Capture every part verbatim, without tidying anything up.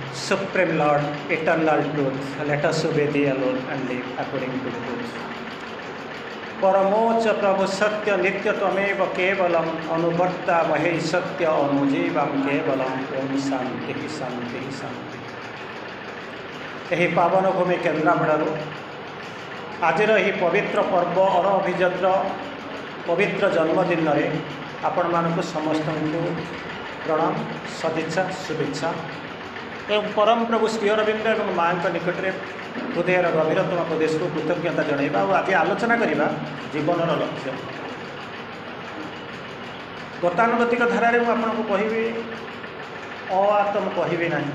Supreme Lord, eternal truth, let us obey thee alone and live according to truth. ପରମୋଚ୍ଚ ପ୍ରଭୁ ସତ୍ୟ ନିତ୍ୟ ତ୍ୱମେବ କେବଳମ୍ ଅନୁବର୍ତ୍ତାମହେ ସତ୍ୟ ଅନୁଜୀବಂ କେବଳମ୍। ଓಂ ଶାନ୍ତି ଶାନ୍ତି ଶାନ୍ତି। ଏହି ପାବନ ଭୂମି କେନ୍ଦ୍ରାପଡ଼ାରୁ ଆଜିର ଏହି ପବିତ୍ର ପର୍ବ ଅର ଅଭିଯତ୍ର ପବିତ୍ର ଜନ୍ମଦିନରେ ଆପଣମାନଙ୍କୁ ସମସ୍ତଙ୍କୁ ପ୍ରଣାମ, ସଦିଚ୍ଛା, ଶୁଭେଚ୍ଛା ଏବଂ ପରମ ପ୍ରଭୁ ଶ୍ରୀ ଅରବିନ୍ଦ ଏବଂ ମାଆଙ୍କ ନିକଟରେ ହୃଦୟର ଗଭୀରତମ ପ୍ରଦେଶକୁ କୃତଜ୍ଞତା ଜଣାଇବା। ଆଉ ଆଜି ଆଲୋଚନା କରିବା ଜୀବନର ଲକ୍ଷ୍ୟ। ଗତାନୁଗତିକ ଧାରାରେ ମୁଁ ଆପଣଙ୍କୁ କହିବି, ଅ ଆ ତ ମୁଁ କହିବି ନାହିଁ।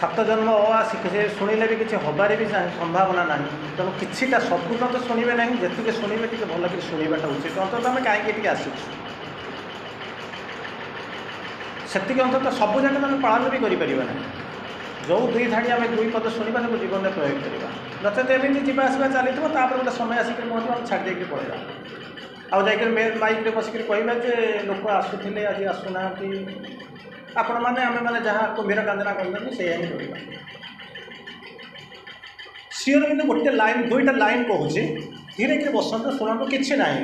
ସାତ ଜନ୍ମ ଅ ଆ ଶିଖ ସେ ଶୁଣିଲେ ବି କିଛି ହେବାରେ ବି ସମ୍ଭାବନା ନାହିଁ। ତେଣୁ କିଛିଟା, ସମ୍ପୂର୍ଣ୍ଣ ତ ଶୁଣିବେ ନାହିଁ, ଯେତିକି ଶୁଣିବେ ଟିକେ ଭଲକରି ଶୁଣିବାଟା ଉଚିତ। ଅନ୍ତତଃ ଆମେ କାହିଁକି ଏଠିକି ଆସିଛୁ, ସେତିକି ଅନ୍ତତଃ। ସବୁ ଯାକ ଆମେ ପାଳନ ବି କରିପାରିବା ନାହିଁ। ଯେଉଁ ଦୁଇ ଧାଡ଼ି ଆମେ ଦୁଇ ପଦ ଶୁଣିବା, ତାକୁ ଜୀବନରେ ପ୍ରୟୋଗ କରିବା। ନଚେତ ଏମିତି ଯିବା ଆସିବା ଚାଲିଥିବ, ତାପରେ ଗୋଟେ ସମୟ ଆସିକି ପହଞ୍ଚିବ, ଆମେ ଛାଡ଼ି ଦେଇକି ପଳେଇବା ଆଉ ଯାଇକରି ମାଇକ୍ରେ ବସିକରି କହିବା ଯେ ଲୋକ ଆସୁଥିଲେ, ଆଜି ଆସୁନାହାନ୍ତି। ଆପଣମାନେ ଆମେମାନେ ଯାହା କୁମ୍ଭୀର କାନ୍ଦଣା କରୁଛନ୍ତି, ସେଇଆ ହିଁ କରିବା। ଶ୍ରୀ ଅରବିନ୍ଦ ଗୋଟେ ଲାଇନ୍, ଦୁଇଟା ଲାଇନ୍ କହୁଛି, ଧୀରେ ଧୀରେ ବସନ୍ତୁ, ଶୁଣନ୍ତୁ। କିଛି ନାହିଁ,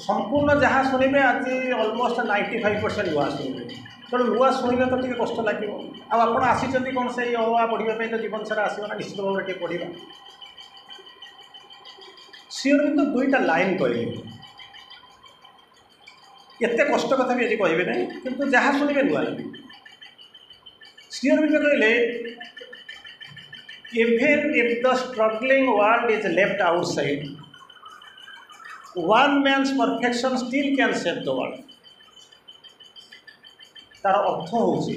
ସମ୍ପୂର୍ଣ୍ଣ ଯାହା ଶୁଣିବେ ଆଜି ଅଲମୋଷ୍ଟ ନାଇଣ୍ଟି ଫାଇଭ୍ ପରସେଣ୍ଟ ନୂଆ ଶୁଣିବେ। ତେଣୁ ନୂଆ ଶୁଣିଲେ ତ ଟିକେ କଷ୍ଟ ଲାଗିବ। ଆଉ ଆପଣ ଆସିଛନ୍ତି କ'ଣ ସେଇ ଅ ଆ ପଢ଼ିବା ପାଇଁ ତ ଜୀବନ ସାରା ଆସିବ ନା, ନିଶ୍ଚିତ ଭାବରେ ଟିକେ ପଢ଼ିବା। ଶ୍ରୀ ଅରବିନ୍ଦ ଦୁଇଟା ଲାଇନ୍ କହିଲେ। ଏତେ କଷ୍ଟ କଥା ବି ଆଜି କହିବେ ନାହିଁ, କିନ୍ତୁ ଯାହା ଶୁଣିବେ ନୂଆ ଲାଗିବ। ଶ୍ରୀ ଅରବିନ୍ଦ କହିଲେ, "Even if the struggling world is left outside, one man's perfection still can save the world." ତାର ଅର୍ଥ ହେଉଛି,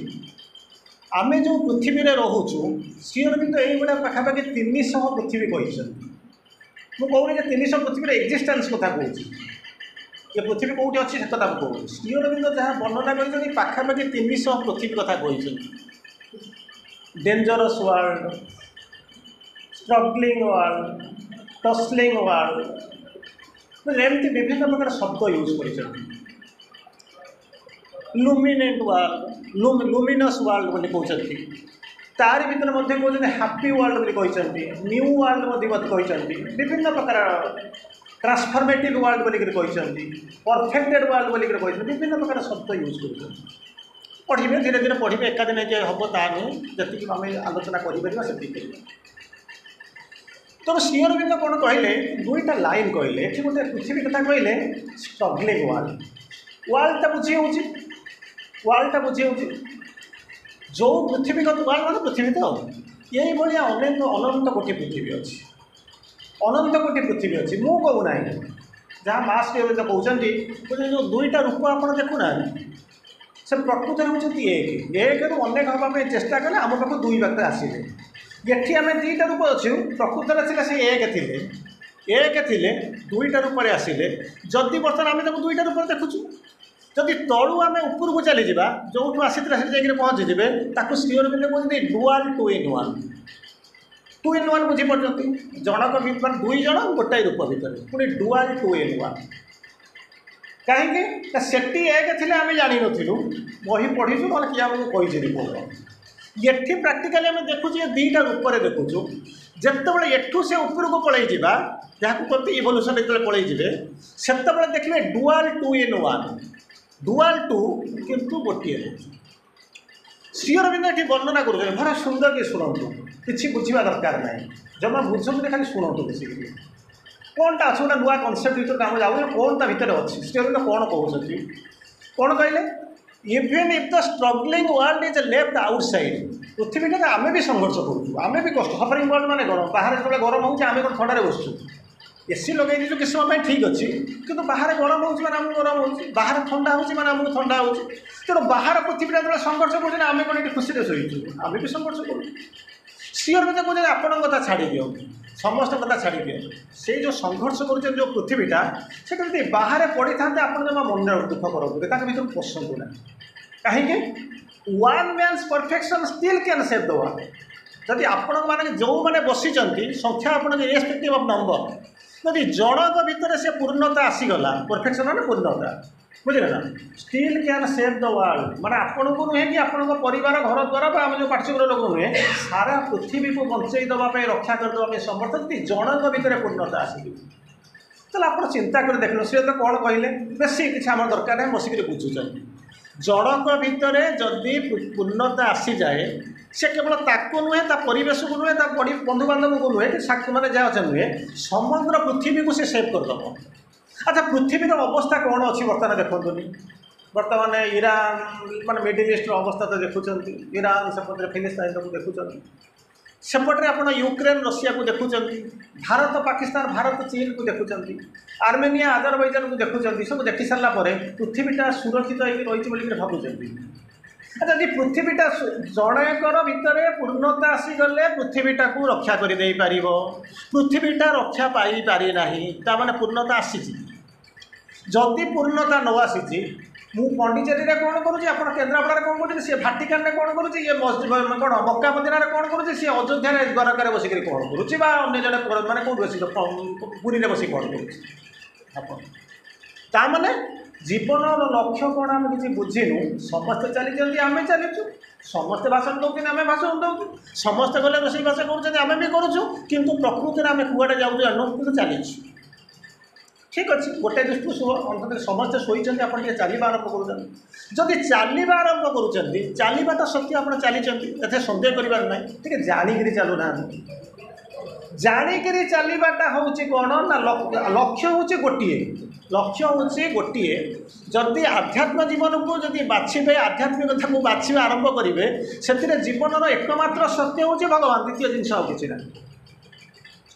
ଆମେ ଯେଉଁ ପୃଥିବୀରେ ରହୁଛୁ, ଶ୍ରୀ ଅରବିନ୍ଦ ଏଇଭଳିଆ ପାଖାପାଖି ତିନିଶହ ପୃଥିବୀ କହିଛନ୍ତି। ମୁଁ କହୁନି ଯେ ତିନିଶହ ପୃଥିବୀର ଏକ୍ଜିଷ୍ଟାନ୍ସ କଥା କହୁଛି, ଏ ପୃଥିବୀ କେଉଁଠି ଅଛି ସେ କଥା ମୁଁ କହୁଛି। ଶ୍ରୀ ଅରବିନ୍ଦ ଯାହା ବର୍ଣ୍ଣନା କରିଛନ୍ତି, ପାଖାପାଖି ତିନିଶହ ପୃଥିବୀ କଥା କହିଛନ୍ତି। Dangerous world, struggling world, tussling world, ଏମିତି ବିଭିନ୍ନ ପ୍ରକାର ଶବ୍ଦ ୟୁଜ୍ କରିଛନ୍ତି। ଲୁମିନେଣ୍ଟ ୱାର୍ଲଡ, ଲୁମିନସ୍ ୱାର୍ଲଡ ବୋଲି କହୁଛନ୍ତି। ତାରି ଭିତରେ ମଧ୍ୟ କହୁଛନ୍ତି, ହାପି ୱାର୍ଲଡ ବୋଲି କହିଛନ୍ତି, ନ୍ୟୁ ୱାର୍ଲଡ ମଧ୍ୟ କହିଛନ୍ତି, ବିଭିନ୍ନ ପ୍ରକାର ଟ୍ରାନ୍ସଫର୍ମେଟିଭ୍ ୱାର୍ଲଡ ବୋଲିକରି କହିଛନ୍ତି, ପରଫେକ୍ଟେଡ୍ ୱାର୍ଲଡ ବୋଲିକରି କହିଛନ୍ତି, ବିଭିନ୍ନ ପ୍ରକାର ଶବ୍ଦ ୟୁଜ୍ କରୁଛନ୍ତି। ପଢ଼ିବେ, ଧୀରେ ଧୀରେ ପଢ଼ିବେ। ଏକାଦିନ ଯେ ହେବ ତାହା ନୁହେଁ। ଯେତିକି ଆମେ ଆଲୋଚନା କରିପାରିବା, ସେତିକି କରିବା। ତେଣୁ ଶ୍ରୀ ଅରବିନ୍ଦ କ'ଣ କହିଲେ? ଦୁଇଟା ଲାଇନ୍ କହିଲେ। ଏଠି ଗୋଟେ ପୃଥିବୀ କଥା କହିଲେ, ଷ୍ଟ୍ରଗଲିଂ ୱାର୍ଲଡ। ୱାର୍ଲଡଟା ବୁଝି ହେଉଛି, ୱାର୍ଲଡଟା ବୁଝି ହେଉଛି। ଯେଉଁ ପୃଥିବୀ କଥା, ୱାର୍ଲଡ ମାନେ ପୃଥିବୀ ତ, ଏଇଭଳିଆ ଅନେକ ଅନନ୍ତ କୋଟି ପୃଥିବୀ ଅଛି, ଅନନ୍ତ କୋଟି ପୃଥିବୀ ଅଛି। ମୁଁ କହୁନାହିଁ, ଯାହା ମା ଶ୍ରୀ ଅରବିନ୍ଦ କହୁଛନ୍ତି। କହୁଛନ୍ତି, ଯେଉଁ ଦୁଇଟା ରୂପ ଆପଣ ଦେଖୁନାହାନ୍ତି, ସେ ପ୍ରକୃତରେ ହେଉଛନ୍ତି ଏକ। ଏକରୁ ଅନେକ ହେବା ପାଇଁ ଚେଷ୍ଟା କଲେ ଆମ ପାଖକୁ ଦୁଇ ବାଟରେ ଆସିଲେ। ଏଠି ଆମେ ଦୁଇଟା ରୂପ ଅଛୁ, ପ୍ରକୃତରେ ଥିଲେ ସେ ଏକ ଥିଲେ, ଏକ ଥିଲେ, ଦୁଇଟା ରୂପରେ ଆସିଲେ। ଯଦି ବର୍ତ୍ତମାନ ଆମେ ତାକୁ ଦୁଇଟା ରୂପରେ ଦେଖୁଛୁ, ଯଦି ତଳୁ ଆମେ ଉପରକୁ ଚାଲିଯିବା, ଯେଉଁଠୁ ଆସିଥିଲେ ସେଠି ଯାଇକରି ପହଞ୍ଚିଯିବେ, ତାକୁ ଶ୍ରୀ ଅରବିନ୍ଦ କହୁଛନ୍ତି dual, two in one. Two in one ବୁଝିପାରୁଛନ୍ତି? ଜଣକ ମାନେ ଦୁଇ ଜଣ ଗୋଟାଏ ରୂପ ଭିତରେ, ପୁଣି ଡୁଆଲ୍, ଟୁ ଇନ୍ ୱାନ୍। କାହିଁକି ନା ସେଠି ଏକ ଥିଲେ, ଆମେ ଜାଣିନଥିଲୁ, ବହି ପଢ଼ିଛୁ, ନହେଲେ କିଏ ଆମକୁ କହିଛି ରିପୋର୍ଟ। ଏଠି ପ୍ରାକ୍ଟିକାଲି ଆମେ ଦେଖୁଛୁ, ଏ ଦୁଇଟା ରୂପରେ ଦେଖୁଛୁ। ଯେତେବେଳେ ଏଠୁ ସେ ଉପରକୁ ପଳେଇ ଯିବା, ଯାହାକୁ କହନ୍ତି ଇଭଲ୍ୟୁସନ୍, ଯେତେବେଳେ ପଳେଇ ଯିବେ, ସେତେବେଳେ ଦେଖିବେ dual, two in one, dual two, କିନ୍ତୁ ଗୋଟିଏ ରହୁଛି। ଶ୍ରୀ ଅରବିନ୍ଦ ଏଠି ବର୍ଣ୍ଣନା କରୁଛନ୍ତି, ଭାରି ସୁନ୍ଦର କି ଶୁଣନ୍ତୁ। କିଛି ବୁଝିବା ଦରକାର ନାହିଁ, ଜମା ବୁଝନ୍ତୁନି, ଖାଲି ଶୁଣନ୍ତୁ ବେଶିକିରି। କ'ଣଟା ଅଛି, ଗୋଟେ ନୂଆ କନସେପ୍ଟ ଭିତରକୁ ଆମେ ଯାଉଛୁ, କ'ଣ ତା ଭିତରେ ଅଛି, ଶ୍ରୀ ଅରବିନ୍ଦ କ'ଣ କହୁଛନ୍ତି। କ'ଣ କହିଲେ? "Even if the struggling world is left outside." ପୃଥିବୀଟାରେ ଆମେ ବି ସଂଘର୍ଷ କରୁଛୁ, ଆମେ ବି କଷ୍ଟ। ସଫରିଂ ୱାର୍ଲଡ ମାନେ କ'ଣ? ବାହାରେ ଯେତେବେଳେ ଗରମ ହେଉଛି, ଆମେ କ'ଣ ଥଣ୍ଡାରେ ବସୁଛୁ? ଏସି ଲଗେଇ ଦେଇଛୁ କିଛି ସମୟ ପାଇଁ, ଠିକ୍ ଅଛି, କିନ୍ତୁ ବାହାରେ ଗରମ ହେଉଛି ମାନେ ଆମକୁ ଗରମ ହେଉଛି, ବାହାରେ ଥଣ୍ଡା ହେଉଛି ମାନେ ଆମକୁ ଥଣ୍ଡା ହେଉଛି। ତେଣୁ ବାହାର ପୃଥିବୀଟା ଯେତେବେଳେ ସଂଘର୍ଷ କରୁଛନ୍ତି, ଆମେ କ'ଣ ଏଠି ଖୁସିରେ ଶୋଇଛୁ? ଆମେ ବି ସଂଘର୍ଷ କରୁଛୁ। ଶ୍ରୀ ଅରବିନ୍ଦ କହୁଛନ୍ତି, ଆପଣଙ୍କ କଥା ଛାଡ଼ି ଦିଅନ୍ତୁ, ସମସ୍ତଙ୍କ କଥା ଛାଡ଼ି ଦିଅନ୍ତୁ। ସେଇ ଯେଉଁ ସଂଘର୍ଷ କରୁଛନ୍ତି ଯେଉଁ ପୃଥିବୀଟା, ସେଟା ଯଦି ବାହାରେ ପଡ଼ିଥାନ୍ତେ, ଆପଣ ଜମା ମନରେ ଦୁଃଖ କରନ୍ତୁ, ତାଙ୍କ ଭିତରକୁ ପଶନ୍ତୁ ନାହିଁ। କାହିଁକି? "One man's perfection still can save the world." ଯଦି ଆପଣମାନେ ଯେଉଁମାନେ ବସିଛନ୍ତି, ସଂଖ୍ୟା ଆପଣଙ୍କ ଇରେସ୍ପେକ୍ଟିଭ୍ ଅଫ୍ ନମ୍ବର, ଯଦି ଜଣଙ୍କ ଭିତରେ ସେ ପୂର୍ଣ୍ଣତା ଆସିଗଲା, ପରଫେକ୍ସନ୍ ମାନେ ପୂର୍ଣ୍ଣତା, ବୁଝିଲେ ନା still can save the world ମାନେ ଆପଣଙ୍କୁ ନୁହେଁ କି ଆପଣଙ୍କ ପରିବାର ଘର ଦ୍ୱାରା ବା ଆମ ଯେଉଁ ପାର୍ଶ୍ୱର ଲୋକ ନୁହେଁ ସାରା ପୃଥିବୀକୁ ବଞ୍ଚେଇ ଦେବା ପାଇଁ ରକ୍ଷା କରିଦେବା ପାଇଁ ସମର୍ଥ ଯଦି ଜଣଙ୍କ ଭିତରେ ପୂର୍ଣ୍ଣତା ଆସିଯିବ ତାହେଲେ ଆପଣ ଚିନ୍ତା କରି ଦେଖିଲେ ସିଏ ତ କ'ଣ କହିଲେ ବେଶୀ କିଛି ଆମର ଦରକାର ନାହିଁ ବସିକିରି ବୁଝୁଛନ୍ତି ଜଣଙ୍କ ଭିତରେ ଯଦି ପୂର୍ଣ୍ଣତା ଆସିଯାଏ ସେ କେବଳ ତାକୁ ନୁହେଁ ତା ପରିବେଶକୁ ନୁହେଁ ତା ପରି ବନ୍ଧୁବାନ୍ଧବକୁ ନୁହେଁ କି ସାକ୍ଷୀ ମାନେ ଯାହା ଅଛନ୍ତି ନୁହେଁ ସମଗ୍ର ପୃଥିବୀକୁ ସେ ସେଭ୍ କରିଦେବ ଆଚ୍ଛା ପୃଥିବୀର ଅବସ୍ଥା କ'ଣ ଅଛି ବର୍ତ୍ତମାନ ଦେଖନ୍ତୁନି ବର୍ତ୍ତମାନ ଇରାନ ମାନେ ମିଡ଼ିଲ୍ ଇଷ୍ଟର ଅବସ୍ଥା ତ ଦେଖୁଛନ୍ତି ଇରାନ ସେପଟରେ ଫିଲିସ୍ତାଇନକୁ ଦେଖୁଛନ୍ତି ସେପଟରେ ଆପଣ ୟୁକ୍ରେନ୍ ରଷିଆକୁ ଦେଖୁଛନ୍ତି ଭାରତ ପାକିସ୍ତାନ ଭାରତ ଚୀନକୁ ଦେଖୁଛନ୍ତି ଆର୍ମେନିଆ ଆଜରବୈଜାନକୁ ଦେଖୁଛନ୍ତି ସବୁ ଦେଖି ସାରିଲା ପରେ ପୃଥିବୀଟା ସୁରକ୍ଷିତ ହେଇକି ରହିଛି ବୋଲିକିରି ଭାବୁଛନ୍ତି ଆଚ୍ଛା ଯଦି ପୃଥିବୀଟା ଜଣଙ୍କର ଭିତରେ ପୂର୍ଣ୍ଣତା ଆସିଗଲେ ପୃଥିବୀଟାକୁ ରକ୍ଷା କରିଦେଇପାରିବ ପୃଥିବୀଟା ରକ୍ଷା ପାଇପାରି ନାହିଁ ତା ମାନେ ପୂର୍ଣ୍ଣତା ଆସିଛି ଯଦି ପୂର୍ଣ୍ଣତା ନ ଆସିଛି ମୁଁ ପଣ୍ଡିଚେରୀରେ କ'ଣ କରୁଛି ଆପଣ କେନ୍ଦ୍ରାପଡ଼ାରେ କ'ଣ କରୁଛନ୍ତି ସିଏ ଭାଟିକାନରେ କ'ଣ କରୁଛି ଇଏ କ'ଣ ମକ୍କା ମଦିନାରେ କ'ଣ କରୁଛି ସିଏ ଅଯୋଧ୍ୟାରେ ଦ୍ୱାରକାରେ ବସିକରି କ'ଣ କରୁଛି ବା ଅନ୍ୟ ଜଣେ ମାନେ କେଉଁଠି ବସି ପୁରୀରେ ବସି କ'ଣ କରୁଛି ଆପଣ ତା ମାନେ ଜୀବନର ଲକ୍ଷ୍ୟ କ'ଣ ଆମେ କିଛି ବୁଝିନୁ ସମସ୍ତେ ଚାଲିଛନ୍ତି ଆମେ ଚାଲିଛୁ ସମସ୍ତେ ଭାଷଣ ଦେଉଛନ୍ତି ଆମେ ଭାଷଣ ଦେଉଛୁ ସମସ୍ତେ ଗଲେ ରୋଷେଇ ବାସ କରୁଛନ୍ତି ଆମେ ବି କରୁଛୁ କିନ୍ତୁ ପ୍ରକୃତିରେ ଆମେ କୁଆଡ଼େ ଯାଉଛୁ ଜାଣୁ କିନ୍ତୁ ଚାଲିଛୁ ଠିକ୍ ଅଛି ଗୋଟେ ଦୃଷ୍ଟିରୁ ଶୁଭ ଅନ୍ତତଃ ସମସ୍ତେ ଶୋଇଛନ୍ତି ଆପଣ ଟିକେ ଚାଲିବା ଆରମ୍ଭ କରୁଛନ୍ତି ଯଦି ଚାଲିବା ଆରମ୍ଭ କରୁଛନ୍ତି ଚାଲିବାଟା ସତ୍ୟ ଆପଣ ଚାଲିଛନ୍ତି ଏଥିରେ ସନ୍ଦେହ କରିବାର ନାହିଁ ଟିକେ ଜାଣିକିରି ଚାଲୁନାହାନ୍ତି ଜାଣିକିରି ଚାଲିବାଟା ହେଉଛି କ'ଣ ନା ଲକ୍ଷ୍ୟ ହେଉଛି ଗୋଟିଏ ଲକ୍ଷ୍ୟ ହେଉଛି ଗୋଟିଏ ଯଦି ଆଧ୍ୟାତ୍ମ ଜୀବନକୁ ଯଦି ବାଛିବେ ଆଧ୍ୟାତ୍ମିକତାକୁ ବାଛିବା ଆରମ୍ଭ କରିବେ ସେଥିରେ ଜୀବନର ଏକମାତ୍ର ସତ୍ୟ ହେଉଛି ଭଗବାନ ଦ୍ୱିତୀୟ ଜିନିଷ ଆଉ କିଛି ନାହିଁ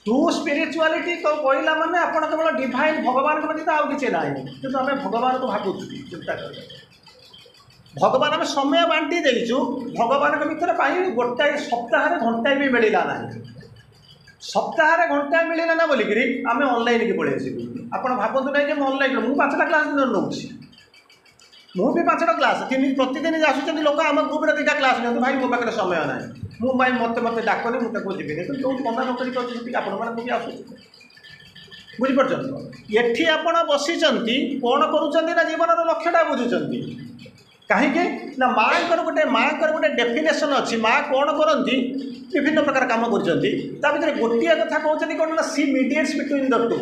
ଟ୍ରୁ ସ୍ପିରିଚୁଆଲିଟି କହିଲା ମାନେ ଆପଣ କେବଳ ଡିଭାଇନ୍ ଭଗବାନଙ୍କ ବ୍ୟତୀତ ଆଉ କିଛି ନାହିଁ କିନ୍ତୁ ଆମେ ଭଗବାନଙ୍କୁ ଭାବୁଛୁ ଚିନ୍ତା କରିବା ଭଗବାନ ଆମେ ସମୟ ବାଣ୍ଟି ଦେଇଛୁ ଭଗବାନଙ୍କ ଭିତରେ ପାଇଁ ଗୋଟାଏ ସପ୍ତାହରେ ଘଣ୍ଟାଏ ବି ମିଳିଲା ନାହିଁ ସପ୍ତାହରେ ଘଣ୍ଟାଏ ମିଳିଲା ନା ବୋଲିକିରି ଆମେ ଅନଲାଇନ୍କି ପଳେଇ ଆସିବୁ ଆପଣ ଭାବନ୍ତୁ ନାହିଁ ଯେ ମୁଁ ଅନଲାଇନ୍ ମୁଁ ପାଞ୍ଚଟା କ୍ଲାସ୍ ଦିନରେ ନେଉଛି ମୁଁ ବି ପାଞ୍ଚଟା କ୍ଲାସ୍ ତିନି ପ୍ରତିଦିନ ଆସୁଛନ୍ତି ଲୋକ ଆମ ଗ୍ରୁପ୍ରେ ଦୁଇଟା କ୍ଲାସ୍ ନିଅନ୍ତୁ ଭାଇ ମୋ ପାଖରେ ସମୟ ନାହିଁ ମୁଁ ଭାଇ ମୋତେ ମୋତେ ଡାକନି ମୁଁ ତାକୁ ଯିବିନି କିନ୍ତୁ ଯେଉଁଠି ମନା ନ କରିକି ଅଛି ସେଠିକି ଆପଣମାନଙ୍କୁ ବି ଆସୁଛି ବୁଝିପାରୁଛନ୍ତି ଏଠି ଆପଣ ବସିଛନ୍ତି କ'ଣ କରୁଛନ୍ତି ନା ଜୀବନର ଲକ୍ଷ୍ୟଟା ବୁଝୁଛନ୍ତି କାହିଁକି ନା ମାଆଙ୍କର ଗୋଟେ ମାଆଙ୍କର ଗୋଟେ ଡେଫିନେସନ୍ ଅଛି ମା କ'ଣ କରନ୍ତି ବିଭିନ୍ନ ପ୍ରକାର କାମ କରୁଛନ୍ତି ତା ଭିତରେ ଗୋଟିଏ କଥା କହୁଛନ୍ତି କ'ଣ ନା she mediates between the two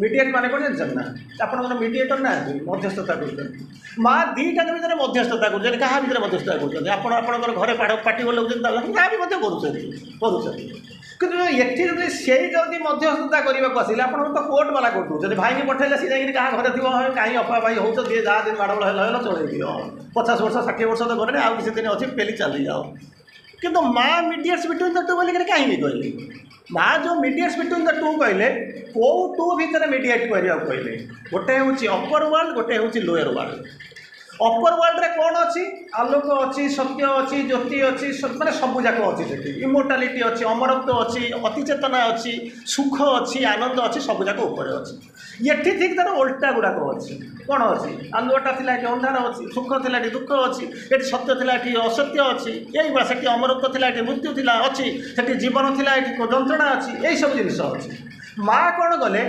ମିଡ଼ିଏଟ୍ ମାନେ କ'ଣ ଜାଣିଛନ୍ତି ନା ଆପଣଙ୍କର ମିଡ଼ିଏଟର୍ ନାହାନ୍ତି ମଧ୍ୟସ୍ଥତା କରୁଛନ୍ତି ମା ଦୁଇଟାଙ୍କ ଭିତରେ ମଧ୍ୟସ୍ଥତା କରୁଛନ୍ତି କାହା ଭିତରେ ମଧ୍ୟସ୍ଥତା କରୁଛନ୍ତି ଆପଣ ଆପଣଙ୍କର ଘରେ ପାଠ ପାଟି ଲଗାଉଛନ୍ତି ତା ବି ମଧ୍ୟ କରୁଛନ୍ତି କରୁଛନ୍ତି କିନ୍ତୁ ଏଠି ଯଦି ସେଇ ଯଦି ମଧ୍ୟସ୍ଥତା କରିବାକୁ ଆସିଲେ ଆପଣଙ୍କୁ ତ କୋର୍ଟ ବାଲା କରିଦେଉଛନ୍ତି ଭାଇକି ପଠେଇଲେ ସେ ଯାଇକିରି କାହା ଘରେ ଥିବ କାହିଁ ଅପା ଭାଇ ହେଉଛ ଯିଏ ଯାହା ଦିନ ମାଡ଼ଗୋଳ ହେଲା ହେଲା ଚଳେଇ ଦିଅ ପଚାଶ ବର୍ଷ ଷାଠିଏ ବର୍ଷ ତ ଗଲେଣି ଆଉ କିଛି ଦିନ ଅଛି ପେଲି ଚାଲିଯାଅ କିନ୍ତୁ ମା ମିଡ଼ିଏଟ୍ସ ବିଟୁଇନ୍ the two ବୋଲିକିରି କାହିଁକି କହିଲେ ମା ଯେଉଁ ମିଡ଼ିଏଟ୍ସ ବିଟୁଇନ୍ the two କହିଲେ କେଉଁ ଟୁ ଭିତରେ ମିଡ଼ିଏଟ୍ କରିବାକୁ କହିଲେ ଗୋଟେ ହେଉଛି ଅପର ୱାର୍ଲଡ ଗୋଟେ ହେଉଛି ଲୋୟର ୱାର୍ଲଡ ଅପର ୱାର୍ଲଡରେ କ'ଣ ଅଛି ଆଲୋକ ଅଛି ସତ୍ୟ ଅଛି ଜ୍ୟୋତି ଅଛି ମାନେ ସବୁ ଯାକ ଅଛି ସେଠି ଇମୋର୍ଟାଲିଟି ଅଛି ଅମରତ୍ୱ ଅଛି ଅତିଚେତନା ଅଛି ସୁଖ ଅଛି ଆନନ୍ଦ ଅଛି ସବୁ ଯାକ ଉପରେ ଅଛି ଏଠି ଠିକ୍ ତାର ଓଲଟା ଗୁଡ଼ାକ ଅଛି କ'ଣ ଅଛି ଆଲୁଅଟା ଥିଲା ଏଠି ଅନ୍ଧାର ଅଛି ସୁଖ ଥିଲା ଏଠି ଦୁଃଖ ଅଛି ଏଠି ସତ୍ୟ ଥିଲା ଏଠି ଅସତ୍ୟ ଅଛି ଏଇଭଳିଆ ସେଠି ଅମରତ୍ୱ ଥିଲା ଏଠି ମୃତ୍ୟୁ ଥିଲା ଅଛି ସେଠି ଜୀବନ ଥିଲା ଏଠି ଯନ୍ତ୍ରଣା ଅଛି ଏଇସବୁ ଜିନିଷ ଅଛି ମା କ'ଣ କଲେ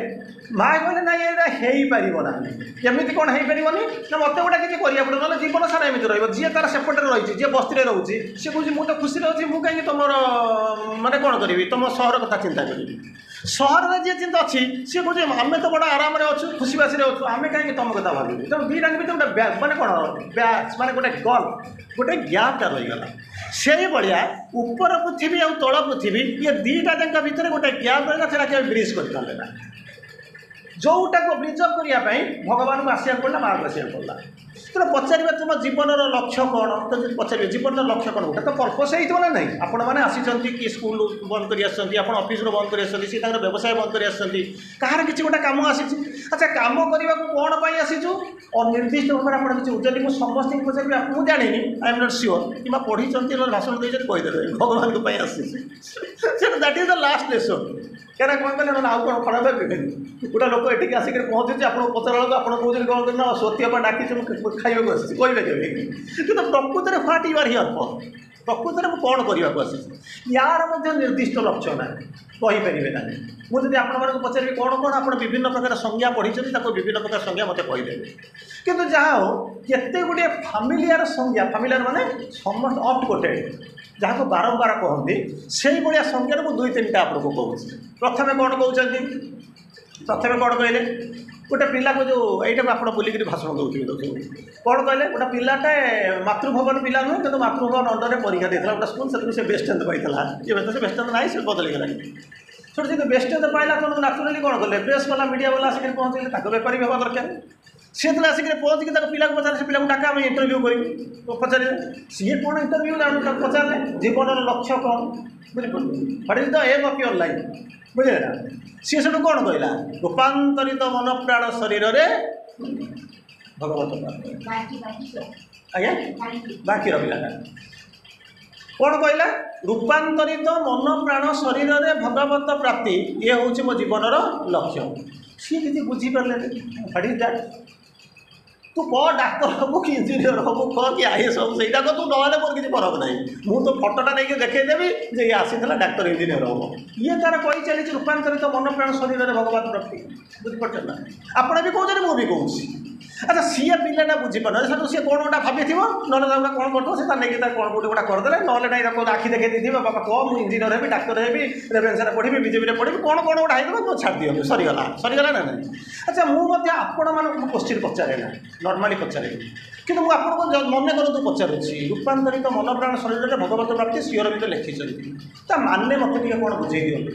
ମା କହିଲେ ନାଇଁ ଏଇଟା ହେଇପାରିବ ନାହିଁ କେମିତି କ'ଣ ହେଇପାରିବନି ନା ମୋତେ ଗୋଟେ କିଛି କରିବାକୁ ପଡ଼ିବ ନହେଲେ ଜୀବନ ସାରା ଏମିତି ରହିବ ଯିଏ ତାର ସେପଟରେ ରହିଛି ଯିଏ ବସ୍ତିରେ ରହୁଛି ସିଏ କହୁଛି ମୁଁ ତ ଖୁସିରେ ଅଛି ମୁଁ କାହିଁକି ତୁମର ମାନେ କ'ଣ କରିବି ତୁମ ସହର କଥା ଚିନ୍ତା କରିବି ସହରରେ ଯିଏ ଚିନ୍ତା ଅଛି ସିଏ କହୁଛି ଆମେ ତ ବଡ଼ ଆରାମରେ ଅଛୁ ଖୁସିବାସିରେ ଅଛୁ ଆମେ କାହିଁକି ତୁମ କଥା ଭାବିବୁ ତେଣୁ ଦୁଇଟାଙ୍କ ଭିତରେ ଗୋଟେ ମାନେ କ'ଣ ବ୍ୟାଚ୍ ମାନେ ଗୋଟେ ଗଲ୍ ଗୋଟେ ଗ୍ୟାପ୍ଟା ରହିଗଲା ସେଇଭଳିଆ ଉପର ପୃଥିବୀ ଆଉ ତଳ ପୃଥିବୀ ଇଏ ଦୁଇଟା ଯାକ ଭିତରେ ଗୋଟେ ଗ୍ୟାପ୍ ରହିଲା ସେଇଟା କେବେ ବ୍ରିଜ୍ କରିପାରିଲେ ନା ଯେଉଁଟାକୁ ବ୍ରିଜ୍ କରିବା ପାଇଁ ଭଗବାନଙ୍କୁ ଆସିବାକୁ ପଡ଼ିଲା ମାଆକୁ ଆସିବାକୁ ପଡ଼ିଲା ତେଣୁ ପଚାରିବେ ତୁମ ଜୀବନର ଲକ୍ଷ୍ୟ କ'ଣ ତ ଯଦି ପଚାରିବେ ଜୀବନର ଲକ୍ଷ୍ୟ କ'ଣ ଗୋଟେ ତ ପର୍ପସ୍ ହେଇଥିବ ନା ନାହିଁ ଆପଣମାନେ ଆସିଛନ୍ତି କି ସ୍କୁଲ ବନ୍ଦ କରି ଆସିଛନ୍ତି ଆପଣ ଅଫିସରୁ ବନ୍ଦ କରି ଆସିଛନ୍ତି ସିଏ ତାଙ୍କର ବ୍ୟବସାୟ ବନ୍ଦ କରି ଆସିଛନ୍ତି କାହାର କିଛି ଗୋଟେ କାମ ଆସିଛି ଆଚ୍ଛା କାମ କରିବାକୁ କ'ଣ ପାଇଁ ଆସିଛୁ ଅନିର୍ଦ୍ଦିଷ୍ଟ ଭାବରେ ଆପଣ କିଛି ଯଦି ମୁଁ ସମସ୍ତଙ୍କୁ ପଚାରିବି ମୁଁ ଜାଣିନି I am not sure କିମ୍ବା ପଢ଼ିଛନ୍ତି ନହେଲେ ଭାଷଣ ଦେଇଛନ୍ତି କହିଦେବେ ଭଗବାନଙ୍କ ପାଇଁ ଆସିଛି ସେଟା that is the last lesson କାହିଁକିନା କ'ଣ କଲେ ନହେଲେ ଆଉ କ'ଣ ଖରାପ ଭାବିବେନି ଗୋଟେ ଲୋକ ଏଠିକି ଆସିକରି ପହଞ୍ଚୁଛି ଆପଣଙ୍କୁ ପଚାରିଲା ବେଳକୁ ଆପଣ କହୁଛନ୍ତି କ'ଣ ନା ସତ୍ୟ ପାଇଁ ଡାକିଛି ମୁଁ ଖାଇବାକୁ ଆସିଛି କହିବେ କେବେ କିନ୍ତୁ ପ୍ରକୃତରେ what you are here for ପ୍ରକୃତରେ ମୁଁ କ'ଣ କରିବାକୁ ଆସିଛି ୟାର ମଧ୍ୟ ନିର୍ଦ୍ଦିଷ୍ଟ ଲକ୍ଷ୍ୟ ନାହିଁ କହିପାରିବେ ନାହିଁ ମୁଁ ଯଦି ଆପଣମାନଙ୍କୁ ପଚାରିବି କ'ଣ କ'ଣ ଆପଣ ବିଭିନ୍ନ ପ୍ରକାର ସଂଜ୍ଞା ପଢ଼ିଛନ୍ତି ତାକୁ ବିଭିନ୍ନ ପ୍ରକାର ସଂଜ୍ଞା ମୋତେ କହିଦେବେ କିନ୍ତୁ ଯାହା ହଉ କେତେ ଗୁଡ଼ିଏ ଫାମିଲିଆର ସଂଜ୍ଞା ଫାମିଲିଆର ମାନେ ସମସ୍ତ ଅଫ୍ଟ କୋଟେଡ଼ ଯାହାକୁ ବାରମ୍ବାର କହନ୍ତି ସେଇଭଳିଆ ସଂଜ୍ଞାରେ ମୁଁ ଦୁଇ ତିନିଟା ଆପଣଙ୍କୁ କହୁଛି ପ୍ରଥମେ କ'ଣ କହୁଛନ୍ତି ପ୍ରଥମେ କ'ଣ କହିଲେ ଗୋଟେ ପିଲାକୁ ଯେଉଁ ଏଇଟାକୁ ଆପଣ ବୁଲିକିରି ଭାଷଣ ଦେଉଥିବେ ଦେଖୁଛନ୍ତି କ'ଣ କହିଲେ ଗୋଟେ ପିଲାଟେ ମାତୃଭବନ ପିଲା ନୁହେଁ କିନ୍ତୁ ମାତୃଭବନ ଅଣ୍ଡରରେ ପରୀକ୍ଷା ଦେଇଥିଲା ଗୋଟେ ସ୍କୁଲ ସେଥିରୁ ସେ ବେଷ୍ଟ ଟେନ୍ଥ ପାଇଥିଲା ଏବେ ତ ସେ ବେଷ୍ଟ ଟେନ୍ଥ ନାହିଁ ସେ ବଦଳିଗଲାଣି ସେଠୁ ଯଦି ବେଷ୍ଟ ଟେନ୍ଥ ପାଇଲା ତେଣୁ ନ୍ୟାଚୁରାଲି କ'ଣ କଲେ ପ୍ରେସ୍ କଲା ମିଡ଼ିଆ ବାଲା ଆସିକରି ପହଞ୍ଚିଲେ ତାଙ୍କ ବେପାରୀ ବି ହେବା ଦରକାର ସିଏ ଯେତେବେଳେ ଆସିକରି ପହଞ୍ଚିକି ତାଙ୍କ ପିଲାକୁ ପଚାରିଲେ ସେ ପିଲାକୁ ଡାକା ଆମେ ଇଣ୍ଟରଭ୍ୟୁ କରିବୁ ପଚାରିଲେ ସିଏ କ'ଣ ଇଣ୍ଟରଭ୍ୟୁ ତାକୁ ପଚାରିଲେ ଜୀବନର ଲକ୍ଷ୍ୟ କ'ଣ ବୁଝିପାରୁଛନ୍ତି What is the aim of your life ବୁଝିଲେ ନା ସିଏ ସେଠୁ କ'ଣ କହିଲା ରୂପାନ୍ତରିତ ମନ ପ୍ରାଣ ଶରୀରରେ ଭଗବତ ପ୍ରାପ୍ତି ଆଜ୍ଞା ବାଙ୍କିର ପିଲାଟା କ'ଣ କହିଲା ରୂପାନ୍ତରିତ ମନ ପ୍ରାଣ ଶରୀରରେ ଭଗବତ ପ୍ରାପ୍ତି ଇଏ ହେଉଛି ମୋ ଜୀବନର ଲକ୍ଷ୍ୟ ସିଏ କିଛି ବୁଝିପାରିଲେନି What is that ତୁ କହ ଡାକ୍ତର ହେବୁ କି ଇଞ୍ଜିନିୟର ହେବୁ କହ କି I S ହେବୁ ସେଇଟା କହ ତୁ ନହେଲେ ମୋର କିଛି ଫରକ ନାହିଁ ମୁଁ ତ ଫଟୋଟା ନେଇକି ଦେଖେଇଦେବି ଯେ ଇଏ ଆସିଥିଲା ଡାକ୍ତର ଇଞ୍ଜିନିୟର ହେବ ଇଏ ତାର କହି ଚାଲିଛି ରୂପାନ୍ତରିତ ମନ ପ୍ରାଣ ଶରୀରରେ ଭଗବତ ପ୍ରାପ୍ତି ବୁଝିପାରୁଛନ୍ତି ନା ଆପଣ ବି କହୁଛନ୍ତି ମୁଁ ବି କହୁଛି ଆଚ୍ଛା ସିଏ ପିଲାଟା ବୁଝିପାରୁନାହାନ୍ତି ସେଠୁ ସିଏ କ'ଣ ଗୋଟା ଭାବିଥିବ ନହେଲେ ତାକୁ କ'ଣ କରୁଥିବ ସେ ତାର ନେଇକି ତାର କ'ଣ କେଉଁଠି ଗୋଟା କରିଦେଲେ ନହେଲେ ନାଇଁ ତାକୁ ଆଖି ଦେଖେଇ ଦେଇଥିବ ବାପା କହ ମୁଁ ଇଞ୍ଜିନିୟର ହେବି ଡାକ୍ତର ହେବି ରେଭେନ୍ସାରେ ପଢ଼ିବି ବିଜେବିରେ ପଢ଼ିବି କ'ଣ କ'ଣ ଗୋଟା ହେଇଥିବ ମୁଁ ଛାଡ଼ି ଦିଅନ୍ତୁ ସରିଗଲା ସରିଗଲା ନା ନାହିଁ ଆଚ୍ଛା ମୁଁ ମଧ୍ୟ ଆପଣମାନଙ୍କୁ କୋଶ୍ଚିନ୍ ପଚାରେ ନା ନର୍ମାଲି ପଚାରେ କିନ୍ତୁ ମୁଁ ଆପଣଙ୍କୁ ମନେ କରନ୍ତୁ ପଚାରୁଛି ରୂପାନ୍ତରିତ ମନ ପ୍ରାଣ ଶରୀରରେ ଭଗବତ ପ୍ରାପ୍ତି ଶ୍ରୀ ଅରବିନ୍ଦ ଲେଖିଛନ୍ତି ତା ମାନେ ମୋତେ ଟିକେ କ'ଣ ବୁଝେଇ ଦିଅନ୍ତୁ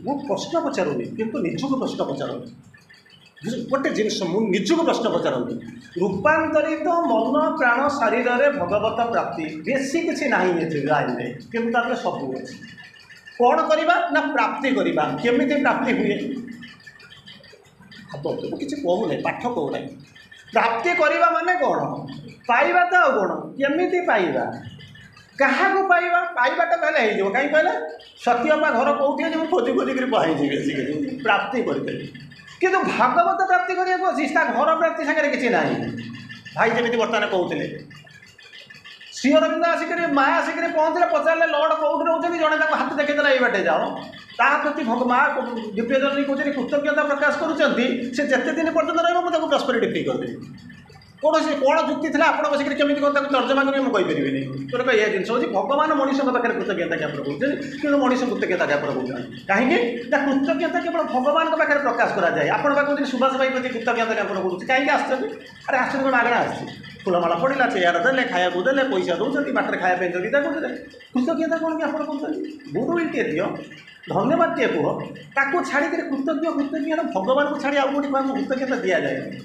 ମୁଁ ପ୍ରଶ୍ନ ପଚାରୁନି କିନ୍ତୁ ନିଜକୁ ପ୍ରଶ୍ନ ପଚାରନ୍ତୁ ଗୋଟେ ଜିନିଷ ମୁଁ ନିଜକୁ ପ୍ରଶ୍ନ ପଚାରନ୍ତୁ ରୂପାନ୍ତରିତ ମନ ପ୍ରାଣ ଶରୀରରେ ଭଗବତ ପ୍ରାପ୍ତି ବେଶୀ କିଛି ନାହିଁ ଏଥିରେ ଲାଇନରେ କିନ୍ତୁ ତା ଦେହରେ ସବୁ ଅଛି କ'ଣ କରିବା ନା ପ୍ରାପ୍ତି କରିବା କେମିତି ପ୍ରାପ୍ତି ହୁଏ ଭାବନ୍ତୁ ମୁଁ କିଛି କହୁନାହିଁ ପାଠ କହୁନାହିଁ ପ୍ରାପ୍ତି କରିବା ମାନେ କ'ଣ ପାଇବା ତ ଆଉ କ'ଣ କେମିତି ପାଇବା କାହାକୁ ପାଇବା ପାଇବାଟା ତାହେଲେ ହେଇଯିବ କାହିଁକି କହିଲେ ସତୀ ଅପା ଘର କେଉଁଠି ଅଛି ମୁଁ ଖୋଜି ଖୋଜିକିରି ପାଇଯିବି ଆସିକିରି ପ୍ରାପ୍ତି କରିଦେବି କିନ୍ତୁ ଭାଗବତ ପ୍ରାପ୍ତି କରିବାକୁ ଅଛି ତା ଘର ପ୍ରାପ୍ତି ସାଙ୍ଗରେ କିଛି ନାହିଁ ଭାଇ ଯେମିତି ବର୍ତ୍ତମାନ କହୁଥିଲେ ଶ୍ରୀ ଅରବିନ୍ଦ ଆସିକରି ମା ଆସିକରି ପହଞ୍ଚିଲେ ପଚାରିଲେ ଲର୍ଡ଼ କେଉଁଠି ରହୁଛନ୍ତି ଜଣେ ତାକୁ ହାତ ଦେଖେଇଦେଲା ଏଇ ବାଟେ ଯାଅ ତା ପ୍ରତି ମା ଦିବ୍ୟ ଜନନୀ କହୁଛନ୍ତି କୃତଜ୍ଞତା ପ୍ରକାଶ କରୁଛନ୍ତି ସେ ଯେତେ ଦିନ ପର୍ଯ୍ୟନ୍ତ ରହିବ ମୁଁ ତାକୁ ପ୍ରସ୍ପରିଟି ଫ୍ରି କରିଦେବି କୌଣସି କ'ଣ ଯୁକ୍ତି ଥିଲା ଆପଣ ବସିକରି କେମିତି କ'ଣ ତାକୁ ତର୍ଜମା କରିବେ ମୁଁ କହିପାରିବିନି ତେଣୁ ଏ ଜିନିଷ ହେଉଛି ଭଗବାନ ମଣିଷଙ୍କ ପାଖରେ କୃତଜ୍ଞତା ଜ୍ଞାପନ କରୁଛନ୍ତି କିନ୍ତୁ ମଣିଷ କୃତଜ୍ଞତା ଜ୍ଞାପନ କରୁଛନ୍ତି କାହିଁକି ନା କୃତଜ୍ଞତା କେବଳ ଭଗବାନଙ୍କ ପାଖରେ ପ୍ରକାଶ କରାଯାଏ ଆପଣ ବା କହୁଛନ୍ତି ସୁଭାଷ ଭାଇ ପ୍ରତି କୃତଜ୍ଞତା ଜ୍ଞାପନ କରୁଛି କାହିଁକି ଆସିଛନ୍ତି ଆରେ ଆସିଛନ୍ତି କ'ଣ ମାଗଣା ଆସିଛି ଫୁଲମାଳ ପଡ଼ିଲା ଚେୟାର ଦେଲେ ଖାଇବାକୁ ଦେଲେ ପଇସା ଦେଉଛନ୍ତି ବାଟରେ ଖାଇବା ପାଇଁ ବିଦା କରୁଛନ୍ତି କୃତଜ୍ଞତା କ'ଣ ଜ୍ଞାପନ କରୁଛନ୍ତି ଗୁଡ୍ ଟିଏ ଦିଅ ଧନ୍ୟବାଦଟିଏ କୁହ ତାକୁ ଛାଡ଼ିକିରି କୃତଜ୍ଞ କୃତଜ୍ଞ ଭଗବାନଙ୍କୁ ଛାଡ଼ି ଆଉ କେଉଁଠି କାହାକୁ କୃତଜ୍ଞତା ଦିଆଯାଏନି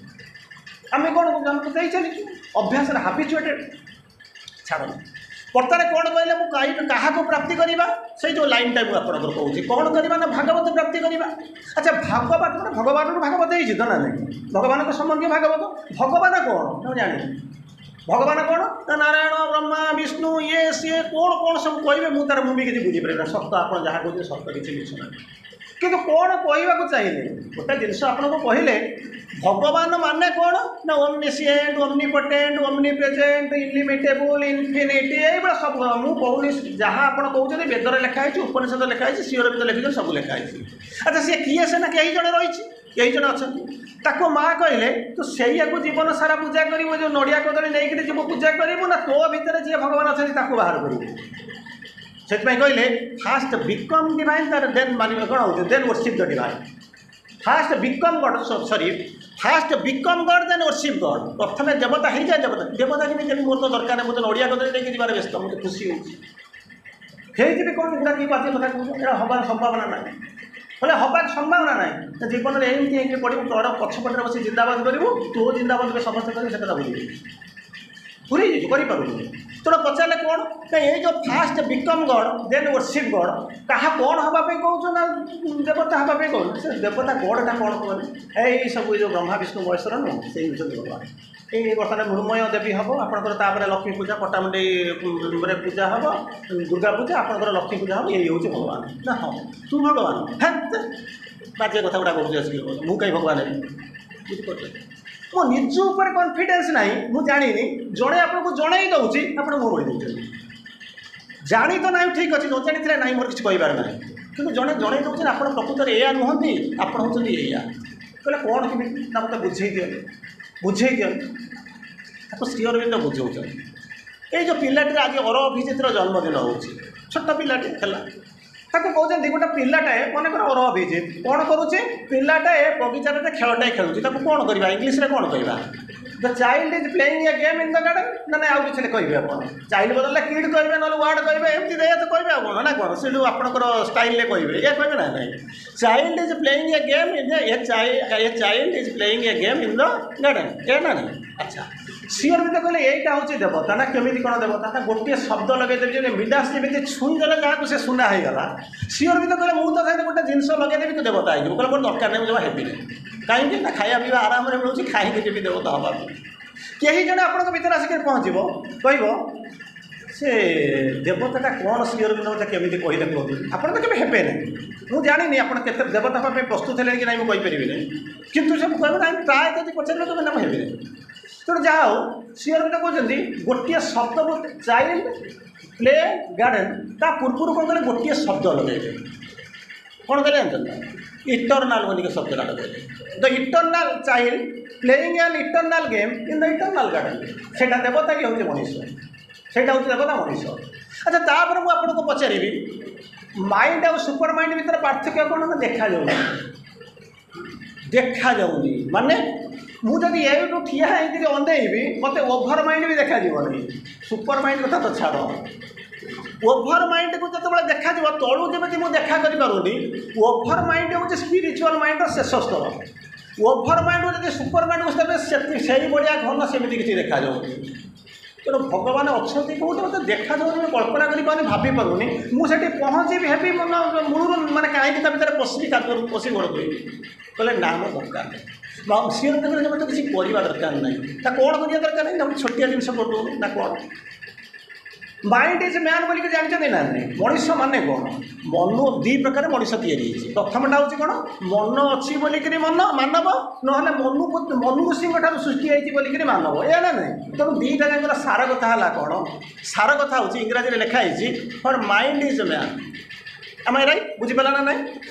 ଆମେ କ'ଣ କରୁଛୁ ଆମେ ତ ଦେଇ ଚାଲିଛୁ ଅଭ୍ୟାସରେ ହାବିଚୁଏଟେଡ଼ ଛାଡ଼ନ୍ତୁ ବର୍ତ୍ତମାନ କ'ଣ କହିଲେ ମୁଁ କାଇ କାହାକୁ ପ୍ରାପ୍ତି କରିବା ସେଇ ଯେଉଁ ଲାଇନ୍ଟା ମୁଁ ଆପଣଙ୍କର କହୁଛି କ'ଣ କରିବା ନା ଭାଗବତ ପ୍ରାପ୍ତି କରିବା ଆଚ୍ଛା ଭାଗବତ ମାନେ ଭଗବାନରୁ ଭାଗବତ ହେଇଛି ତ ନା ନାହିଁ ଭଗବାନଙ୍କ ସମ୍ବନ୍ଧୀୟ ଭାଗବତ ଭଗବାନ କ'ଣ ମୁଁ ଜାଣିନି ଭଗବାନ କ'ଣ ନା ନାରାୟଣ ବ୍ରହ୍ମା ବିଷ୍ଣୁ ଇଏ ସିଏ କ'ଣ କ'ଣ ସବୁ କହିବେ ମୁଁ ତାର ମୁଁ ବି କିଛି ବୁଝିପାରିବିନି ସତ ଆପଣ ଯାହା କହୁଛନ୍ତି ସତ କିଛି ମିଛ ନାହିଁ କିନ୍ତୁ କ'ଣ କହିବାକୁ ଚାହିଁଲେ ଗୋଟେ ଜିନିଷ ଆପଣଙ୍କୁ କହିଲେ ଭଗବାନ ମାନେ କ'ଣ ନା ଓମନିସିଏଣ୍ଟ ଓମନିପୋଟେଣ୍ଟ ଓମନିପ୍ରେଜେଣ୍ଟ ଇଲିମିଟେବୁଲ୍ ଇନଫିନିଟି ଏଇଭଳିଆ ସବୁ ମୁଁ କହୁନି ଯାହା ଆପଣ କହୁଛନ୍ତି ବେଦରେ ଲେଖା ହେଇଛି ଉପନିଷଦ ଲେଖା ହେଇଛି ଶ୍ରୀ ଅରବିନ୍ଦ ଲେଖିଛନ୍ତି ସବୁ ଲେଖା ହେଇଛି ଆଚ୍ଛା ସିଏ କିଏ ସେ ନା କେହି ଜଣେ ରହିଛି କେହି ଜଣେ ଅଛନ୍ତି ତାକୁ ମା କହିଲେ ତୁ ସେଇଆକୁ ଜୀବନ ସାରା ପୂଜା କରିବୁ ଯେଉଁ ନଡ଼ିଆ କଦଳୀ ନେଇକିରି ଯିବୁ ପୂଜା କରିବୁ ନା ତୋ ଭିତରେ ଯିଏ ଭଗବାନ ଅଛନ୍ତି ତାକୁ ବାହାର କରିବୁ ସେଥିପାଇଁ କହିଲେ ଫାଷ୍ଟ ବିକମ୍ ଡିଭାଇନ୍ ତାର ଦେନ୍ ମାନିବ କ'ଣ ହେଉଛି then worship the divine first become God sorry first become God then worship God ପ୍ରଥମେ ଦେବତା ହେଇଯାଏ ଦେବତା ଦେବତା କେମିତି ହେବି ମୋର ତ ଦରକାର ନାହିଁ ମୁଁ ତ ନଡ଼ିଆ କଦଳୀ ନେଇକି ଯିବାରେ ବ୍ୟସ୍ତ ମୁଁ ତ ଖୁସି ହେଉଛି ହେଇଯିବି କ'ଣ ଏଗୁଡ଼ା କି ବାଜେ କଥା କହୁଛ ଏଇଟା ହେବାର ସମ୍ଭାବନା ନାହିଁ ହେଲେ ହେବାର ସମ୍ଭାବନା ନାହିଁ ତ ଜୀବନରେ ଏମିତି ହେଇକି ପଡ଼ିବୁ ତୋର ପଛପଟରେ ବସି ଜିନ୍ଦାବାଦ କରିବୁ ତୋ ଜିନ୍ଦାବାଦ ବି ସମସ୍ତେ କରିବେ ସେ କଥା ବୁଝିବେ ପୁରୀ ହେଇଯାଇଛି କରିପାରୁନି ତେଣୁ ପଚାରିଲେ କ'ଣ ନା ଏଇ ଯେଉଁ first become God then worship God କାହା କ'ଣ ହେବା ପାଇଁ କହୁଛ ନା ଦେବତା ହେବା ପାଇଁ କହୁଛ ସେ ଦେବତା ଗଡ଼ଟା କ'ଣ କୁହନି ଏଇ ସବୁ ଏଇ ଯେଉଁ ବ୍ରହ୍ମା ବିଷ୍ଣୁ ମହେଶ୍ୱର ନୁହଁ ସେଇ ହେଉଛନ୍ତି ଭଗବାନ ଏଇ ବର୍ତ୍ତମାନ ମୃଣ୍ମୟ ଦେବୀ ହେବ ଆପଣଙ୍କର ତାପରେ ଲକ୍ଷ୍ମୀ ପୂଜା ପଟ୍ଟାମୁଣ୍ଡେଇରେ ପୂଜା ହେବ ଦୁର୍ଗା ପୂଜା ଆପଣଙ୍କର ଲକ୍ଷ୍ମୀ ପୂଜା ହେବ ଏଇ ହେଉଛି ଭଗବାନ ନା ହଁ ତୁ ଭଗବାନ ହେ ବାଜେ କଥା ଗୁଡ଼ା କହୁଛି ଆସିକି ମୁଁ କାହିଁ ଭଗବାନ ହେବି ବୁଝିପାରୁଛନ୍ତି ମୋ ନିଜ ଉପରେ କନଫିଡେନ୍ସ ନାହିଁ ମୁଁ ଜାଣିନି ଜଣେ ଆପଣଙ୍କୁ ଜଣେଇ ଦେଉଛି ଆପଣ ମୁହଁ ମୋଡ଼ି ଦେଉଛନ୍ତି ଜାଣି ତ ନାହିଁ ଠିକ୍ ଅଛି ନ ଜାଣିଥିଲେ ନାହିଁ ମୋର କିଛି କହିବାର ନାହିଁ କିନ୍ତୁ ଜଣେ ଜଣେଇ ଦେଉଛନ୍ତି ଆପଣ ପ୍ରକୃତରେ ଏଇଆ ନୁହନ୍ତି ଆପଣ ହେଉଛନ୍ତି ଏଇଆ କହିଲେ କ'ଣ କେମିତି ନା ମୋତେ ବୁଝେଇ ଦିଅନ୍ତୁ ବୁଝେଇ ଦିଅନ୍ତୁ ତାକୁ ଶ୍ରୀ ଅରବିନ୍ଦ ବୁଝାଉଛନ୍ତି ଏଇ ଯେଉଁ ପିଲାଟିର ଆଜି ଅର ଅଭିଜିତର ଜନ୍ମଦିନ ହେଉଛି ଛୋଟ ପିଲାଟି ହେଲା ତାକୁ କହୁଛନ୍ତି ଗୋଟେ ପିଲାଟାଏ ମନେକର ଅର ଅଭିଜିତ କ'ଣ କରୁଛି ପିଲାଟାଏ ବଗିଚାରେ ଖେଳଟାଏ ଖେଳୁଛି ତାକୁ କ'ଣ କରିବା ଇଂଲିଶରେ କ'ଣ କହିବା the child is playing a game in the garden ନା ନାଇଁ ଆଉ କିଛି କହିବେ ଆପଣ ଚାଇଲ୍ଡ ବଦଳରେ କିଡ୍ କହିବେ ନହେଲେ ୱାର୍ଡ଼ କହିବେ ଏମିତି ଏଇଆ ତ କହିବେ ଆଉ କ'ଣ ନା କ'ଣ ସେ ଯେଉଁ ଆପଣଙ୍କର ଷ୍ଟାଇଲରେ କହିବେ ଏଇଆ କହିବେ ନା ନାଇଁ child is playing a game in a child is playing a game in the garden ଏ ନା ନାଇଁ ଆଚ୍ଛା ଶ୍ରୀ ଅରବିନ୍ଦ କହିଲେ ଏଇଟା ହେଉଛି ଦେବତା ନା କେମିତି କ'ଣ ଦେବତା ନା ଗୋଟିଏ ଶବ୍ଦ ଲଗେଇଦେବି ଯେମିତି ମିଡାସ ଯେମିତି ଛୁଇଁଦେଲେ ଯାହାକୁ ସେ ସୁନା ହେଇଗଲା ଶ୍ରୀ ଅରବିନ୍ଦ କହିଲେ ମୁଁ ତ ସାଙ୍ଗରେ ଗୋଟେ ଜିନିଷ ଲଗେଇଦେବି ତୁ ଦେବତା ହେଇଯିବୁ କହିଲେ ମୋର ଦରକାର ନାହିଁ ମୁଁ ଜମା ହେବିନି କାହିଁକି ନା ଖାଇବା ପିଇବା ଆରାମରେ ମିଳୁଛି କାହିଁକି ଯିବି ଦେବତା ହେବା ପାଇଁ କେହି ଜଣେ ଆପଣଙ୍କ ଭିତରେ ଆସିକି ପହଞ୍ଚିବ କହିବ ସେ ଦେବତାଟା କ'ଣ ଶ୍ରୀ ଅରବିନ୍ଦ ମୋତେ କେମିତି କହିଲେ କୁହନ୍ତୁ ଆପଣ ତ କେବେ ହେବେ ନାହିଁ ମୁଁ ଜାଣିନି ଆପଣ କେତେ ଦେବତା ହେବା ପାଇଁ ପ୍ରସ୍ତୁତ ହେଲେଣି କି ନାହିଁ ମୁଁ କହିପାରିବିନି କିନ୍ତୁ ସେ କହିବେ ନାହିଁ ପ୍ରାୟ ଯଦି ପଚାରିବେ କହିବେ ନା ମୁଁ ହେବିନି ତେଣୁ ଯାହା ହଉ ଶ୍ରୀ ଅରବିନ୍ଦ କହୁଛନ୍ତି ଗୋଟିଏ ଶବ୍ଦ ଚାଇଲ୍ଡ ପ୍ଲେ ଗାର୍ଡ଼େନ୍ ତା ପୂର୍ବରୁ କ'ଣ କଲେ ଗୋଟିଏ ଶବ୍ଦ ଲଗେଇଲେ କ'ଣ କଲେ ଜାଣିଛନ୍ତି ଇଟର୍ନାଲ୍ ବୋଲିକି ଶବ୍ଦଟା ଲଗେଇଲେ the eternal child playing an eternal game in the eternal garden ସେଇଟା ଦେବତା କି ହେଉଛି ମଣିଷ ସେଇଟା ହେଉଛି ଦେବତା ମଣିଷ ଆଚ୍ଛା ତାପରେ ମୁଁ ଆପଣଙ୍କୁ ପଚାରିବି ମାଇଣ୍ଡ ଆଉ ସୁପର ମାଇଣ୍ଡ ଭିତରେ ପାର୍ଥକ୍ୟ କ'ଣ ନା ଦେଖାଯାଉନି ଦେଖାଯାଉନି ମାନେ ମୁଁ ଯଦି ଏଇଠୁ ଠିଆ ହେଇକିରି ଅନେଇବି ମୋତେ ଓଭର ମାଇଣ୍ଡ ବି ଦେଖାଯିବନି ସୁପର ମାଇଣ୍ଡ କଥା ତ ଛାଡ଼ ଓଭର ମାଇଣ୍ଡକୁ ଯେତେବେଳେ ଦେଖାଯିବ ତଳୁ ଯେମିତି ମୁଁ ଦେଖା କରିପାରୁନି ଓଭର ମାଇଣ୍ଡ ହେଉଛି ସ୍ପିରିଚୁଆଲ ମାଇଣ୍ଡର ଶେଷ ସ୍ତର ଓଭର ମାଇଣ୍ଡକୁ ଯଦି ସୁପର ମାଇଣ୍ଡକୁ ଦେବେ ସେତି ସେଇଭଳିଆ ଘନ ସେମିତି କିଛି ଦେଖାଯାଉନି ତେଣୁ ଭଗବାନ ଅଛନ୍ତି କେଉଁଠି ମୋତେ ଦେଖାଯାଉନି ମୁଁ କଳ୍ପନା କରିପାରୁନି ଭାବିପାରୁନି ମୁଁ ସେଠି ପହଞ୍ଚିବି ହେବି ମନ ମୂଳରୁ ମାନେ କାହିଁକି ତା ଭିତରେ ପଶିବି କାଦୁଅରୁ ପଶି ଗୋଡ଼ ଧୋଇବି କହିଲେ ନା ମୋ ଦରକାର ନାହିଁ ସିଏ କହିଲେ ମୋତେ କିଛି କରିବା ଦରକାର ନାହିଁ ତା କ'ଣ କରିବା ଦରକାର ନାହିଁ ନା ଗୋଟେ ଛୋଟିଆ ଜିନିଷ କରିଦେଉନୁ ନା କ'ଣ ମାଇଣ୍ଡ is man ବୋଲିକି ଜାଣିଛନ୍ତି ନା ନାହିଁ ମଣିଷ ମାନେ କ'ଣ ମନ ଦୁଇ ପ୍ରକାର ମଣିଷ ତିଆରି ହେଇଛି ପ୍ରଥମଟା ହେଉଛି କ'ଣ ମନ ଅଛି ବୋଲିକିରି ମନ ମାନବ ନହେଲେ ମନୁ ମନୁ ଋଷିଙ୍କ ଠାରୁ ସୃଷ୍ଟି ହେଇଛି ବୋଲିକିରି ମାନବ ଏହା ନା ନାହିଁ ତେଣୁ ଦୁଇଟା ଯାକର ସାର କଥା ହେଲା କ'ଣ ସାର କଥା ହେଉଛି ଇଂରାଜୀରେ ଲେଖା ହେଇଛି for mind is man am I right ବୁଝିପାରିଲା ନା ନାହିଁ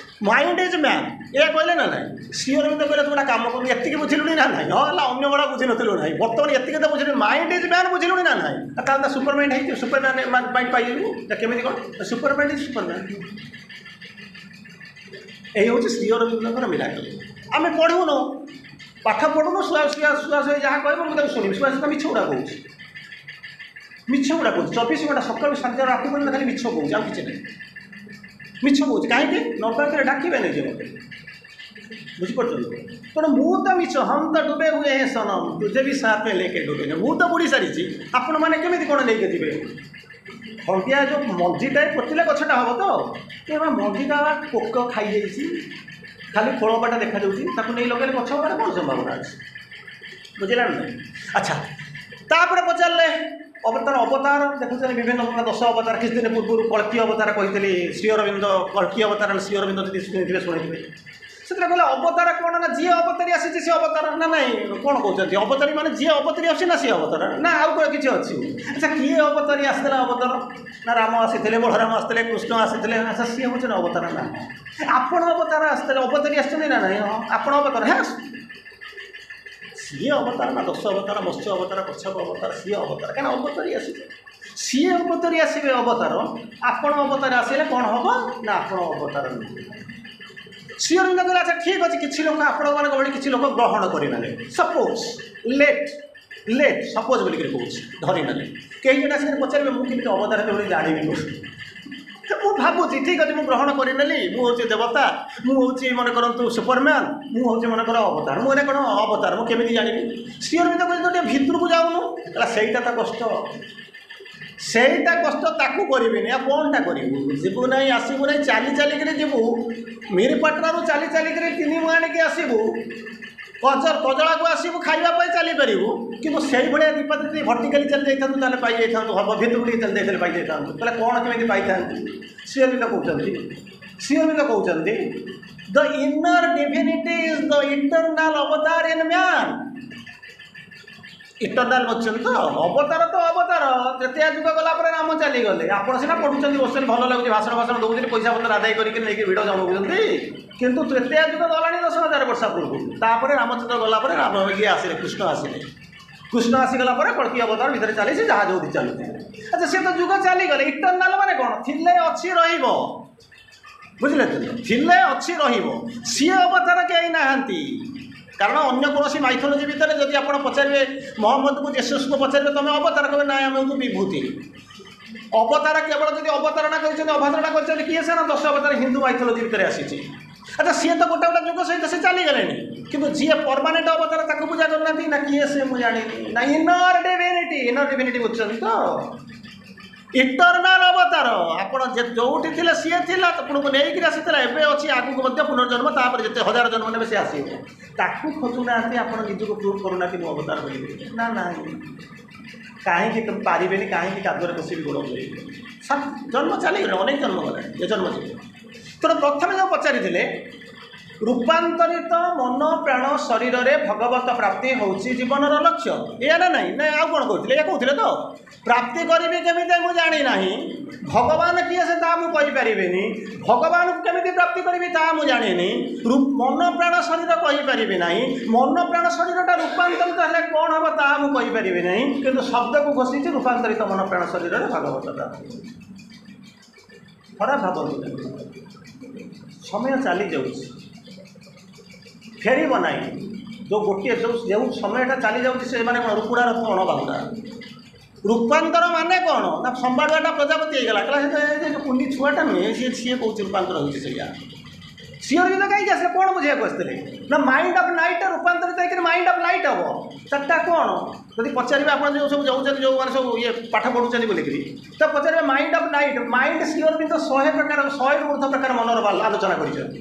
mind is man ଏହା କହିଲେ ନା ନାହିଁ ଶ୍ରୀ ଅରବିନ୍ଦ କହିଲେ ତୁ ଗୋଟେ କାମ କରୁ ଏତିକି ବୁଝିଲୁଣି ନା ନାହିଁ ହଁ ହେଲା ଅନ୍ୟ ଗୁଡ଼ା ବୁଝିନଥିଲୁ ନାହିଁ ବର୍ତ୍ତମାନ ଏତିକି ତ ବୁଝିଲୁ ମାଇଣ୍ଡ is man ବୁଝିଲୁଣି ନା ନାହିଁ ତାହେଲେ ତ ସୁପର ମାଇଣ୍ଡ ହେଇଯିବ ସୁପର ମ୍ୟାନ୍ ମାଇଣ୍ଡ ପାଇଯିବୁ କେମିତି କ'ଣ super mind is super man ଏଇ ହେଉଛି ଶ୍ରୀ ଅରବିନ୍ଦଙ୍କର ମିରାକଲ ଆମେ ପଢ଼ୁନୁ ପାଠ ପଢ଼ୁନୁ ଶୁଆ ଶୁଆ ଶୁଆ ଶୁଆ ଯାହା କହିବ ମୁଁ ତାକୁ ଶୁଣିବି ଶୁଆ ଶୁଆ ମିଛ ଗୁଡ଼ା କହୁଛି ମିଛ ଗୁଡ଼ା କହୁଛି ଚବିଶ ଘଣ୍ଟା ସକାଳୁ ସନ୍ଧ୍ୟା ରାତି ପର୍ଯ୍ୟନ୍ତ ଖାଲି ମିଛ କହୁଛି ଆଉ କିଛି ନାହିଁ ମିଛ କହୁଛି କାହିଁକି ନ କହିଲେ ଡାକିବେ ନାହିଁ ଯେ ମୋତେ ବୁଝିପାରୁଛନ୍ତି ତେଣୁ ମୁଁ ତ ମିଛ हम तो डूबे हुए हैं सनम तुझे भी साथ में लेके डूबे ମୁଁ ତ ବୁଡ଼ି ସାରିଛି ଆପଣମାନେ କେମିତି କ'ଣ ନେଇକି ଯିବେ ହଳଦିଆ ଯେଉଁ ମଞ୍ଜିଟାଏ ପୋତିଲେ ଗଛଟା ହେବ ତ ଏ ମଞ୍ଜିଟା ପୋକ ଖାଇଯାଇଛି ଖାଲି ଖୋଳପାଟା ଦେଖାଯାଉଛି ତାକୁ ନେଇ ଲଗେଇଲେ ଗଛ ହେବାର କ'ଣ ସମ୍ଭାବନା ଅଛି ବୁଝିଲା ନା ନାହିଁ ଆଚ୍ଛା ତାପରେ ପଚାରିଲେ ଅବତାର ଅବତାର ଦେଖୁଛନ୍ତି ବିଭିନ୍ନ ପ୍ରକାର ଦଶ ଅବତାର କିଛି ଦିନ ପୂର୍ବରୁ କଳ୍କୀ ଅବତାର କହିଥିଲି ଶ୍ରୀ ଅରବିନ୍ଦ କଳ୍କୀ ଅବତାର ଶ୍ରୀ ଅରବିନ୍ଦ ଯଦି ଶୁଣିଥିବେ ଶୁଣିଥିବେ ସେଥିରେ କହିଲେ ଅବତାର କ'ଣ ନା ଯିଏ ଅବତାରୀ ଆସିଛି ସେ ଅବତାର ନା ନାଇଁ କ'ଣ କହୁଛନ୍ତି ଅବତାରୀ ମାନେ ଯିଏ ଅବତାରୀ ଆସୁଛି ନା ସିଏ ଅବତାର ନା ଆଉ କ'ଣ କିଛି ଅଛି ଆଚ୍ଛା କିଏ ଅବତାରୀ ଆସିଥିଲା ଅବତାର ନା ରାମ ଆସିଥିଲେ ବଳରାମ ଆସିଥିଲେ କୃଷ୍ଣ ଆସିଥିଲେ ଆଚ୍ଛା ସିଏ ହେଉଛନ୍ତି ଅବତାର ନା ଆପଣ ଅବତାର ଆସିଥିଲେ ଅବତାରୀ ଆସିଛନ୍ତି ନା ନାଇଁ ହଁ ଆପଣ ଅବତାର ହେ ସିଏ ଅବତାର ନା ଦଶ ଅବତାର ମତ୍ସ୍ୟ ଅବତାର କଚ୍ଛପ ଅବତାର ସିଏ ଅବତାର କାହିଁକିନା ଅବତାରୀ ଆସିছে ସିଏ ଅବତାରୀ ଆସିବେ ଅବତାର ଆପଣ ଅବତାର ଆସିଲେ କ'ଣ ହେବ ନା ଆପଣ ଅବତାର ନୁହେଁ ଶ୍ରୀ ଅରବିନ୍ଦ କହିଲେ ଆଚ୍ଛା ଠିକ୍ ଅଛି କିଛି ଲୋକ ଆପଣମାନଙ୍କ ଭଳି କିଛି ଲୋକ ଗ୍ରହଣ କରିନେଲେ ସପୋଜ୍ ଲେଟ୍ ଲେଟ୍ ସପୋଜ୍ ବୋଲିକିରି କହୁଛି ଧରିନେଲେ କେହି ଜଣେ ଆସିକି ପଚାରିବେ ମୁଁ କେମିତି ଅବତାର ହେବି ବୋଲି ଜାଣିବି ମୁଁ ଭାବୁଛି ଠିକ୍ ଅଛି ମୁଁ ଗ୍ରହଣ କରିନେଲି ମୁଁ ହେଉଛି ଦେବତା ମୁଁ ହେଉଛି ମନେ କରନ୍ତୁ ସୁପରମ୍ୟାନ୍ ମୁଁ ହେଉଛି ମନେକର ଅବତାର ମୁଁ ଏଇଟା କ'ଣ ଅବତାର ମୁଁ କେମିତି ଜାଣିବି ଶ୍ରୀ ଅରବିନ୍ଦ କହିଲେ ତୁ ଟିକେ ଭିତରକୁ ଯାଉନୁ ହେଲା ସେଇଟା ତ କଷ୍ଟ ସେଇଟା କଷ୍ଟ ତାକୁ କରିବିନି ଆଉ କ'ଣଟା କରିବୁ ଯିବୁ ନାହିଁ ଆସିବୁ ନାହିଁ ଚାଲି ଚାଲିକିରି ଯିବୁ ମିରିପାଟଣାରୁ ଚାଲି ଚାଲିକିରି ତିନି ଆଣିକି ଆସିବୁ କଜ କଜଳାକୁ ଆସିବୁ ଖାଇବା ପାଇଁ ଚାଲିପାରିବୁ କିନ୍ତୁ ସେଇଭଳିଆ ଦୀପା ଯଦି ଭର୍ଟିକାଲି ଚାଲି ଯାଇଥାନ୍ତୁ ତାହେଲେ ପାଇଯାଇଥାନ୍ତୁ ହବ ଭିତରକୁ ଟିକେ ଚାଲି ଯାଇଥିଲେ ପାଇଯାଇଥାନ୍ତୁ ତାହେଲେ କ'ଣ କେମିତି ପାଇଥାନ୍ତୁ ଶ୍ରୀ ଅରବିନ୍ଦ କହୁଛନ୍ତି ଶ୍ରୀ ଅରବିନ୍ଦ କହୁଛନ୍ତି the inner divinity is the eternal avatar in man Eternal ବସିଛନ୍ତି ତ ଅବତାର ତ ଅବତାର ତ୍ରେତୟା ଯୁଗ ଗଲା ପରେ ରାମ ଚାଲିଗଲେ ଆପଣ ସିନା ପଢ଼ୁଛନ୍ତି ବସୁଛନ୍ତି ଭଲ ଲାଗୁଛି ଭାଷଣ ଭାଷଣ ଦେଉଛନ୍ତି ପଇସା ପତ୍ର ଆଦାୟ କରିକି ନେଇକି ଭିଡ଼ ଜମାଉଛନ୍ତି କିନ୍ତୁ ତ୍ରେତୟା ଯୁଗ ଗଲାଣି ଦଶ ହଜାର ବର୍ଷ ପୂର୍ବରୁ ତାପରେ ରାମଚନ୍ଦ୍ର ଗଲା ପରେ ରାମ ଇଏ ଆସିଲେ କୃଷ୍ଣ ଆସିଲେ କୃଷ୍ଣ ଆସିଗଲା ପରେ କଳ୍କୀ ଅବତାର ଭିତରେ ଚାଲିଛି ଯାହା ଯୋଉଠି ଚାଲୁଛି ଆଚ୍ଛା ସେ ତ ଯୁଗ ଚାଲିଗଲେ ଇଟରନାଲ ମାନେ କ'ଣ ଥିଲେ ଅଛି ରହିବ ବୁଝିଲେ ତ ଥିଲେ ଅଛି ରହିବ ସିଏ ଅବତାର କେହି ନାହାନ୍ତି କାରଣ ଅନ୍ୟ କୌଣସି ମାଇଥୋଲୋଜି ଭିତରେ ଯଦି ଆପଣ ପଚାରିବେ ମହମ୍ମଦକୁ ଜେସସ୍କୁ ପଚାରିବେ ତୁମେ ଅବତାର କହିବେ ନାଇଁ ଆମେ ହେଉଛୁ ବିଭୂତି ଅବତାର କେବଳ ଯଦି ଅବତାରଣା କରିଛନ୍ତି ଅବତାରଣା କରିଛନ୍ତି କିଏ ସେ ନା ଦଶ ଅବତାର ହିନ୍ଦୁ ମାଇଥୋଲୋଜି ଭିତରେ ଆସିଛି ଆଚ୍ଛା ସିଏ ତ ଗୋଟେ ଗୋଟେ ଯୁଗ ସହିତ ସେ ଚାଲିଗଲେଣି କିନ୍ତୁ ଯିଏ ପରମାନେଣ୍ଟ ଅବତାର ତାକୁ ପୂଜା କରୁନାହାନ୍ତି ନା କିଏ ସେ ମୁଁ ଜାଣିନି ନା ଇନର ଡିଭିନିଟି ଇନର ଡିଭିନିଟି ବୁଝୁଛନ୍ତି ତ ଇଟରନାଲ ଅବତାର ଆପଣ ଯେ ଯୋଉଠି ଥିଲେ ସିଏ ଥିଲା ଆପଣଙ୍କୁ ନେଇକିରି ଆସିଥିଲା ଏବେ ଅଛି ଆଗକୁ ମଧ୍ୟ ପୁନର୍ଜନ୍ମ ତାପରେ ଯେତେ ହଜାର ଜନ୍ମ ନେବେ ସେ ଆସିବ ତାକୁ ଖୋଜୁନାହାନ୍ତି ଆପଣ ନିଜକୁ ପ୍ରୁଭ୍ କରୁନାହାନ୍ତି ମୁଁ ଅବତାର ବୋଲି ନା ନାହିଁ କାହିଁକି ପାରିବେନି କାହିଁକି କାଦୁଅରେ ବସିବି ଗୋଡ଼ ଧୋଇବି ଜନ୍ମ ଚାଲିଗଲାଣି ଅନେକ ଜନ୍ମ ଗଲାଣି ଏ ଜନ୍ମ ଯିବ ତେଣୁ ପ୍ରଥମେ ଯେଉଁ ପଚାରିଥିଲେ ରୂପାନ୍ତରିତ ମନ ପ୍ରାଣ ଶରୀରରେ ଭଗବତ ପ୍ରାପ୍ତି ହେଉଛି ଜୀବନର ଲକ୍ଷ୍ୟ ଏଇଆ ନା ନାହିଁ ନା ଆଉ କ'ଣ କହୁଥିଲେ ଏଇଆ କହୁଥିଲେ ତ ପ୍ରାପ୍ତି କରିବି କେମିତି ମୁଁ ଜାଣିନାହିଁ ଭଗବାନ କିଏ ସେ ତାହା ମୁଁ କହିପାରିବିନି ଭଗବାନଙ୍କୁ କେମିତି ପ୍ରାପ୍ତି କରିବି ତାହା ମୁଁ ଜାଣିନି ମନ ପ୍ରାଣ ଶରୀର କହିପାରିବି ନାହିଁ ମନ ପ୍ରାଣ ଶରୀରଟା ରୂପାନ୍ତରିତ ହେଲେ କ'ଣ ହେବ ତାହା ମୁଁ କହିପାରିବି ନାହିଁ କିନ୍ତୁ ଶବ୍ଦକୁ ଘୋଷିଛି ରୂପାନ୍ତରିତ ମନ ପ୍ରାଣ ଶରୀରରେ ଭଗବତ ପ୍ରାପ୍ତି ଖରାପ ଭାବନ୍ତୁ ସମୟ ଚାଲି ଯାଉଛି ଫେରିବ ନାହିଁ ଯେଉଁ ଗୋଟିଏ ଯେଉଁ ଯେଉଁ ସମୟଟା ଚାଲି ଯାଉଛି ସେ ମାନେ କ'ଣ ରୁକୁଡ଼ାର ଅଣ ବାହୁଡ଼ା ରୂପାନ୍ତର ମାନେ କ'ଣ ନା ସମ୍ବାଡ଼ୁଆଟା ପ୍ରଜାପତି ହେଇଗଲା କହିଲା ସେ ଯେଉଁ କୁନି ଛୁଆଟା ନୁହେଁ ସିଏ ସିଏ କହୁଛି ରୂପାନ୍ତର ହେଉଛି ସେଇଆ ଶ୍ରୀଅରବିନ୍ଦ କାହିଁକି ଆସିଲେ କ'ଣ ବୁଝିବାକୁ ଆସିଥିଲେ ନା ମାଇଣ୍ଡ ଅଫ୍ ନାଇଟ୍ଟା ରୂପାନ୍ତରିତ ହେଇକରି ମାଇଣ୍ଡ ଅଫ୍ ଲାଇଟ୍ ହେବ ସେଟା କ'ଣ ଯଦି ପଚାରିବେ ଆପଣ ଯେଉଁ ସବୁ ଯାଉଛନ୍ତି ଯେଉଁମାନେ ସବୁ ଇଏ ପାଠ ପଢ଼ୁଛନ୍ତି ବୋଲିକିରି ତ ପଚାରିବେ mind of night mind Sri Aurobindo ଶହେ ପ୍ରକାର ଶହେରୁ ଉର୍ଦ୍ଧ୍ୱ ପ୍ରକାର ମନର ଆଲୋଚନା କରିଛନ୍ତି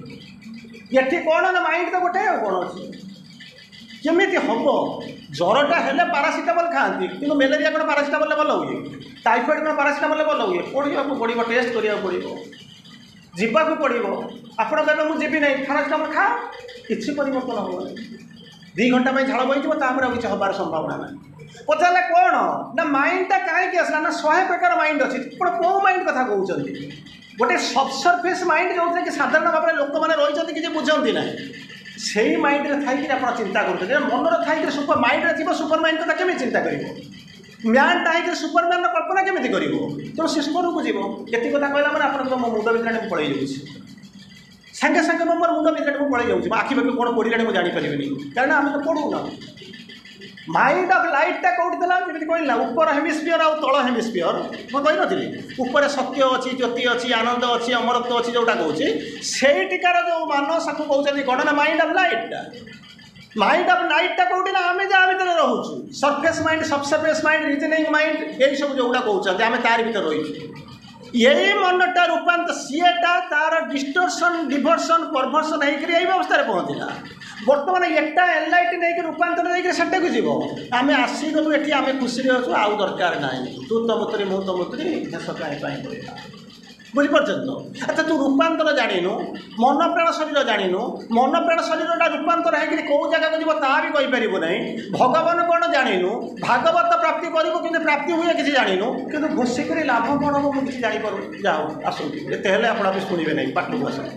ଏଠି କ'ଣ ନା ମାଇଣ୍ଡ ତ ଗୋଟେ ଆଉ କ'ଣ ଅଛି କେମିତି ହେବ ଜ୍ୱରଟା ହେଲେ ପାରାସିଟାମଲ୍ ଖାଆନ୍ତି କିନ୍ତୁ ମ୍ୟାଲେରିଆ କ'ଣ ପାରାସିଟାମଲ୍ରେ ଭଲ ହୁଏ ଟାଇଫଏଡ଼୍ କ'ଣ ପାରାସିଟାମଲ୍ରେ ଭଲ ହୁଏ ପଢ଼ିବାକୁ ପଡ଼ିବ ଟେଷ୍ଟ କରିବାକୁ ପଡ଼ିବ ଯିବାକୁ ପଡ଼ିବ ଆପଣ କହିବେ ମୁଁ ଯିବି ନାହିଁ ପାରାସିଟାମଲ୍ ଖା କିଛି ପରିବର୍ତ୍ତନ ହେବନି ଦୁଇ ଘଣ୍ଟା ପାଇଁ ଝାଳ ବହିଯିବ ତାପରେ ଆଉ କିଛି ହେବାର ସମ୍ଭାବନା ନାହିଁ ପଚାରିଲେ କ'ଣ ନା ମାଇଣ୍ଡଟା କାହିଁକି ଆସିଲା ନା ଶହେ ପ୍ରକାର ମାଇଣ୍ଡ ଅଛି ଆପଣ କେଉଁ ମାଇଣ୍ଡ କଥା କହୁଛନ୍ତି ଗୋଟେ ସବସର୍ଫେସ୍ ମାଇଣ୍ଡ ଯେଉଁଥିରେ କି ସାଧାରଣ ଭାବରେ ଲୋକମାନେ ରହିଛନ୍ତି କିଛି ବୁଝନ୍ତି ନାହିଁ ସେଇ ମାଇଣ୍ଡରେ ଥାଇକିରି ଆପଣ ଚିନ୍ତା କରୁଛନ୍ତି ମନରେ ଥାଇକିରି ସୁପର ମାଇଣ୍ଡରେ ଥିବ ସୁପର ମାଇଣ୍ଡ କଥା କେମିତି ଚିନ୍ତା କରିବ ମ୍ୟାନ୍ଟା ହେଇକିରି ସୁପରମ୍ୟାନ୍ର କଳ୍ପନା କେମିତି କରିବ ତେଣୁ ସେ ସ୍ୱରକୁ ଯିବ ଏତିକି କଥା କହିଲା ମାନେ ଆପଣଙ୍କ ମୋ ମୁଣ୍ଡ ଭିତରେ ମୁଁ ପଳେଇ ଯାଉଛି ସାଙ୍ଗେ ସାଙ୍ଗେ ମୁଁ ମୋର ମୁଣ୍ଡ ଭିତରେ ମୁଁ ପଳେଇ ଯାଉଛି ମୋ ଆଖି ପାଖି କ'ଣ ପଡ଼ିଲାଣି ମୁଁ ଜାଣିପାରିବିନି କାରଣ ଆମେ ତ ପଢ଼ୁନା ମାଇଣ୍ଡ ଅଫ୍ ଲାଇଟ୍ଟା କେଉଁଠି ଥିଲା ଯେମିତି କହିଲି ନା ଉପର ହେମିସ୍ଫିୟର ଆଉ ତଳ ହେମିସ୍ଫିୟର ମୁଁ କହିନଥିଲି ଉପରେ ସତ୍ୟ ଅଛି ଜ୍ୟୋତି ଅଛି ଆନନ୍ଦ ଅଛି ଅମରତ୍ୱ ଅଛି ଯେଉଁଟା କହୁଛି ସେଇଠିକାର ଯେଉଁ ମାନସକୁ କହୁଛନ୍ତି କ'ଣ ନା ମାଇଣ୍ଡ ଅଫ୍ ଲାଇଟ୍ଟା ମାଇଣ୍ଡ ଅଫ୍ ନାଇଟ୍ଟା କେଉଁଠି ନା ଆମେ ଯାହା ଭିତରେ ରହୁଛୁ surface mind subsurface mind reasoning mind ଏଇସବୁ ଯେଉଁଗୁଡ଼ା କହୁଛନ୍ତି ଆମେ ତାରି ଭିତରେ ରହିଛୁ ଏଇ ମନଟା ରୂପାନ୍ତର ସିଏଟା ତାର ଡିଷ୍ଟୋର୍ସନ୍ ଡିଭର୍ସନ୍ ପରଭର୍ସନ୍ ହେଇକରି ଏଇ ଅବସ୍ଥାରେ ପହଞ୍ଚିଲା ବର୍ତ୍ତମାନ ଏଟା ଏନଲାଇଟ୍ ନେଇକି ରୂପାନ୍ତର ଦେଇକରି ସେଟାକୁ ଯିବ ଆମେ ଆସିଗଲୁ ଏଠି ଆମେ ଖୁସିରେ ଅଛୁ ଆଉ ଦରକାର ନାହିଁ ତୁ ତ ମତରେ ମୁଁ ତ ମତରେ ଦେଶ କାହିଁ ପାଇଁ ପଡ଼ିଲା ବୁଝିପାରୁଛନ୍ତି ତ ଆଚ୍ଛା ତୁ ରୂପାନ୍ତର ଜାଣିନୁ ମନ ପ୍ରାଣ ଶରୀର ଜାଣିନୁ ମନ ପ୍ରାଣ ଶରୀରଟା ରୂପାନ୍ତର ହେଇକରି କେଉଁ ଜାଗାକୁ ଯିବ ତାହା ବି କହିପାରିବୁ ନାହିଁ ଭଗବାନ କ'ଣ ଜାଣିନୁ ଭାଗବତ ପ୍ରାପ୍ତି କରିବୁ କିନ୍ତୁ ପ୍ରାପ୍ତି ହୁଏ କିଛି ଜାଣିନୁ କିନ୍ତୁ ଘୋଷିକରି ଲାଭ କ'ଣ ହେବ ମୁଁ କିଛି ଜାଣିପାରୁନି ଯାହା ହଉ ଆସନ୍ତୁ ଏତେ ହେଲେ ଆପଣ ବି ଶୁଣିବେ ନାହିଁ ପାଠକୁ ଆସନ୍ତୁ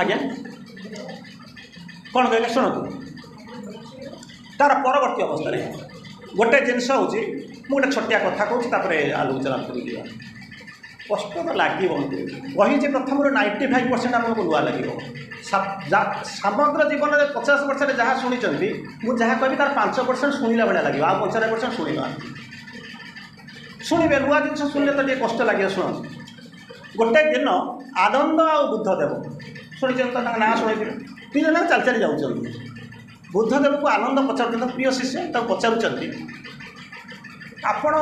ଆଜ୍ଞା କ'ଣ କହିଲେ ଶୁଣନ୍ତୁ ତାର ପରବର୍ତ୍ତୀ ଅବସ୍ଥାରେ ଗୋଟେ ଜିନିଷ ହେଉଛି ମୁଁ ଗୋଟେ ଛୋଟିଆ କଥା କହୁଛି ତାପରେ ଆଲୋଚନା କରିଯିବା କଷ୍ଟ ତ ଲାଗିବ କହିଛି ପ୍ରଥମରୁ ନାଇଣ୍ଟି ଫାଇଭ୍ ପରସେଣ୍ଟ ଆପଣଙ୍କୁ ନୂଆ ଲାଗିବ ସମଗ୍ର ଜୀବନରେ ପଚାଶ ବର୍ଷରେ ଯାହା ଶୁଣିଛନ୍ତି ମୁଁ ଯାହା କହିବି ତାର ପାଞ୍ଚ ପରସେଣ୍ଟ ଶୁଣିଲା ଭଳିଆ ଲାଗିବ ଆଉ ପଞ୍ଚାନବେ ପରସେଣ୍ଟ ଶୁଣିନାହାନ୍ତି ଶୁଣିବେ ନୂଆ ଜିନିଷ ଶୁଣିଲେ ତ ଟିକେ କଷ୍ଟ ଲାଗିବ ଶୁଣନ୍ତୁ ଗୋଟେ ଦିନ ଆନନ୍ଦ ଆଉ ବୁଦ୍ଧଦେବ ଶୁଣିଛନ୍ତି ତ ତାଙ୍କ ନାଁ ଶୁଣିଥିବେ ଦୁଇ ଜଣ ଚାଲି ଚାଲି ଯାଉଛନ୍ତି ବୁଦ୍ଧଦେବକୁ ଆନନ୍ଦ ପଚାରୁଛନ୍ତି ପ୍ରିୟ ଶିଷ୍ୟ ତାକୁ ପଚାରୁଛନ୍ତି ଆପଣ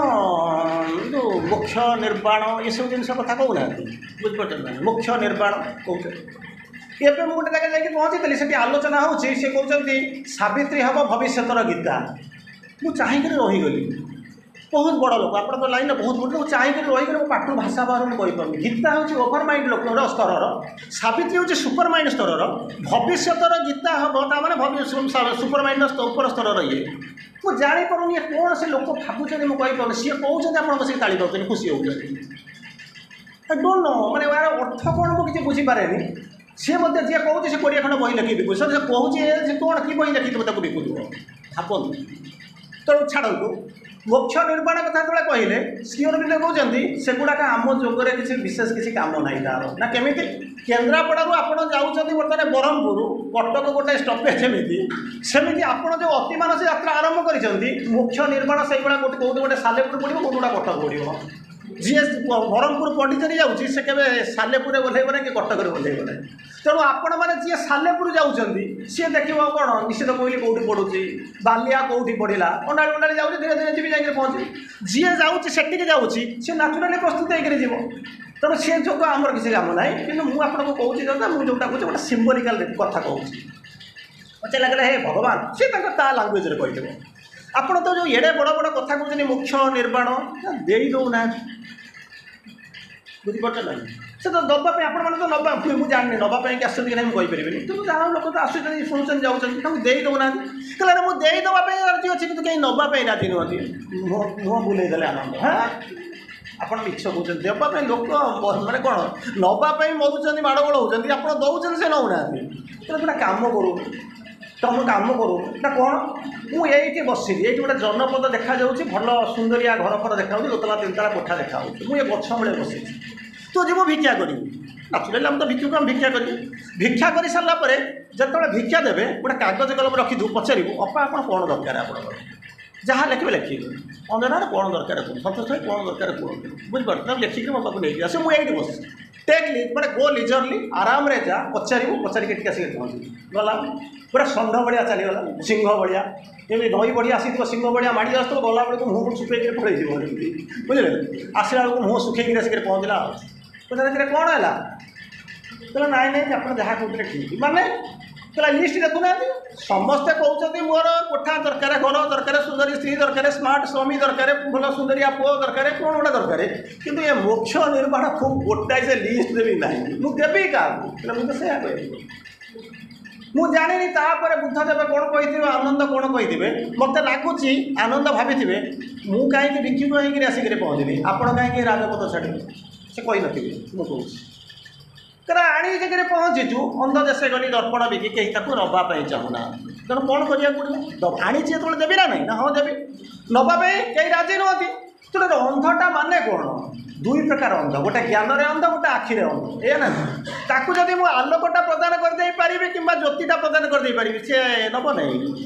ଯେଉଁ ମୋକ୍ଷ ନିର୍ବାଣ ଏସବୁ ଜିନିଷ କଥା କହୁନାହାନ୍ତି ବୁଝିପାରୁଛନ୍ତି ନା ମୋକ୍ଷ ନିର୍ବାଣ କହୁଛନ୍ତି ଏବେ ମୁଁ ଗୋଟେ ଜାଗା ଯାଇକି ପହଞ୍ଚିଥିଲି ସେଠି ଆଲୋଚନା ହେଉଛି ସେ କହୁଛନ୍ତି ସାବିତ୍ରୀ ହେବ ଭବିଷ୍ୟତର ଗୀତା ମୁଁ ଚାହିଁକରି ରହିଗଲି ବହୁତ ବଡ଼ ଲୋକ ଆପଣଙ୍କ ଲାଇନ୍ରେ ବହୁତ ବଡ଼ ଲୋକ ଚାହିଁକରି ରହିକରି ମୋ ପାଟିରୁ ଭାଷା ବାହାରୁନି କହିପାରୁନି ଗୀତା ହେଉଛି ଓଭର ମାଇଣ୍ଡ ଲୋକର ସ୍ତରର ସାବିତ୍ରୀ ହେଉଛି ସୁପର ମାଇଣ୍ଡ ସ୍ତରର ଭବିଷ୍ୟତର ଗୀତା ହେବ ତା ମାନେ ସୁପର ମାଇଣ୍ଡର ଉପର ସ୍ତରର ଇଏ ମୁଁ ଜାଣିପାରୁନି ଇଏ କ'ଣ ସେ ଲୋକ ଭାବୁଛନ୍ତି ମୁଁ କହିପାରୁନି ସିଏ କହୁଛନ୍ତି ଆପଣ ବସିକି ତାଳି ପାଉଛନ୍ତି ଖୁସି ହେଉଛନ୍ତି I don't know ମାନେ ଏହାର ଅର୍ଥ କ'ଣ ମୁଁ କିଛି ବୁଝିପାରେନି ସିଏ ମଧ୍ୟ ଯିଏ କହୁଛି ସେ କୋଡ଼ିଏ ଖଣ୍ଡ ବହି ଲେଖିକି ବିକୁଛି ସେ କହୁଛି ସେ କ'ଣ କି ବହି ଲେଖିଥିବ ତାକୁ ବିକୁଥିବ ଭାବନ୍ତୁ ତେଣୁ ଛାଡ଼ନ୍ତୁ ମୋକ୍ଷ ନିର୍ବାଣ କଥା ଯେତେବେଳେ କହିଲେ ଶ୍ରୀ ଅରବିନ୍ଦ କହୁଛନ୍ତି ସେଗୁଡ଼ାକ ଆମ ଯୋଗରେ କିଛି ବିଶେଷ କିଛି କାମ ନାହିଁ ତାର ନା କେମିତି କେନ୍ଦ୍ରାପଡ଼ାରୁ ଆପଣ ଯାଉଛନ୍ତି ବର୍ତ୍ତମାନ ବ୍ରହ୍ମପୁର କଟକ ଗୋଟେ ଷ୍ଟପେଜ୍ ଯେମିତି ସେମିତି ଆପଣ ଯେଉଁ ଅତିମାନସ ଯାତ୍ରା ଆରମ୍ଭ କରିଛନ୍ତି ମୋକ୍ଷ ନିର୍ବାଣ ସେଇଭଳିଆ ଗୋଟେ କେଉଁଠି ଗୋଟେ ସାଲେପୁର ପଡ଼ିବ କେଉଁଠି ଗୋଟେ କଟକ ପଡ଼ିବ ଯିଏ ବ୍ରହ୍ମପୁର ପଣ୍ଡିଚେରୀ ଯାଉଛି ସେ କେବେ ସାଲେପୁରରେ ଓହ୍ଲେଇବ ନାହିଁ କି କଟକରେ ଓହ୍ଲେଇବ ନାହିଁ ତେଣୁ ଆପଣମାନେ ଯିଏ ସାଲେପୁର ଯାଉଛନ୍ତି ସିଏ ଦେଖିବ କ'ଣ ନିଶ୍ଚିତ କୋଇଲି କେଉଁଠି ପଡ଼ୁଛି ବାଲିଆ କେଉଁଠି ପଡ଼ିଲା ଅଣ୍ଡାଳି ଅଣ୍ଡାଳି ଯାଉଛି ଧୀରେ ଧୀରେ ଯିବି ଯାଇକରି ପହଞ୍ଚିବି ଯିଏ ଯାଉଛି ସେଠିକି ଯାଉଛି ସିଏ ନ୍ୟାଚୁରାଲି ପ୍ରସ୍ତୁତ ହେଇକରି ଯିବ ତେଣୁ ସେ ଯୋଗ ଆମର କିଛି କାମ ନାହିଁ କିନ୍ତୁ ମୁଁ ଆପଣଙ୍କୁ କହୁଛି ଦାଦା ମୁଁ ଯେଉଁଟା କହୁଛି ଗୋଟେ ସିମ୍ବଲିକାଲ କଥା କହୁଛି ପଚାରିଲା କହିଲେ ହେ ଭଗବାନ ସିଏ ତାଙ୍କ ତା ଲାଙ୍ଗୁଏଜରେ କହିଥିବ ଆପଣ ତ ଯେଉଁ ଏଡ଼େ ବଡ଼ ବଡ଼ କଥା କହୁଛନ୍ତି ମୋକ୍ଷ ନିର୍ବାଣ ଦେଇ ଦେଉନାହାନ୍ତି ବୁଝିପାରୁଛ ନା ସେ ତ ଦେବା ପାଇଁ ଆପଣମାନେ ତ ନେବା ମୁଁ ଜାଣିନି ନେବା ପାଇଁକି ଆସୁଛନ୍ତି କି ନାହିଁ ମୁଁ କହିପାରିବିନି କିନ୍ତୁ ଯାହା ଲୋକ ତ ଆସୁଛନ୍ତି ଶୁଣୁଛନ୍ତି ଯାଉଛନ୍ତି ତାଙ୍କୁ ଦେଇ ଦେଉନାହାନ୍ତି କହିଲେ ମୁଁ ଦେଇଦେବା ପାଇଁ ରାଜି ଅଛି କିନ୍ତୁ କେହି ନେବା ପାଇଁ ରାଜି ନୁହନ୍ତି ମୁହଁ ମୁହଁ ବୁଲେଇ ଦେଲେ ଆନନ୍ଦ ହଁ ଆପଣ ମିଛ କହୁଛନ୍ତି ଦେବା ପାଇଁ ଲୋକ ମାନେ କ'ଣ ନେବା ପାଇଁ ମରୁଛନ୍ତି ମାଡ଼ଗୋଳ ହେଉଛନ୍ତି ଆପଣ ଦେଉଛନ୍ତି ସେ ନେଉନାହାନ୍ତି ତେଣୁ ଗୋଟେ କାମ କରୁ ତମ କାମ କରୁ ନା କ'ଣ ମୁଁ ଏଇଠି ବସିଲି ଏଇଠି ଗୋଟେ ଜନପଦ ଦେଖାଯାଉଛି ଭଲ ସୁନ୍ଦରିଆ ଘର ଫର ଦେଖାଯାଉଛି ଦୋତଲା ତିନିତଲା କୋଠା ଦେଖାଯାଉଛି ମୁଁ ଏ ଗଛ ମୂଳେ ବସିଛି ତୁ ଯିବୁ ଭିକ୍ଷା କରିବୁ ନ୍ୟାଚୁରାଲି ଆମେ ତ ଭିକ୍ଷୁକୁ ଆମେ ଭିକ୍ଷା କରିବୁ ଭିକ୍ଷା କରିସାରିଲା ପରେ ଯେତେବେଳେ ଭିକ୍ଷା ଦେବେ ଗୋଟେ କାଗଜ କଲମ ରଖିଥିବୁ ପଚାରିବୁ ଅପା ଆପଣ କ'ଣ ଦରକାର ଆପଣଙ୍କର ଯାହା ଲେଖିବେ ଲେଖିବେ ଅଞ୍ଜନାର କ'ଣ ଦରକାର କୁହନ୍ତୁ ସନ୍ତୋଷ ଭାଇ କ'ଣ ଦରକାର କୁହନ୍ତୁ ବୁଝିପାରୁଛୁ ତାକୁ ଲେଖିକି ମୋ ପାଖକୁ ନେଇକି ଆସିବ ମୁଁ ଏଇଠି ବସିଛି ଟେକ୍ ଲି ମାନେ ଗୋ ଲିଜରଲି ଆରାମରେ ଯା ପଚାରିବୁ ପଚାରିକି ଏଠିକି ଆସିକି ପହଞ୍ଚିବୁ ଗଲା ପୁରା ଷଣ୍ଢ ଭଳିଆ ଚାଲିଗଲା ସିଂହ ଭଳିଆ ଯେମିତି ନଈ ବଢ଼ି ଆସିଥିବ ସିଂହ ଭଳିଆ ମାଡ଼ି ଆସୁଥିବ ଗଲାବେଳକୁ ମୁହଁକୁ ଶୁଖେଇକିରି ପଳେଇଯିବ ଯେମିତି ବୁଝିଲେ ଆସିଲା ବେଳକୁ ମୁହଁ ଶୁଖେଇକିରି ଆସିକିରି ପହଞ୍ଚିଲା ଆଉ ପଚାରିଲେ କ'ଣ ହେଲା କହିଲା ନାଇଁ ନାଇଁ ଆପଣ ଯାହା କହୁଥିଲେ ଠିକ୍ ମାନେ କହିଲା ଲିଷ୍ଟ ଦେଖୁନାହାନ୍ତି ସମସ୍ତେ କହୁଛନ୍ତି ମୋର କୋଠା ଦରକାର ଘର ଦରକାର ସୁନ୍ଦରୀ ସ୍ତ୍ରୀ ଦରକାର ସ୍ମାର୍ଟ ସ୍ୱାମୀ ଦରକାର ଭଲ ସୁନ୍ଦରିଆ ପୁଅ ଦରକାର କ'ଣ ଗୋଟେ ଦରକାର କିନ୍ତୁ ଏ ମୋକ୍ଷ ନିର୍ବାଣ ଖୁବ୍ ଗୋଟାଏ ସେ ଲିଷ୍ଟରେ ବି ନାହିଁ ମୁଁ ଦେବି କାହାକୁ କହିଲା ମୁଁ ତ ସେଇଆ କହିବି ମୁଁ ଜାଣିନି ତାପରେ ବୁଦ୍ଧଦେବ କ'ଣ କହିଥିବେ ଆନନ୍ଦ କ'ଣ କହିଥିବେ ମୋତେ ଲାଗୁଛି ଆନନ୍ଦ ଭାବିଥିବେ ମୁଁ କାହିଁକି ଭିକ୍ଷୁକ ହେଇକିରି ଆସିକିରି ପହଞ୍ଚିଲି ଆପଣ କାହିଁକି ରାଜପଥ ଛାଡ଼ିବେ ସେ କହିନଥିବେ ମୁଁ କହୁଛି କାରଣ ଆଣି ଜାଗାରେ ପହଞ୍ଚିଛୁ ଅନ୍ଧ ଦେଶେ ଗଲି ଦର୍ପଣ ବିକି କେହି ତାକୁ ନେବା ପାଇଁ ଚାହୁଁନାହାନ୍ତି ତେଣୁ କ'ଣ କରିବାକୁ ପଡ଼ିବ ଆଣିଛି ଯେତେବେଳେ ଦେବି ନା ନାହିଁ ନା ହଁ ଦେବି ନେବା ପାଇଁ କେହି ରାଜି ନୁହନ୍ତି ତେଣୁ ଅନ୍ଧଟା ମାନେ କ'ଣ ଦୁଇ ପ୍ରକାର ଅନ୍ଧ ଗୋଟେ ଜ୍ଞାନରେ ଅନ୍ଧ ଗୋଟେ ଆଖିରେ ଅନ୍ଧ ଏଇଆ ନା ତାକୁ ଯଦି ମୁଁ ଆଲୋକଟା ପ୍ରଦାନ କରିଦେଇ ପାରିବି କିମ୍ବା ଜ୍ୟୋତିଟା ପ୍ରଦାନ କରିଦେଇ ପାରିବି ସିଏ ନେବ ନାହିଁ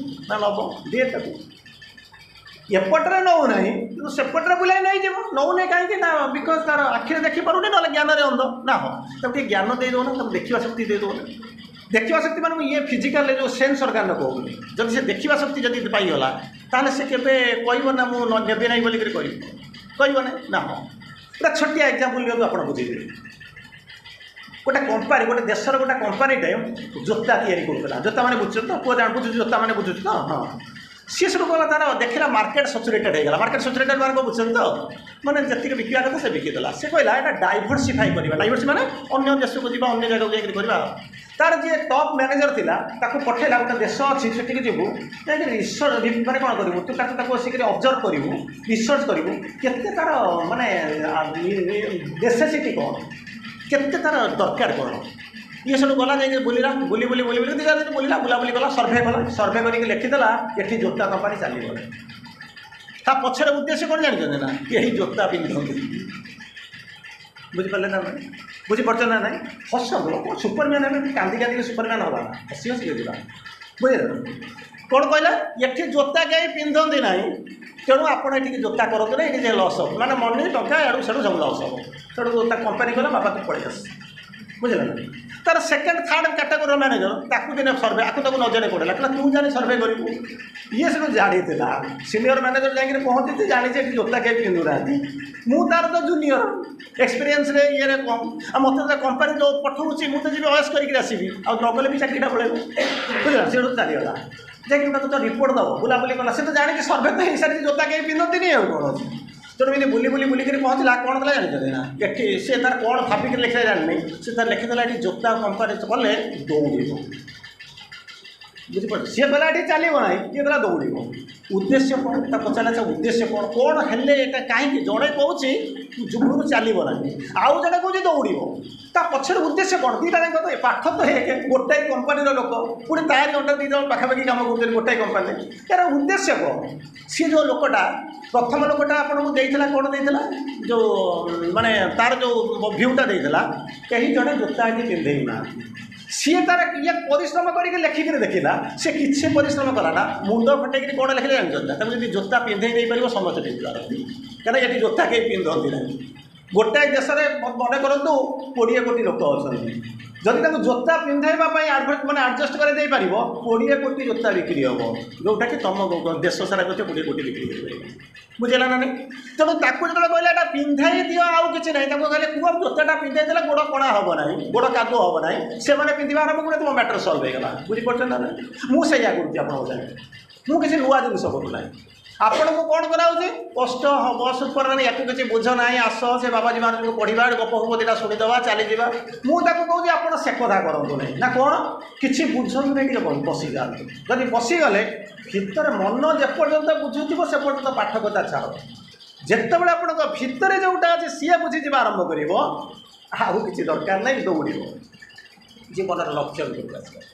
ନା ନେବ ଦିଏ ତାକୁ ଏପଟରେ ନେଉନାହିଁ କିନ୍ତୁ ସେପଟରେ ବୁଲାଇ ନେଇଯିବ ନେଉନାହିଁ କାହିଁକି ନା because ତାର ଆଖିରେ ଦେଖିପାରୁନି ନହେଲେ ଜ୍ଞାନରେ ଅନ୍ଧ ନା ହଁ ତାକୁ ଟିକେ ଜ୍ଞାନ ଦେଇଦେଉନା ତାକୁ ଦେଖିବା ଶକ୍ତି ଦେଇଦେଉନା ଦେଖିବା ଶକ୍ତି ମାନେ ମୁଁ ଇଏ ଫିଜିକାଲରେ ଯେଉଁ ସେନ୍ସ ଅର୍ଗାନ କହୁନି ଯଦି ସେ ଦେଖିବା ଶକ୍ତି ଯଦି ପାଇଗଲା ତାହେଲେ ସେ କେବେ କହିବ ନା ମୁଁ ନେବି ନାହିଁ ବୋଲିକରି କହିବ କହିବ ନାହିଁ ନା ହଁ ଗୋଟେ ଛୋଟିଆ ଏକ୍ଜାମ୍ପଲ୍ ଦିଅନ୍ତୁ ଆପଣ ବୁଝିଯିବେ ଗୋଟେ କମ୍ପାନୀ ଗୋଟେ ଦେଶର ଗୋଟେ କମ୍ପାନୀଟେ ଜୋତା ତିଆରି କରୁଥିଲା ଜୋତା ମାନେ ବୁଝୁଛନ୍ତି ତ ପୁଅ ଜାଣ ବୁଝୁଛୁ ଜୋତା ମାନେ ବୁଝୁଛୁ ତ ହଁ ସିଏ ସେଠୁ ଗଲା ତାର ଦେଖିଲା ମାର୍କେଟ ସାଚୁରେଟେଡ୍ ହେଇଗଲା ମାର୍କେଟ ସାଚୁରେଟେଡ୍ ମାନେ କ'ଣ ବୁଝୁଛନ୍ତି ତ ମାନେ ଯେତିକି ବିକିବା କଥା ସେ ବିକିଦେଲା ସେ କହିଲା ଏଇଟା ଡାଇଭର୍ସିଫାଇ କରିବା ଡାଇଭର୍ସି ମାନେ ଅନ୍ୟ ଦେଶକୁ ଯିବା ଅନ୍ୟ ଜାଗାକୁ ଯାଇକରି କରିବା ତାର ଯିଏ ଟପ୍ ମ୍ୟାନେଜର ଥିଲା ତାକୁ ପଠେଇଲା ଗୋଟେ ଦେଶ ଅଛି ସେଠିକି ଯିବୁ ଯାଇକି ରିସର୍ଚ୍ଚ ମାନେ କ'ଣ କରିବୁ ତୁ ତାକୁ ତାକୁ ବସିକରି ଅବଜର୍ଭ କରିବୁ ରିସର୍ଚ୍ଚ କରିବୁ କେତେ ତାର ମାନେ ନେସେସିଟି କ'ଣ କେତେ ତାର ଦରକାର କ'ଣ ଇଏ ସେଠୁ ଗଲା ଯାଇକି ବୁଲିଲା ବୁଲି ବୁଲି ବୁଲି ବୁଲି ଦୁଇ ଚାରି ଦିନ ବୁଲିଲା ବୁଲାବୁଲି କଲା ସର୍ଭେ କଲା ସର୍ଭେ କରିକି ଲେଖିଦେଲା ଏଠି ଜୋତା କମ୍ପାନୀ ଚାଲିବ ତା ପଛରେ ଉଦ୍ଦେଶ୍ୟ କ'ଣ ଜାଣିଛନ୍ତି ନା କେହି ଜୋତା ପିନ୍ଧନ୍ତି ବୁଝିପାରିଲେ ନା ନାହିଁ ବୁଝିପାରୁଛ ନା ନାହିଁ ହସନ୍ତୁ କ'ଣ ସୁପରମ୍ୟାନ୍ ହେବେ କାନ୍ଦି କାନ୍ଦିକି ସୁପରମ୍ୟାନ୍ ହେବା ନା ହସି ହସିକି ଯିବା ବୁଝିଲେ କ'ଣ କହିଲା ଏଠି ଜୋତା କେହି ପିନ୍ଧନ୍ତି ନାହିଁ ତେଣୁ ଆପଣ ଏଠିକି ଜୋତା କରନ୍ତୁ ନା ଏଠି ଯେ ଲସ୍ ହେବ ମାନେ ମନି ଟଙ୍କା ଏଆଡ଼ୁ ସେଆଡ଼ୁ ସବୁ ଲସ୍ ହେବ ତେଣୁ ତା କମ୍ପାନୀ କହିଲା ବାପା ତୁ ପଳେଇ ଆସ ବୁଝିଲେ ନା ତାର ସେକେଣ୍ଡ ଥାର୍ଡ଼ କାଟାଗୋରୀର ମ୍ୟାନେଜର ତାକୁ ଦିନେ ସର୍ଭେ ଆକୁ ତାକୁ ନ ଜାଣି ପଡ଼ିଲା କହିଲା ତୁ ଜାଣି ସର୍ଭେ କରିବୁ ଇଏ ସେଠୁ ଜାଣିଥିଲା ସିନିୟର ମ୍ୟାନେଜର ଯାଇକିରି ପହଞ୍ଚିଛି ଜାଣିଛି ଏଠି ଜୋତା କେହି ପିନ୍ଧୁନାହାନ୍ତି ମୁଁ ତାର ତ ଜୁନିୟର ଏକ୍ସପିରିଏନ୍ସରେ ଇଏରେ କମ୍ ଆଉ ମୋତେ ତ କମ୍ପାନୀ ଯେଉଁ ପଠଉଛି ମୁଁ ତ ଯିବି ଅୟସ କରିକି ଆସିବି ଆଉ ନଗଲେ ବି ଚାକିରିଟା ପଳେଇବ ବୁଝିଲା ସେଠୁ ଚାଲିଗଲା ଯାଇକି ତାକୁ ତ ରିପୋର୍ଟ ଦେବ ବୁଲାବୁଲି କଲା ସେ ତ ଜାଣିଛି ସର୍ଭେ ତ ହେଇସାରିଛି ଜୋତା କେହି ପିନ୍ଧନ୍ତିନି ଆଉ କ'ଣ ଅଛି ତେଣୁ ଏମିତି ବୁଲି ବୁଲି ବୁଲିକିରି ପହଞ୍ଚିଲା କ'ଣ କଲା ଜାଣିଛନ୍ତି ନା ଏଠି ସେ ତାର କ'ଣ ଭାବିକିରି ଲେଖିଲା ଜାଣିନି ସେ ତାର ଲେଖିଦେଲା ଏଠି ଜୋତା କମ୍ପାନୀ କଲେ ଦୌଡ଼ିବ ବୁଝିପାରୁଛ ସିଏ କହିଲା ଏଠି ଚାଲିବ ନାହିଁ ଇଏ କହିଲା ଦୌଡ଼ିବ ଉଦ୍ଦେଶ୍ୟ କ'ଣ ତା ପଚାରିଲା ସେ ଉଦ୍ଦେଶ୍ୟ କ'ଣ କ'ଣ ହେଲେ ଏଇଟା କାହିଁକି ଜଣେ କହୁଛି ଯୁଗରୁ ଚାଲିବ ନାହିଁ ଆଉ ଜଣେ କହୁଛି ଦୌଡ଼ିବ ତା ପଛରେ ଉଦ୍ଦେଶ୍ୟ କ'ଣ ଦୁଇଟା ଯାକ ତ ପାଠ ତ ଏକ ଗୋଟାଏ କମ୍ପାନୀର ଲୋକ ପୁଣି ତାରି ଅଣ୍ଡର ଦୁଇ ଜଣ ପାଖାପାଖି କାମ କରୁଛନ୍ତି ଗୋଟାଏ କମ୍ପାନୀରେ ଏହାର ଉଦ୍ଦେଶ୍ୟ କ'ଣ ସିଏ ଯେଉଁ ଲୋକଟା ପ୍ରଥମ ଲୋକଟା ଆପଣଙ୍କୁ ଦେଇଥିଲା କ'ଣ ଦେଇଥିଲା ଯେଉଁ ମାନେ ତାର ଯେଉଁ ଭ୍ୟୁଟା ଦେଇଥିଲା କେହି ଜଣେ ଜୋତା ଏଠି ପିନ୍ଧେଇ ନାହାନ୍ତି ସିଏ ତାର ଇଏ ପରିଶ୍ରମ କରିକି ଲେଖିକିରି ଦେଖିଲା ସେ କିଛି ପରିଶ୍ରମ କଲା ନା ମୁଣ୍ଡ ଫଟେଇକିରି କ'ଣ ଲେଖିଲେ ଜାଣିଛନ୍ତି ନା ତାକୁ ଯଦି ଜୋତା ପିନ୍ଧେଇ ଦେଇପାରିବ ସମସ୍ତେ ପିନ୍ଧିପାରନ୍ତି କାରଣ ଏଠି ଜୋତା କେହି ପିନ୍ଧନ୍ତି ନାହିଁ ଗୋଟାଏ ଦେଶରେ ମନେ କରନ୍ତୁ କୋଡ଼ିଏ କୋଟି ଲୋକ ଅଛନ୍ତି ଯଦି ତାଙ୍କୁ ଜୋତା ପିନ୍ଧାଇବା ପାଇଁ ଆଡ଼ଭର୍ଟ ମାନେ ଆଡ଼ଜଷ୍ଟ କରି ଦେଇପାରିବ କୋଡ଼ିଏ କୋଟି ଜୋତା ବିକ୍ରି ହେବ ଯେଉଁଟାକି ତୁମ ଦେଶ ସାରା ମଧ୍ୟ କୋଡ଼ିଏ କୋଟି ବିକ୍ରି କରିପାରିବ ବୁଝିଲା ନା ନାହିଁ ତେଣୁ ତାକୁ ଯେତେବେଳେ କହିଲେ ଏଇଟା ପିନ୍ଧାଇ ଦିଅ ଆଉ କିଛି ନାହିଁ ତାକୁ କହିଲେ କୁହ ଜୋତାଟା ପିନ୍ଧାଇ ଦେଲେ ଗୋଡ଼ କଣା ହେବ ନାହିଁ ଗୋଡ଼ କାଦୁଅ ହେବ ନାହିଁ ସେମାନେ ପିନ୍ଧିବା ଆରମ୍ଭ କଲେ ତୁମ ମ୍ୟାଟର ସଲ୍ଭ ହେଇଗଲା ବୁଝିପାରୁଛନ୍ତି ନା ନାହିଁ ମୁଁ ସେଇଆ କରୁଛି ଆପଣଙ୍କ ସାଙ୍ଗେ ମୁଁ କିଛି ନୂଆ ଜିନିଷ କରୁନାହିଁ ଆପଣଙ୍କୁ କ'ଣ କରାହେଉଛି କଷ୍ଟ ହେବ ସୁପର ମାନେ ୟାକୁ କିଛି ବୁଝ ନାହିଁ ଆସ ସେ ବାବାଜୀ ମହାରାଜଙ୍କୁ ପଢ଼ିବା ଗପ ଫପ ଦୁଇଟା ଶୁଣିଦେବା ଚାଲିଯିବା ମୁଁ ତାକୁ କହୁଛି ଆପଣ ସେ କଥା କରନ୍ତୁ ନାହିଁ ନା କ'ଣ କିଛି ବୁଝନ୍ତୁ ନାହିଁ ଟିକେ ବସିଯାଆନ୍ତୁ ଯଦି ବସିଗଲେ ଭିତରେ ମନ ଯେପର୍ଯ୍ୟନ୍ତ ବୁଝୁଥିବ ସେ ପର୍ଯ୍ୟନ୍ତ ପାଠ କଥା ଛାଡ଼ ଯେତେବେଳେ ଆପଣଙ୍କ ଭିତରେ ଯେଉଁଟା ଅଛି ସିଏ ବୁଝିଯିବା ଆରମ୍ଭ କରିବ ଆଉ କିଛି ଦରକାର ନାହିଁ ଦୌଡ଼ିବ ଜୀବନର ଲକ୍ଷ୍ୟ ଭିତରକୁ ଆସିବ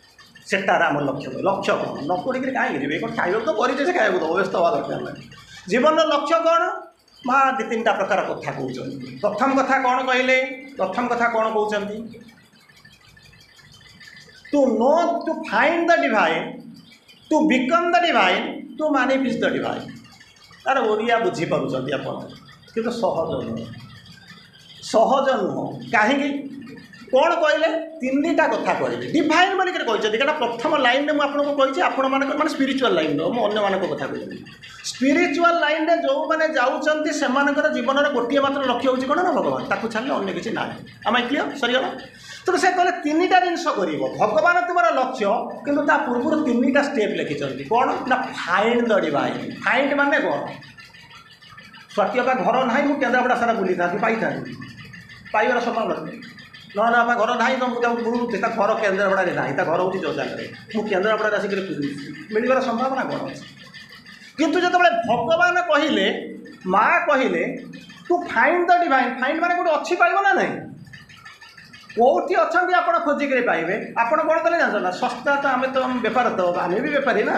ସେଟାର ଆମ ଲକ୍ଷ୍ୟ ଲକ୍ଷ୍ୟ କ'ଣ ନ ପଢ଼ିକିରି କାହିଁକି ଯିବେ କ'ଣ ଖାଇବାକୁ ତ କରିଛେ ସେ ଖାଇବାକୁ ଦେବ ବ୍ୟସ୍ତ ହେବା ଦରକାର ନାହିଁ ଜୀବନର ଲକ୍ଷ୍ୟ କ'ଣ ମା ଦୁଇ ତିନିଟା ପ୍ରକାର କଥା କହୁଛନ୍ତି ପ୍ରଥମ କଥା କ'ଣ କହିଲେ ପ୍ରଥମ କଥା କ'ଣ କହୁଛନ୍ତି to know to find the divine to become the divine to manifest the divine ତାର ଓଡ଼ିଆ ବୁଝିପାରୁଛନ୍ତି ଆପଣ କିନ୍ତୁ ସହଜ ନୁହଁ ସହଜ ନୁହଁ କାହିଁକି କ'ଣ କହିଲେ ତିନିଟା କଥା କହିଲେ ଡିଭାଇନ୍ ବୋଲିକିରି କହିଛନ୍ତି କାରଣ ପ୍ରଥମ ଲାଇନ୍ରେ ମୁଁ ଆପଣଙ୍କୁ କହିଛି ଆପଣମାନଙ୍କର ମାନେ ସ୍ପିରିଚୁଆଲ୍ ଲାଇନ୍ର ମୁଁ ଅନ୍ୟମାନଙ୍କ କଥା କହିଲି ସ୍ପିରିଚୁଆଲ୍ ଲାଇନ୍ରେ ଯେଉଁମାନେ ଯାଉଛନ୍ତି ସେମାନଙ୍କର ଜୀବନର ଗୋଟିଏ ମାତ୍ର ଲକ୍ଷ୍ୟ ହେଉଛି କ'ଣ ନା ଭଗବାନ ତାକୁ ଛାଡ଼ିଲେ ଅନ୍ୟ କିଛି ନାହିଁ ଆମେ କ୍ଲିଅର୍ ସରିଗଲା ତେଣୁ ସେ କହିଲେ ତିନିଟା ଜିନିଷ କରିବ ଭଗବାନ ତୁମର ଲକ୍ଷ୍ୟ କିନ୍ତୁ ତା ପୂର୍ବରୁ ତିନିଟା ଷ୍ଟେପ୍ ଲେଖିଛନ୍ତି କ'ଣ ନା ଫାଇଣ୍ଡ ଦ ଡିଭାଇନ୍ ଫାଇଣ୍ଡ ମାନେ କ'ଣ ସ୍ୱାତୀ ଅପା ଘର ନାହିଁ ମୁଁ କେନ୍ଦ୍ରାପଡ଼ା ସାରା ବୁଲିଥାନ୍ତି ପାଇଥାନ୍ତି ପାଇବାର ସମ୍ଭାବନା ନାହିଁ ନହେଲେ ବାପା ଘର ନାହିଁ ତ ମୁଁ ତାକୁ ବୁଲୁଛି ତା ଘର କେନ୍ଦ୍ରାପଡ଼ାରେ ନାହିଁ ତା ଘର ହେଉଛି ଜଜାରେ ମୁଁ କେନ୍ଦ୍ରାପଡ଼ାରେ ଆସିକରି ବୁଲୁଛି ମିଳିବାର ସମ୍ଭାବନା କ'ଣ ଅଛି କିନ୍ତୁ ଯେତେବେଳେ ଭଗବାନ କହିଲେ ମା କହିଲେ to find the divine find ମାନେ କେଉଁଠି ଅଛି ପାଇବ ନା ନାହିଁ କେଉଁଠି ଅଛନ୍ତି ଆପଣ ଖୋଜିକିରି ପାଇବେ ଆପଣ କ'ଣ କଲେ ଜାଣିଛ ନା ଶସ୍ତା ତ ଆମେ ତ ବେପାର ତ ଆମେ ବି ବେପାରୀ ନା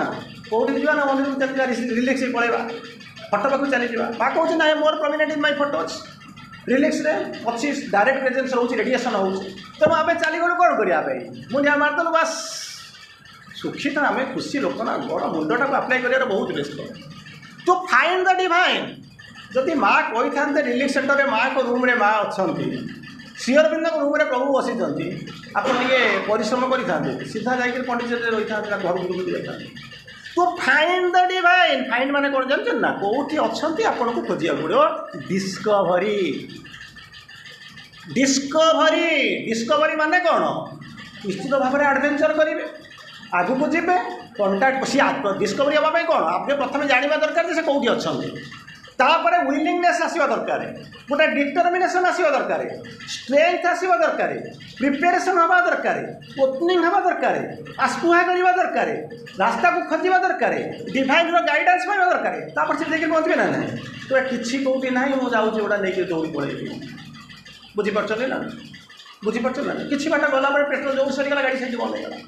କେଉଁଠି ଯିବା ନା ମନ୍ଦିରକୁ ଚାଲିଯିବା ରିଲାକ୍ସ ହେଇ ପଳେଇବା ଫଟୋ ପାଖକୁ ଚାଲିଯିବା ମା କହୁଛି ନାଇଁ ମୋର ପ୍ରମିନେଣ୍ଟ ଇନ୍ my photo ଅଛି ରିଲାକ୍ସରେ ଅଛି ଡାଇରେକ୍ଟ ପ୍ରେଜେନ୍ସ ରହୁଛି ରେଡ଼ିଏସନ୍ ହେଉଛି ତେଣୁ ଆମେ ଚାଲିଗଲୁ କ'ଣ କରିବା ପାଇଁ ମୁଣ୍ଡିଆ ମାରିଦେଲୁ ବାସ୍ ସୁଖୀ ତ ଆମେ ଖୁସି ଲୋକ ନା ବଡ଼ ମୁଣ୍ଡଟାକୁ ଆପ୍ଲାଏ କରିବାର ବହୁତ ବ୍ୟସ୍ତ ଟୁ ଫାଇଣ୍ଡ ଦ ଡିଭାଇନ୍ ଯଦି ମା କହିଥାନ୍ତେ ରିଲିଫ୍ ସେଣ୍ଟରରେ ମାଆଙ୍କ ରୁମ୍ରେ ମା ଅଛନ୍ତି ଶ୍ରୀଅରବିନ୍ଦଙ୍କ ରୁମ୍ରେ ପ୍ରଭୁ ବସିଛନ୍ତି ଆପଣ ଟିକେ ପରିଶ୍ରମ କରିଥାନ୍ତେ ସିଧା ଯାଇକରି ପଣ୍ଡିଚେରୀରେ ରହିଥାନ୍ତେ ନା ଘରକୁ ବୁଲି ଯାଇଥାନ୍ତେ to find the divine find ମାନେ କ'ଣ ଜାଣିଛନ୍ତି ନା କେଉଁଠି ଅଛନ୍ତି ଆପଣଙ୍କୁ ଖୋଜିବାକୁ ପଡ଼ିବ ଡିସ୍କଭରି ଡିସ୍କଭରି ଡିସ୍କଭରି ମାନେ କ'ଣ ନିଶ୍ଚିତ ଭାବରେ ଆଡ଼ଭେଞ୍ଚର କରିବେ ଆଗକୁ ଯିବେ କଣ୍ଟାକ୍ଟ ସିଏ ଡିସ୍କଭରି ହେବା ପାଇଁ କ'ଣ ଆପଣ ପ୍ରଥମେ ଜାଣିବା ଦରକାର ଯେ ସେ କେଉଁଠି ଅଛନ୍ତି ତାପରେ ୱିଲିଂନେସ୍ ଆସିବା ଦରକାର ଗୋଟେ ଡିଟର୍ମିନେସନ୍ ଆସିବା ଦରକାର ଷ୍ଟ୍ରେଙ୍ଗଥ ଆସିବା ଦରକାର ପ୍ରିପାରେସନ୍ ହେବା ଦରକାର ଓପନିଂ ହେବା ଦରକାର ଆସ୍ପୃହା କରିବା ଦରକାର ରାସ୍ତାକୁ ଖୋଜିବା ଦରକାର ଡିଭାଇନ୍ର ଗାଇଡ଼ାନ୍ସ ପାଇବା ଦରକାର ତାପରେ ସେଠି ଯାଇକି ପହଞ୍ଚିବେ ନା ନାହିଁ ତ କିଛି କେଉଁଠି ନାହିଁ ମୁଁ ଯାଉଛି ଗୋଟା ନେଇକି ଦୌଡ଼ି ପଳେଇବି ବୁଝିପାରୁଛନ୍ତି ନା ବୁଝିପାରୁଛନ୍ତି ନା କିଛି ବାଟ ଗଲା ପରେ ପେଟ୍ରୋଲ ଯୋଉ ସରିଗଲା ଗାଡ଼ି ସେଇଠି ବନ୍ଦ ହେଇଗଲା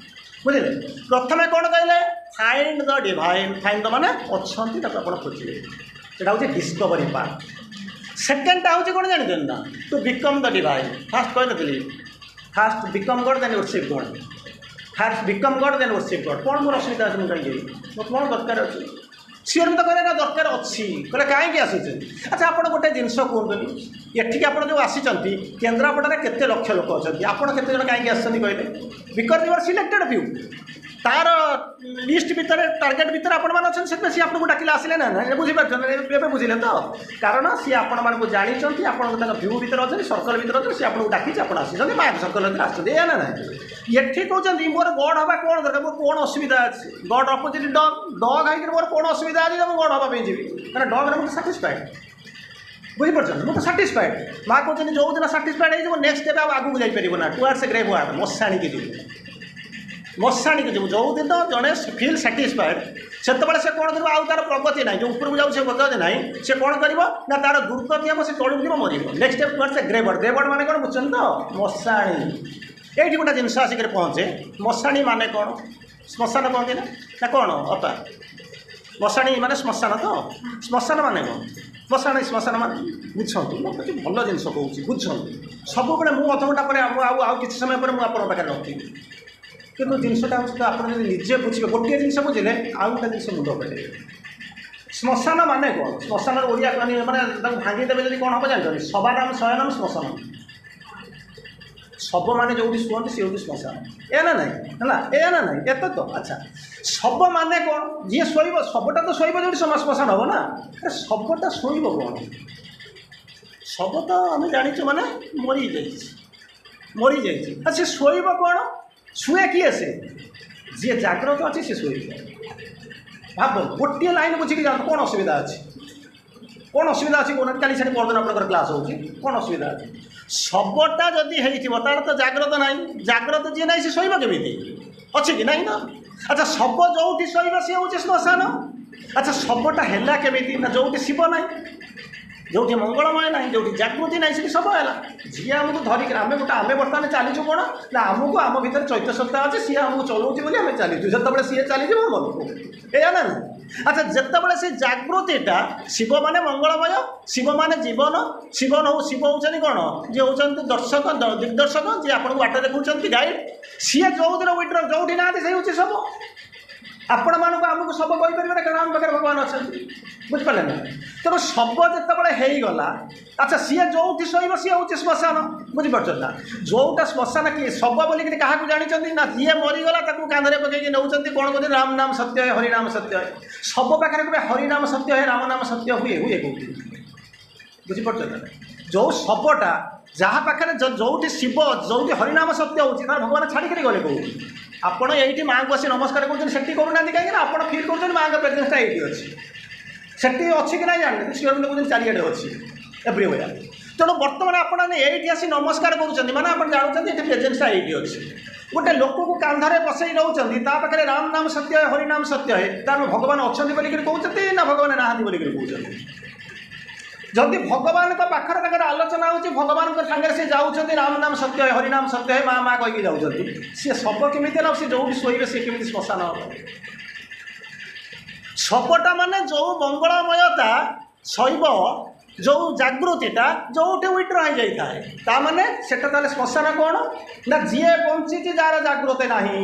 ବୁଝିଲେ ପ୍ରଥମେ କ'ଣ କହିଲେ find the divine find the ମାନେ ଅଛନ୍ତି ତାକୁ ଆପଣ ଖୋଜିବେ ସେଟା ହେଉଛି ଡିସ୍କଭରି ପାର୍ଟ ସେକେଣ୍ଡଟା ହେଉଛି କ'ଣ ଜାଣିଛନ୍ତି ନା to become the divine first କହିନଥିଲି first become God then worship God first become God then worship God କ'ଣ ମୋର ଅସୁବିଧା ଅଛି ମୁଁ କାହିଁକି ମୋର କ'ଣ ଦରକାର ଅଛି ସିଏ ତ କହିଲେ ନା ଦରକାର ଅଛି କହିଲେ କାହିଁକି ଆସୁଛନ୍ତି ଆଚ୍ଛା ଆପଣ ଗୋଟେ ଜିନିଷ କୁହନ୍ତୁନି ଏଠିକି ଆପଣ ଯେଉଁ ଆସିଛନ୍ତି କେନ୍ଦ୍ରାପଡ଼ାରେ କେତେ ଲକ୍ଷ ଲୋକ ଅଛନ୍ତି ଆପଣ କେତେ ଜଣ କାହିଁକି ଆସିଛନ୍ତି କହିଲେ because you are selected few ତାର ଲିଷ୍ଟ ଭିତରେ ଟାର୍ଗେଟ୍ ଭିତରେ ଆପଣମାନେ ଅଛନ୍ତି ସେଥିପାଇଁ ସିଏ ଆପଣଙ୍କୁ ଡାକିଲେ ଆସିଲେ ନା ନା ବୁଝିପାରୁଛନ୍ତି ଏବେ ବୁଝିଲେ ତ କାରଣ ସିଏ ଆପଣମାନଙ୍କୁ ଜାଣିଛନ୍ତି ଆପଣଙ୍କ ତାଙ୍କ ଭ୍ୟୁ ଭିତରେ ଅଛନ୍ତି ସର୍କଲ୍ ଭିତରେ ଅଛନ୍ତି ସିଏ ଆପଣଙ୍କୁ ଡାକିଛି ଆପଣ ଆସିଛନ୍ତି ମାଙ୍କ ସର୍କଲ୍ ଭିତରେ ଆସିଛନ୍ତି ଏଇଆ ନା ନାହିଁ ଏଠି କହୁଛନ୍ତି ମୋର ଗଡ୍ ହେବା କ'ଣ ଦରକାର ମୋର କ'ଣ ଅସୁବିଧା ଅଛି ଗଡ୍ ଅପୋଜିଟ୍ ଡଗ୍ ଡଗ୍ ହେଇକିରି ମୋର କ'ଣ ଅସୁବିଧା ଅଛି ଯେ ମୁଁ ଗଡ୍ ହେବା ପାଇଁ ଯିବି କାରଣ ଡଗ୍ରେ ମୁଁ ତ ସାଟିସ୍ଫାଏଡ଼୍ ବୁଝିପାରୁଛନ୍ତି ମୁଁ ତ ସାଟିସ୍ଫାଏଡ଼୍ ମା କହୁଛନ୍ତି ଯେଉଁଦିନ ସାଟିସ୍ଫାଏଡ଼୍ ହେଇଯିବ ନେକ୍ସଟ ଷ୍ଟେପ୍ ଆଉ ଆଗକୁ ଯାଇପାରିବ ନା ଟୁୱାର୍ଡସ୍ ଗ୍ରେଭ୍ ୱାର୍ଡ ମଶାଣିକି ଯିବୁ ମଶାଣିକି ଯିବୁ ଯେଉଁଦିନ ଜଣେ ଫିଲ୍ ସାଟିସ୍ଫାଏଡ଼୍ ସେତେବେଳେ ସେ କ'ଣ କରିବ ଆଉ ତାର ପ୍ରଗତି ନାହିଁ ଯେଉଁ ଉପରକୁ ଯାଉଛି ସେ ପ୍ରଗତି ନାହିଁ ସେ କ'ଣ କରିବ ନା ତାର ଦୁର୍ଗତି ହେବ ସେ ତଳକୁ ଯିବ ମରିବ next step towards grave world grave world ମାନେ କ'ଣ ବୁଝୁଛନ୍ତି ତ ମଶାଣି ଏଇଠି ଗୋଟେ ଜିନିଷ ଆସିକରି ପହଞ୍ଚେ ମଶାଣି ମାନେ କ'ଣ ଶ୍ମଶାନ କହନ୍ତି ନା ନା କ'ଣ ଅପା ମଶାଣି ମାନେ ଶ୍ମଶାନ ତ ଶ୍ମଶାନ ମାନେ କ'ଣ ମଶାଣି ଶ୍ମଶାନ ମାନେ ବୁଝନ୍ତୁ ମୁଁ କିଛି ଭଲ ଜିନିଷ କହୁଛି ବୁଝନ୍ତୁ ସବୁବେଳେ ମୁଁ ଅଧଘଣ୍ଟା ପରେ ଆଉ ଆଉ ଆଉ କିଛି ସମୟ ପରେ ମୁଁ ଆପଣଙ୍କ ପାଖରେ ନଥିବି କିନ୍ତୁ ଜିନିଷଟା ହେଉଛି ତ ଆପଣ ଯଦି ନିଜେ ବୁଝିବେ ଗୋଟିଏ ଜିନିଷ ବୁଝିଲେ ଆଉ ଗୋଟେ ଜିନିଷ ମୁଣ୍ଡ ଫେଟେଇବେ ଶ୍ମଶାନ ମାନେ କ'ଣ ଶ୍ମଶାନର ଓଡ଼ିଆ ମାନେ ମାନେ ତାକୁ ଭାଙ୍ଗିଦେବେ ଯଦି କ'ଣ ହେବ ଜାଣିଛନ୍ତି ଶବାନାମ ଶୟନମ ଶ୍ମଶାନ ଶବ ମାନେ ଯେଉଁଠି ଶୁଅନ୍ତି ସେ ହେଉଛି ଶ୍ମଶାନ ଏ ନା ନାହିଁ ହେଲା ଏ ନା ନାହିଁ ଏତେ ତ ଆଚ୍ଛା ଶବ ମାନେ କ'ଣ ଯିଏ ଶୋଇବ ଶବଟା ତ ଶୋଇବ ଯେଉଁଠି ଶ୍ମଶାନ ହେବ ନା ଆରେ ଶବଟା ଶୋଇବ କ'ଣ ଶବ ତ ଆମେ ଜାଣିଛୁ ମାନେ ମରିଯାଇଛି ମରିଯାଇଛି ଆଉ ସେ ଶୋଇବ କ'ଣ ଶୁଏ କିଏ ସେ ଯିଏ ଜାଗ୍ରତ ଅଛି ସେ ଶୋଇବ ଭାବନ୍ତୁ ଗୋଟିଏ ଲାଇନ୍ ବୁଝିକି ଯାଆନ୍ତୁ କ'ଣ ଅସୁବିଧା ଅଛି କ'ଣ ଅସୁବିଧା ଅଛି କହୁନାହାନ୍ତି କାଲି ସେଠି ପରଦିନ ଆପଣଙ୍କର କ୍ଲାସ୍ ହେଉଛି କ'ଣ ଅସୁବିଧା ଅଛି ଶବଟା ଯଦି ହେଇଥିବ ତାର ତ ଜାଗ୍ରତ ନାହିଁ ଜାଗ୍ରତ ଯିଏ ନାହିଁ ସେ ଶୋଇବ କେମିତି ଅଛି କି ନାହିଁ ନା ଆଚ୍ଛା ଶବ ଯେଉଁଠି ଶୋଇବ ସିଏ ହେଉଛି ଶ୍ମଶାନ ଆଚ୍ଛା ଶବଟା ହେଲା କେମିତି ନା ଯେଉଁଠି ଶିବ ନାହିଁ ଯେଉଁଠି ମଙ୍ଗଳମୟ ନାହିଁ ଯେଉଁଠି ଜାଗୃତି ନାହିଁ ସେଠି ଶବ ହେଲା ଯିଏ ଆମକୁ ଧରିକି ଆମେ ଗୋଟେ ଆମେ ବର୍ତ୍ତମାନ ଚାଲିଛୁ କ'ଣ ନା ଆମକୁ ଆମ ଭିତରେ ଚୈତ୍ୟ ସତ୍ତା ଅଛି ସିଏ ଆମକୁ ଚଲାଉଛି ବୋଲି ଆମେ ଚାଲିଛୁ ଯେତେବେଳେ ସିଏ ଚାଲିଯିବ ମନକୁ ଏଇଆ ନା ନା ଆଚ୍ଛା ଯେତେବେଳେ ସେ ଜାଗୃତିଟା ଶିବ ମାନେ ମଙ୍ଗଳମୟ ଶିବ ମାନେ ଜୀବନ ଶିବ ହଉ ଶିବ ହେଉଛନ୍ତି କ'ଣ ଯିଏ ହେଉଛନ୍ତି ଦର୍ଶକ ଦିଗ୍ଦର୍ଶକ ଯିଏ ଆପଣଙ୍କୁ ବାଟ ଦେଖାଉଛନ୍ତି ଗାଇଡ଼ ସିଏ ଯେଉଁଦିନ ୱିଡ୍ର ଯେଉଁଠି ନାହାନ୍ତି ସେଇ ହେଉଛି ଶବ ଆପଣମାନଙ୍କୁ ଆମକୁ ଶବ କହିପାରିବେ କାରଣ ଆମ ପାଖରେ ଭଗବାନ ଅଛନ୍ତି ବୁଝିପାରିଲେ ନା ତେଣୁ ଶବ ଯେତେବେଳେ ହେଇଗଲା ଆଚ୍ଛା ସିଏ ଯେଉଁଠି ଶୋଇବ ସିଏ ହେଉଛି ଶ୍ମଶାନ ବୁଝିପାରୁଛନ୍ତି ନା ଯେଉଁଟା ଶ୍ମଶାନ କିଏ ଶବ ବୋଲିକିରି କାହାକୁ ଜାଣିଛନ୍ତି ନା ଯିଏ ମରିଗଲା ତାକୁ କାନ୍ଧରେ ପକେଇକି ନେଉଛନ୍ତି କ'ଣ କହୁଛନ୍ତି ରାମ ନାମ ସତ୍ୟ ହେ ହରିନାମ ସତ୍ୟ ହେ ଶବ ପାଖରେ କେବେ ହରିନାମ ସତ୍ୟ ହେ ରାମ ନାମ ସତ୍ୟ ହୁଏ ହୁଏ କେଉଁଠି ବୁଝିପାରୁଛନ୍ତି ନା ଯେଉଁ ଶବଟା ଯାହା ପାଖରେ ଯେଉଁଠି ଶିବ ଯେଉଁଠି ହରିନାମ ସତ୍ୟ ହେଉଛି ତାହେଲେ ଭଗବାନ ଛାଡ଼ିକିରି ଗଲେ କେଉଁଠି ଆପଣ ଏଇଠି ମାଆଙ୍କୁ ଆସି ନମସ୍କାର କରୁଛନ୍ତି ସେଠି କରୁନାହାନ୍ତି କାହିଁକି ନା ଆପଣ ଫିଲ୍ କରୁଛନ୍ତି ମାଆଙ୍କ ପ୍ରେଜେନ୍ସଟା ଏଇଠି ଅଛି ସେଠି ଅଛି କି ନାହିଁ ଜାଣିନି ଶ୍ରୀ ଅରବିନ୍ଦ କହୁଛନ୍ତି ଚାରିଆଡ଼େ ଅଛି ଏଭ୍ରିୱେୟାର ତେଣୁ ବର୍ତ୍ତମାନ ଆପଣ ଏଇଠି ଆସି ନମସ୍କାର କରୁଛନ୍ତି ମାନେ ଆପଣ ଜାଣୁଛନ୍ତି ଏଠି ପ୍ରେଜେନ୍ସଟା ଏଇଠି ଅଛି ଗୋଟେ ଲୋକକୁ କାନ୍ଧରେ ବସେଇ ନେଉଛନ୍ତି ତା ପାଖରେ ରାମ ନାମ ସତ୍ୟ ହେ ହରିନାମ ସତ୍ୟ ହେ ତାର ଭଗବାନ ଅଛନ୍ତି ବୋଲିକିରି କହୁଛନ୍ତି ନା ଭଗବାନ ନାହାନ୍ତି ବୋଲିକିରି କହୁଛନ୍ତି ଯଦି ଭଗବାନଙ୍କ ପାଖରେ ତାଙ୍କର ଆଲୋଚନା ହେଉଛି ଭଗବାନଙ୍କ ସାଙ୍ଗରେ ସେ ଯାଉଛନ୍ତି ରାମ ନାମ ସତ୍ୟ ହେ ହରିନାମ ସତ୍ୟ ହେ ମା ମା କହିକି ଯାଉଛନ୍ତି ସିଏ ଶବ କେମିତି ହେଲା ସେ ଯେଉଁଠି ଶୋଇବେ ସିଏ କେମିତି ଶ୍ମଶାନ ହେବ ଶବଟା ମାନେ ଯେଉଁ ମଙ୍ଗଳମୟତା ଶୈବ ଯେଉଁ ଜାଗୃତିଟା ଯେଉଁଠି ୱିଡ୍ର ହେଇଯାଇଥାଏ ତା ମାନେ ସେଟା ତାହେଲେ ଶ୍ମଶାନ କ'ଣ ନା ଯିଏ ବଞ୍ଚିଛି ଯାହାର ଜାଗୃତି ନାହିଁ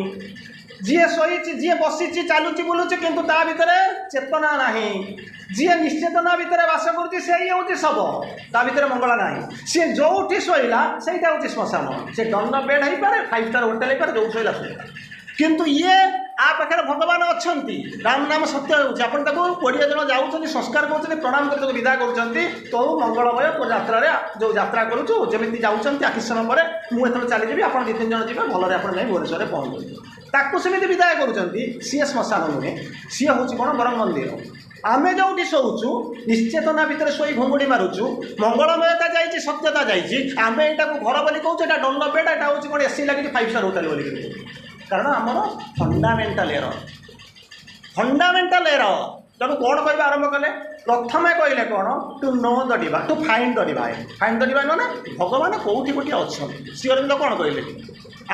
ଯିଏ ଶୋଇଛି ଯିଏ ବସିଛି ଚାଲୁଛି ବୁଲୁଛି କିନ୍ତୁ ତା ଭିତରେ ଚେତନା ନାହିଁ ଯିଏ ନିଶ୍ଚେତନା ଭିତରେ ବାସ କରୁଛି ସେଇ ହେଉଛି ଶବ ତା ଭିତରେ ମଙ୍ଗଳ ନାହିଁ ସିଏ ଯେଉଁଠି ଶୋଇଲା ସେଇଟା ହେଉଛି ଶ୍ମଶାନ ସେ ଡନ୍ଲପ୍ ବେଡ୍ ହେଇପାରେ ଫାଇଭ୍ ଷ୍ଟାର୍ ହୋଟେଲ ହେଇପାରେ ଯେଉଁଠି ଶୋଇଲା ଶୋଇଲା କିନ୍ତୁ ଇଏ ଆ ପାଖରେ ଭଗବାନ ଅଛନ୍ତି ରାମ ନାମ ସତ୍ୟ ହେଉଛି ଆପଣ ତାକୁ କୋଡ଼ିଏ ଜଣ ଯାଉଛନ୍ତି ସଂସ୍କାର କରୁଛନ୍ତି ପ୍ରଣାମ କରି ତାକୁ ବିଦା କରୁଛନ୍ତି ତୋ ମଙ୍ଗଳମୟ ଯାତ୍ରାରେ ଯେଉଁ ଯାତ୍ରା କରୁଛୁ ଯେମିତି ଯାଉଛନ୍ତି ଆଉ କିଛି ସମୟ ପରେ ମୁଁ ଏଥର ଚାଲିଯିବି ଆପଣ ଦୁଇ ତିନି ଜଣ ଯିବେ ଭଲରେ ଆପଣ ଯାଇ ଭୁବନେଶ୍ୱରରେ ପହଞ୍ଚିବେ ତାକୁ ସେମିତି ବିଦାୟ କରୁଛନ୍ତି ସିଏ ଶ୍ମଶାନ ନୁହେଁ ସିଏ ହେଉଛି କ'ଣ ବରଂ ମନ୍ଦିର ଆମେ ଯେଉଁଠି ଶୋଉଛୁ ନିଶ୍ଚେତନା ଭିତରେ ଶୋଇ ଘୁଙ୍ଗୁଡ଼ି ମାରୁଛୁ ମଙ୍ଗଳମୟତା ଯାଇଛି ସତ୍ୟତା ଯାଇଛି ଆମେ ଏଇଟାକୁ ଘର ବୋଲି କହୁଛୁ ଏଇଟା ଡନ୍ଲପ୍ ବେଡ୍ ଏଇଟା ହେଉଛି କ'ଣ ଏସି ଲାଗିଛି ଫାଇଭ୍ ଷ୍ଟାର୍ ହୋଟେଲ ବୋଲିକି କହୁଛୁ କାରଣ ଆମର ଫଣ୍ଡାମେଣ୍ଟାଲ ଏରର ଫଣ୍ଡାମେଣ୍ଟାଲ ଏରର ତେଣୁ କ'ଣ କହିବା ଆରମ୍ଭ କଲେ ପ୍ରଥମେ କହିଲେ କ'ଣ to know the divine to find the divine find the divine ମାନେ ଭଗବାନ କେଉଁଠି ଗୋଟିଏ ଅଛନ୍ତି ଶ୍ରୀ ଅରବିନ୍ଦ କ'ଣ କହିଲେ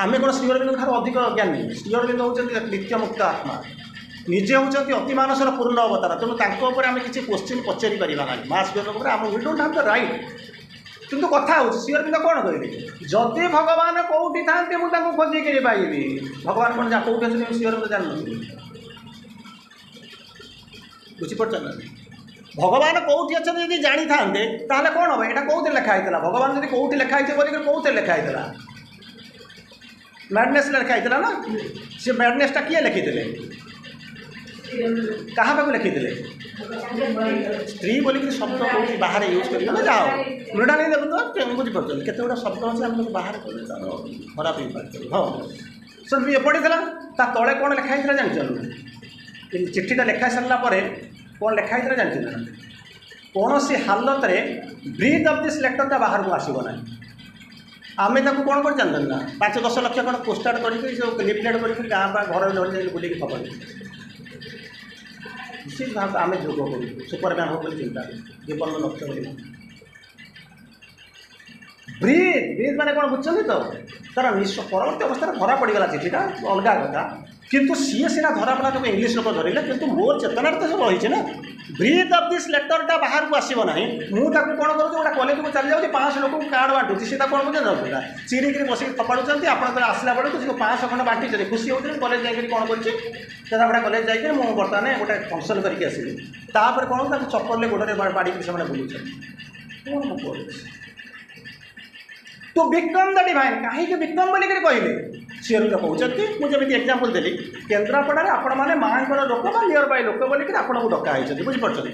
ଆମେ କ'ଣ ଶ୍ରୀ ଅରବିନ୍ଦଙ୍କ ଠାରୁ ଅଧିକ ଜ୍ଞାନୀ ଶ୍ରୀ ଅରବିନ୍ଦ ହେଉଛନ୍ତି ନିତ୍ୟମୁକ୍ତ ଆତ୍ମା ନିଜେ ହେଉଛନ୍ତି ଅତିମାନସର ପୂର୍ଣ୍ଣ ଅବତାର ତେଣୁ ତାଙ୍କ ଉପରେ ଆମେ କିଛି କୋଶ୍ଚିନ୍ ପଚାରି ପାରିବା ନାହିଁ ମା ଶ୍ରୀ ଅରବିନ୍ଦଙ୍କ ଉପରେ ଆମ we don't have the right କିନ୍ତୁ କଥା ହେଉଛି ଶ୍ରୀ ଅରବିନ୍ଦ କ'ଣ କହିଲେ ଯଦି ଭଗବାନ କେଉଁଠି ଥାନ୍ତି ମୁଁ ତାଙ୍କୁ ଖୋଜିକିରି ପାଇବି ଭଗବାନ କ'ଣ ଯା କେଉଁଠି ଅଛନ୍ତି ଶ୍ରୀ ଅରବିନ୍ଦ ଜାଣିନଥିଲେ ବୁଝିପାରୁଛନ୍ତି ନା ଭଗବାନ କେଉଁଠି ଅଛନ୍ତି ଯଦି ଜାଣିଥାନ୍ତେ ତାହେଲେ କ'ଣ ହେବ? ଏଇଟା କେଉଁଥିରେ ଲେଖା ହେଇଥିଲା? ଭଗବାନ ଯଦି କେଉଁଠି ଲେଖା ହେଇଛି ବୋଲିକରି କେଉଁଥିରେ ଲେଖା ହେଇଥିଲା? ମ୍ୟାଡନେସ୍ ଲେଖା ହେଇଥିଲା ନା? ସେ ମ୍ୟାଡନେସ୍ଟା କିଏ ଲେଖିଥିଲେ? କାହା ପାଖକୁ ଲେଖିଥିଲେ? ସ୍ତ୍ରୀ ବୋଲିକିରି ଶବ୍ଦ କେଉଁଠି ବାହାରେ ୟୁଜ୍ କରିବେ ନା? ଯାହା ହଉ, ମୃଣାଳିନୀ ଦେଖନ୍ତୁ, ବୁଝିପାରୁଛନ୍ତି କେତେ ଗୁଡ଼ା ଶବ୍ଦ ଅଛି ଆମେ ତାକୁ ବାହାରେ କଲେ ତାର ଖରାପ ହେଇପାରେ। ହଁ, ସେ ଇଏ ପଡ଼ିଥିଲା, ତା ତଳେ କ'ଣ ଲେଖା ହେଇଥିଲା ଜାଣିଛନ୍ତି? ଚିଠିଟା ଲେଖା ସାରିଲା ପରେ କ'ଣ ଲେଖା ହେଇଥିଲା ଜାଣିଛନ୍ତି ନା? କୌଣସି ହାଲତରେ ବ୍ରିଥ୍ ଅଫ୍ this ଲେଟର୍ଟା ବାହାରକୁ ଆସିବ ନାହିଁ। ଆମେ ତାକୁ କ'ଣ କରି ଜାଣିଛନ୍ତି ନା? ପାଞ୍ଚ ଦଶ ଲକ୍ଷ କ'ଣ ପୋଷ୍ଟାର୍ଟ କରିକି ସବୁ ଲିଫଲେଟ୍ କରିକି ଗାଁ ବା ଘରେ ଘରେ ଯାଇକି ବୁଲିକି ଖବର। ନିଶ୍ଚିତ ଭାବେ ଆମେ ଯୋଗ କରୁଛୁ, ସୁପରମ୍ୟାନ୍ ହବ ବୋଲି ଚିନ୍ତା, ଜୀବନର ଲକ୍ଷ୍ୟ ବୋଲି। ବ୍ରିଥ୍, ବ୍ରିଥ୍ ମାନେ କ'ଣ ବୁଝୁଛନ୍ତି ତ? ତାର ନିଃ ପରବର୍ତ୍ତୀ ଅବସ୍ଥାରେ ଧରା ପଡ଼ିଗଲା ଚିଠିଟା, ଅଲଗା କଥା। କିନ୍ତୁ ସିଏ ସିନା ଧରା ପଡ଼ିଲା, ତାକୁ ଇଂଲିଶ ଲୋକ ଧରିଲେ, କିନ୍ତୁ ମୋର ଚେତନାରେ ତ ସବୁ ରହିଛି ନା। ବ୍ରିଥ୍ ଅଫ୍ this ଲେଟର୍ଟା ବାହାରକୁ ଆସିବ ନାହିଁ। ମୁଁ ତାକୁ କ'ଣ କରୁଛି? ଗୋଟେ କଲେଜକୁ ଚାଲି ଯାଉଛି, ପାଞ୍ଚଶହ ଲୋକଙ୍କୁ କାର୍ଡ଼ ବାଣ୍ଟୁଛି। ସେ ତାକୁ କ'ଣ କରୁଛନ୍ତି? ଯାଉଥିଲା ଚିରିକିରି ବସିକି ଫୋପାଡ଼ୁଛନ୍ତି। ଆପଣ ଯେତେବେଳେ ଆସିଲା ବେଳକୁ ସେ ପାଞ୍ଚଶହ ଖଣ୍ଡ ବାଣ୍ଟିଛନ୍ତି, ଖୁସି ହେଉଛନ୍ତି। କଲେଜ ଯାଇକରି କ'ଣ କରିଛି? କେନ୍ଦ୍ରାପଡ଼ା କଲେଜ ଯାଇକରି ମୁଁ ବର୍ତ୍ତମାନ ଗୋଟେ ଫଙ୍କସନ୍ କରିକି ଆସିଲି। ତାପରେ କ'ଣ, ତାକୁ ଚପଲରେ ଗୋଡ଼ରେ ବାଡ଼ିକିରି ସେମାନେ ବୁଲୁଛନ୍ତି। କ'ଣ ମୁଁ କରୁଛି? Two BCom the divine. କାହିଁକି ବିକମ୍ ବୋଲିକିରି କହିଲେ? ଶ୍ରୀଅରବିନ୍ଦ କହୁଛନ୍ତି, ମୁଁ ଯେମିତି ଏକ୍ଜାମ୍ପଲ୍ ଦେଲି, କେନ୍ଦ୍ରାପଡ଼ାରେ ଆପଣମାନେ ମାଆଙ୍କର ଲୋକ ବା ନିୟର ବାଇ ଲୋକ ବୋଲିକିରି ଆପଣଙ୍କୁ ଡକା ହେଇଛନ୍ତି, ବୁଝିପାରୁଛନ୍ତି?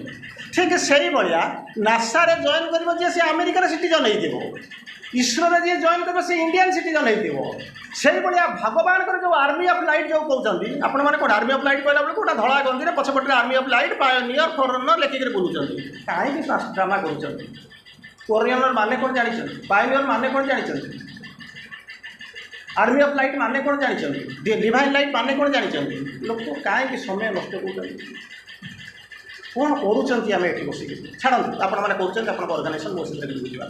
ଠିକ୍ ସେଇଭଳିଆ ନାସାରେ ଜଏନ୍ କରିବ ଯିଏ, ସେ ଆମେରିକାର ସିଟିଜନ୍ ହେଇଥିବ। ଇସ୍ରୋରେ ଯିଏ ଜଏନ୍ କରିବ, ସେ ଇଣ୍ଡିଆନ୍ ସିଟିଜନ୍ ହେଇଥିବ। ସେଇଭଳିଆ ଭଗବାନଙ୍କର ଯେଉଁ ଆର୍ମି ଅଫ୍ ଲାଇଟ୍ ଯେଉଁ କହୁଛନ୍ତି ଆପଣମାନେ, କ'ଣ ଆର୍ମି ଅଫ୍ ଲାଇଟ୍ କହିଲା ବେଳକୁ ଗୋଟେ ଧଳା ଗଞ୍ଜିରେ ପଛପଟରେ army of light, pioneer, forerunner ଲେଖିକିରି ବୁଲୁଛନ୍ତି। କାହିଁକି ଡ୍ରାମା କରୁଛନ୍ତି? ଫୋରରନର ମାନେ କ'ଣ ଜାଣିଛନ୍ତି? ପାୟନିୟର ମାନେ କ'ଣ ଜାଣିଛନ୍ତି? ଆର୍ମି ଅଫ୍ ଲାଇଟ୍ ମାନେ କ'ଣ ଜାଣିଛନ୍ତି? ଡିଭାଇନ୍ ଲାଇଟ୍ ମାନେ କ'ଣ ଜାଣିଛନ୍ତି? ଲୋକ କାହିଁକି ସମୟ ନଷ୍ଟ କରୁଛନ୍ତି? କ'ଣ କରୁଛନ୍ତି ଆମେ ଏଠି ବସିକି? ଛାଡ଼ନ୍ତୁ, ଆପଣମାନେ କରୁଛନ୍ତି ଆପଣଙ୍କ ଅର୍ଗାନାଇଜେସନ୍, ମୋ ସେଥିରେ କିଛି ବୁଝିବା।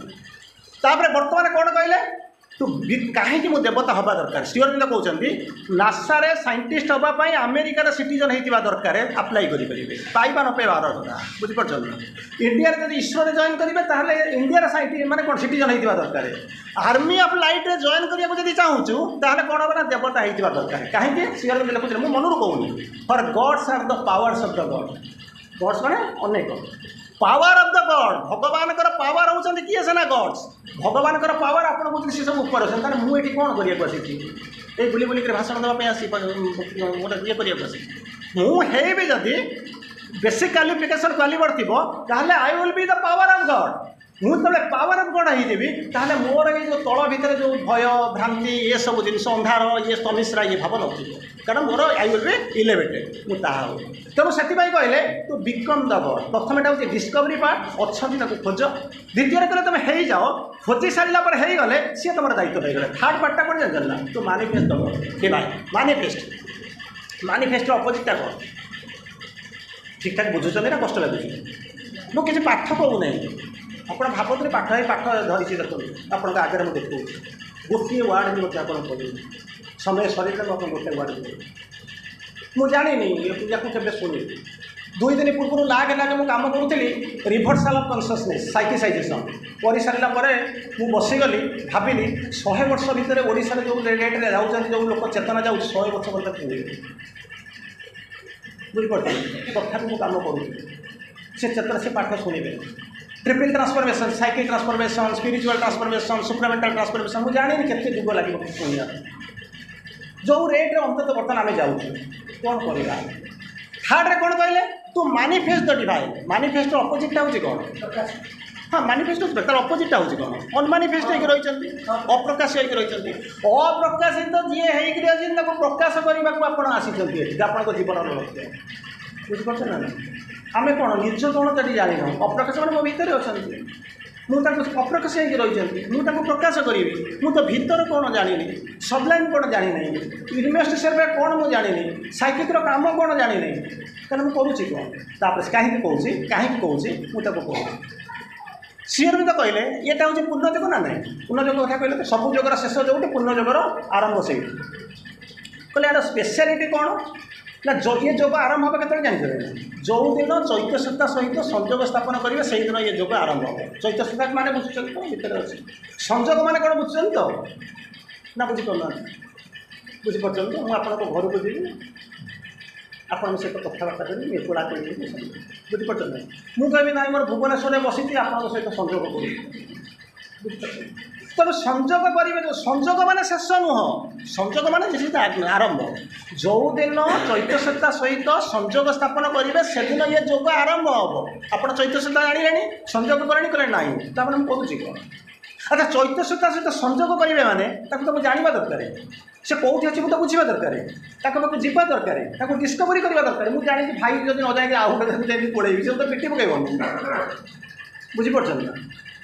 ତାପରେ ବର୍ତ୍ତମାନ କ'ଣ କହିଲେ? ତୁ କାହିଁକି ମୁଁ ଦେବତା ହେବା ଦରକାର? ଶ୍ରୀଅରବିନ୍ଦ କହୁଛନ୍ତି, ନାସାରେ ସାଇଣ୍ଟିଷ୍ଟ ହେବା ପାଇଁ ଆମେରିକାର ସିଟିଜନ୍ ହେଇଥିବା ଦରକାର, ଆପ୍ଲାଏ କରିପାରିବେ, ପାଇବା ନ ପାଇବା ଅଲଗା କଥା, ବୁଝିପାରୁଛନ୍ତି ନା? ଇଣ୍ଡିଆରେ ଯଦି ଇସ୍ରୋରେ ଜଏନ୍ କରିବେ, ତାହେଲେ ଇଣ୍ଡିଆର ସାଇଣ୍ଟି ମାନେ କ'ଣ ସିଟିଜନ୍ ହେଇଥିବା ଦରକାର। ଆର୍ମି ଅଫ୍ ଲାଇଟ୍ରେ ଜଏନ୍ କରିବାକୁ ଯଦି ଚାହୁଁଛୁ, ତାହେଲେ କ'ଣ ହେବ ନା ଦେବତା ହେଇଥିବା ଦରକାର। କାହିଁକି? ଶ୍ରୀଅରବିନ୍ଦ ଲେଖୁଛନ୍ତି, ମୁଁ ମନରୁ କହୁନି, for gods are the powers of the God. Gods ମାନେ ଅନେକ, ପାୱାର ଅଫ୍ the god. ଭଗବାନଙ୍କର ପାୱାର ହେଉଛନ୍ତି କିଏ ସେ ନା ଗଡ୍ସ। ଭଗବାନଙ୍କର ପାୱାର ଆପଣ କହୁଛନ୍ତି, ସେ ସବୁ ଉପରେ ଅଛନ୍ତି। ତାହେଲେ ମୁଁ ଏଠି କ'ଣ କରିବାକୁ ଆସିଛି? ଏଇ ବୁଲି ବୁଲିକିରି ଭାଷଣ ଦେବା ପାଇଁ ଆସି ଗୋଟେ ଇଏ କରିବାକୁ ଆସିଛି? ମୁଁ ହେଇବି ଯଦି ବେସିକ୍ କ୍ୱାଲିଫିକେସନ୍ କ୍ୱାଲିବର ଥିବ, ତାହେଲେ I will be the power of God. ମୁଁ ଯେତେବେଳେ ପାୱାର ଅଫ୍ ଗଡ୍ ହେଇଯିବି, ତାହେଲେ ମୋର ଏଇ ଯେଉଁ ତଳ ଭିତରେ ଯେଉଁ ଭୟ, ଭ୍ରାନ୍ତି, ଏସବୁ ଜିନିଷ, ଅନ୍ଧାର, ଇଏ ତମିସ୍ରା, ଇଏ ଭାବ ନଥିବ। କାରଣ ମୋର I will be elevated, ମୁଁ ତାହା ହବ। ତେଣୁ ସେଥିପାଇଁ କହିଲେ ଟୁ ବିକମ୍ ଦ ଗଡ୍। ପ୍ରଥମେଟା ହେଉଛି ଡିସ୍କଭରି ପାର୍ଟ, ଅଛନ୍ତି ତାକୁ ଖୋଜ। ଦ୍ୱିତୀୟରେ କହିଲେ ତୁମେ ହେଇଯାଅ। ଖୋଜି ସାରିଲା ପରେ ହେଇଗଲେ ସିଏ ତୁମର ଦାୟିତ୍ୱ ହେଇଗଲେ। ଥାର୍ଡ଼ ପାର୍ଟଟା କ'ଣ ଜାଣିଛନ୍ତି ନା? To manifest the God, divine manifest. ମାନିଫେଷ୍ଟର ଅପୋଜିଟ୍ଟା କ'ଣ? ଠିକ୍ଠାକ୍ ବୁଝୁଛନ୍ତି ନା କଷ୍ଟ ଲାଗୁଛି? ମୁଁ କିଛି ପାଠ କହୁନାହିଁ। ଆପଣ ଭାବନ୍ତୁନି ପାଠ ହେଇ ପାଠ ଧରିଛି। ଦେଖନ୍ତୁ, ଆପଣଙ୍କ ଆଗରେ ମୁଁ ଦେଖାଉଛି, ଗୋଟିଏ ୱାର୍ଡ଼ ବି ମଧ୍ୟ ଆପଣ କହିବେନି। ସମୟ ସରିଲେ ମୁଁ ଆପଣଙ୍କୁ ଗୋଟେ ୱାର୍ଡ଼ ବି। ମୁଁ ଜାଣିନି ଏ ପୂଜାକୁ କେବେ ଶୁଣିନି। ଦୁଇ ଦିନ ପୂର୍ବରୁ ଲାଗେ ଲାଗେ ମୁଁ କାମ କରୁଥିଲି, ରିଭର୍ସାଲ୍ ଅଫ୍ କନସିୟସନେସ୍, ସାଇକିସାଇଜେସନ୍ କରିସାରିଲା ପରେ ମୁଁ ବସିଗଲି, ଭାବିଲି ଶହେ ବର୍ଷ ଭିତରେ ଓଡ଼ିଶାରେ ଯେଉଁ ରେଟ୍ରେ ଯାଉଛନ୍ତି, ଯେଉଁ ଲୋକ ଚେତନା ଯାଉଛି, ଶହେ ବର୍ଷ ପରେ ତାକୁ ବୁଝିପାରୁଛନ୍ତି। ତଥାପି ମୁଁ କାମ କରୁଥିଲି। ସେ ଚେତନା ସେ ପାଠ ଶୁଣିବେ, triple transformation, psychic transformation, spiritual transformation, supramental transformation. ମୁଁ ଜାଣିନି କେତେ ଯୁଗ ଲାଗିବ ଶୁଣିବା। ଯେଉଁ ରେଟ୍ରେ ଅନ୍ତତଃ ବର୍ତ୍ତମାନ ଆମେ ଯାଉଛୁ, କ'ଣ କରିବା? ଥାର୍ଡ଼ରେ କ'ଣ କହିଲେ? To manifest the divine. ମାନିଫେଷ୍ଟର ଅପୋଜିଟ୍ଟା ହେଉଛି କ'ଣ? ହଁ, ମାନିଫେଷ୍ଟ ତାର ଅପୋଜିଟ୍ଟା ହେଉଛି କ'ଣ? ଅନମାନିଫେଷ୍ଟ ହେଇକି ରହିଛନ୍ତି, ଅପ୍ରକାଶ ହେଇକି ରହିଛନ୍ତି। ଅପ୍ରକାଶିତ ଯିଏ ହେଇକିରି ଅଛନ୍ତି, ତାକୁ ପ୍ରକାଶ କରିବାକୁ ଆପଣ ଆସିଛନ୍ତି ଏଠି, ଆପଣଙ୍କ ଜୀବନର ଲକ୍ଷ୍ୟ। ବୁଝିପାରୁଛନ୍ତି ନା? ଆମେ କ'ଣ ନିଜ କ'ଣ ସେଠି ଜାଣିନୁ। ଅପ୍ରକାଶ ମାନେ ମୋ ଭିତରେ ଅଛନ୍ତି, ମୁଁ ତାଙ୍କୁ ଅପ୍ରକାଶ ହେଇକି ରହିଛନ୍ତି, ମୁଁ ତାଙ୍କୁ ପ୍ରକାଶ କରିବି। ମୁଁ ତ ଭିତର କ'ଣ ଜାଣିନି, ସବଲାଇମ୍ କ'ଣ ଜାଣିନାହିଁ, ୟୁନିଭର୍ସିଟି ସର୍ଭେ କ'ଣ ମୁଁ ଜାଣିନି, ସାଇକିକ୍ର କାମ କ'ଣ ଜାଣିନି, ତାହେଲେ ମୁଁ କରୁଛି କ'ଣ? ତାପରେ କାହିଁକି କହୁଛି, କାହିଁକି କହୁଛି, ମୁଁ ତାକୁ କହୁଛି। ଶ୍ରୀଅରବିନ୍ଦ କହିଲେ ଇଏଟା ହେଉଛି ପୂର୍ଣ୍ଣଯୋଗ ନା ନାହିଁ? ପୂର୍ଣ୍ଣଯୋଗ କଥା କହିଲେ ତ ସବୁ ଯୋଗର ଶେଷ ଯେଉଁଠି, ପୂର୍ଣ୍ଣଯୋଗର ଆରମ୍ଭ ସେଇଠି। କହିଲେ ଏହାର ସ୍ପେଶିଆଲିଟି କ'ଣ ନା ଇଏ ଯୋଗ ଆରମ୍ଭ ହେବ କେତେବେଳେ ଜାଣିଛନ୍ତି? ଯେଉଁଦିନ ଚୈତ୍ୟ ସତ୍ତା ସହିତ ସଂଯୋଗ ସ୍ଥାପନ କରିବେ, ସେଇଦିନ ଇଏ ଯୋଗ ଆରମ୍ଭ ହେବ। ଚୈତ୍ୟ ସତ୍ତା ମାନେ ବୁଝୁଛନ୍ତି ତ? ଭିତରେ ଅଛି। ସଂଯୋଗ ମାନେ କ'ଣ ବୁଝୁଛନ୍ତି ତ ନା ବୁଝିପାରୁନାହାନ୍ତି? ବୁଝିପାରୁଛନ୍ତି ତ? ମୁଁ ଆପଣଙ୍କ ଘରକୁ ଯିବି, ଆପଣଙ୍କ ସହିତ କଥାବାର୍ତ୍ତା କରିବି, ଏକଲା କରିବି, ବୁଝିପାରୁଛନ୍ତି? ମୁଁ କହିବି ନାଇଁ, ମୋର ଭୁବନେଶ୍ୱରରେ ବସିଛି, ଆପଣଙ୍କ ସହିତ ସଂଯୋଗ କରୁଛି, ବୁଝିପାରୁଛନ୍ତି? ତେଣୁ ସଂଯୋଗ କରିବେ। ସଂଯୋଗ ମାନେ ଶେଷ ନୁହଁ, ସଂଯୋଗ ମାନେ ଆରମ୍ଭ। ଯେଉଁଦିନ ଚୈତ୍ୟସତ୍ତା ସହିତ ସଂଯୋଗ ସ୍ଥାପନ କରିବେ, ସେଦିନ ଇଏ ଯୋଗ ଆରମ୍ଭ ହେବ। ଆପଣ ଚୈତ୍ୟସତ୍ତା ଜାଣିଲେଣି, ସଂଯୋଗ କଲେଣି? କଲେ ନାହିଁ, ତାମାନେ ମୁଁ କହୁଛି କ'ଣ? ଆଚ୍ଛା, ଚୈତ୍ୟସତ୍ତା ସହିତ ସଂଯୋଗ କରିବେ ମାନେ ତାକୁ ତ ମୁଁ ଜାଣିବା ଦରକାର, ସେ କେଉଁଠି ଅଛି ମୁଁ ତ ବୁଝିବା ଦରକାର, ତାଙ୍କ ପାଖକୁ ଯିବା ଦରକାର, ତାକୁ ଡିସ୍କଭରି କରିବା ଦରକାର। ମୁଁ ଜାଣିଛି ଭାଇ ଯଦି ନ ଯାଇକି ଆଉ ଗୋଟେ ଯାଇକି ପଳେଇବି, ସେ ତ ପିଟି ପକାଇବନି, ବୁଝିପାରୁଛନ୍ତି ନା?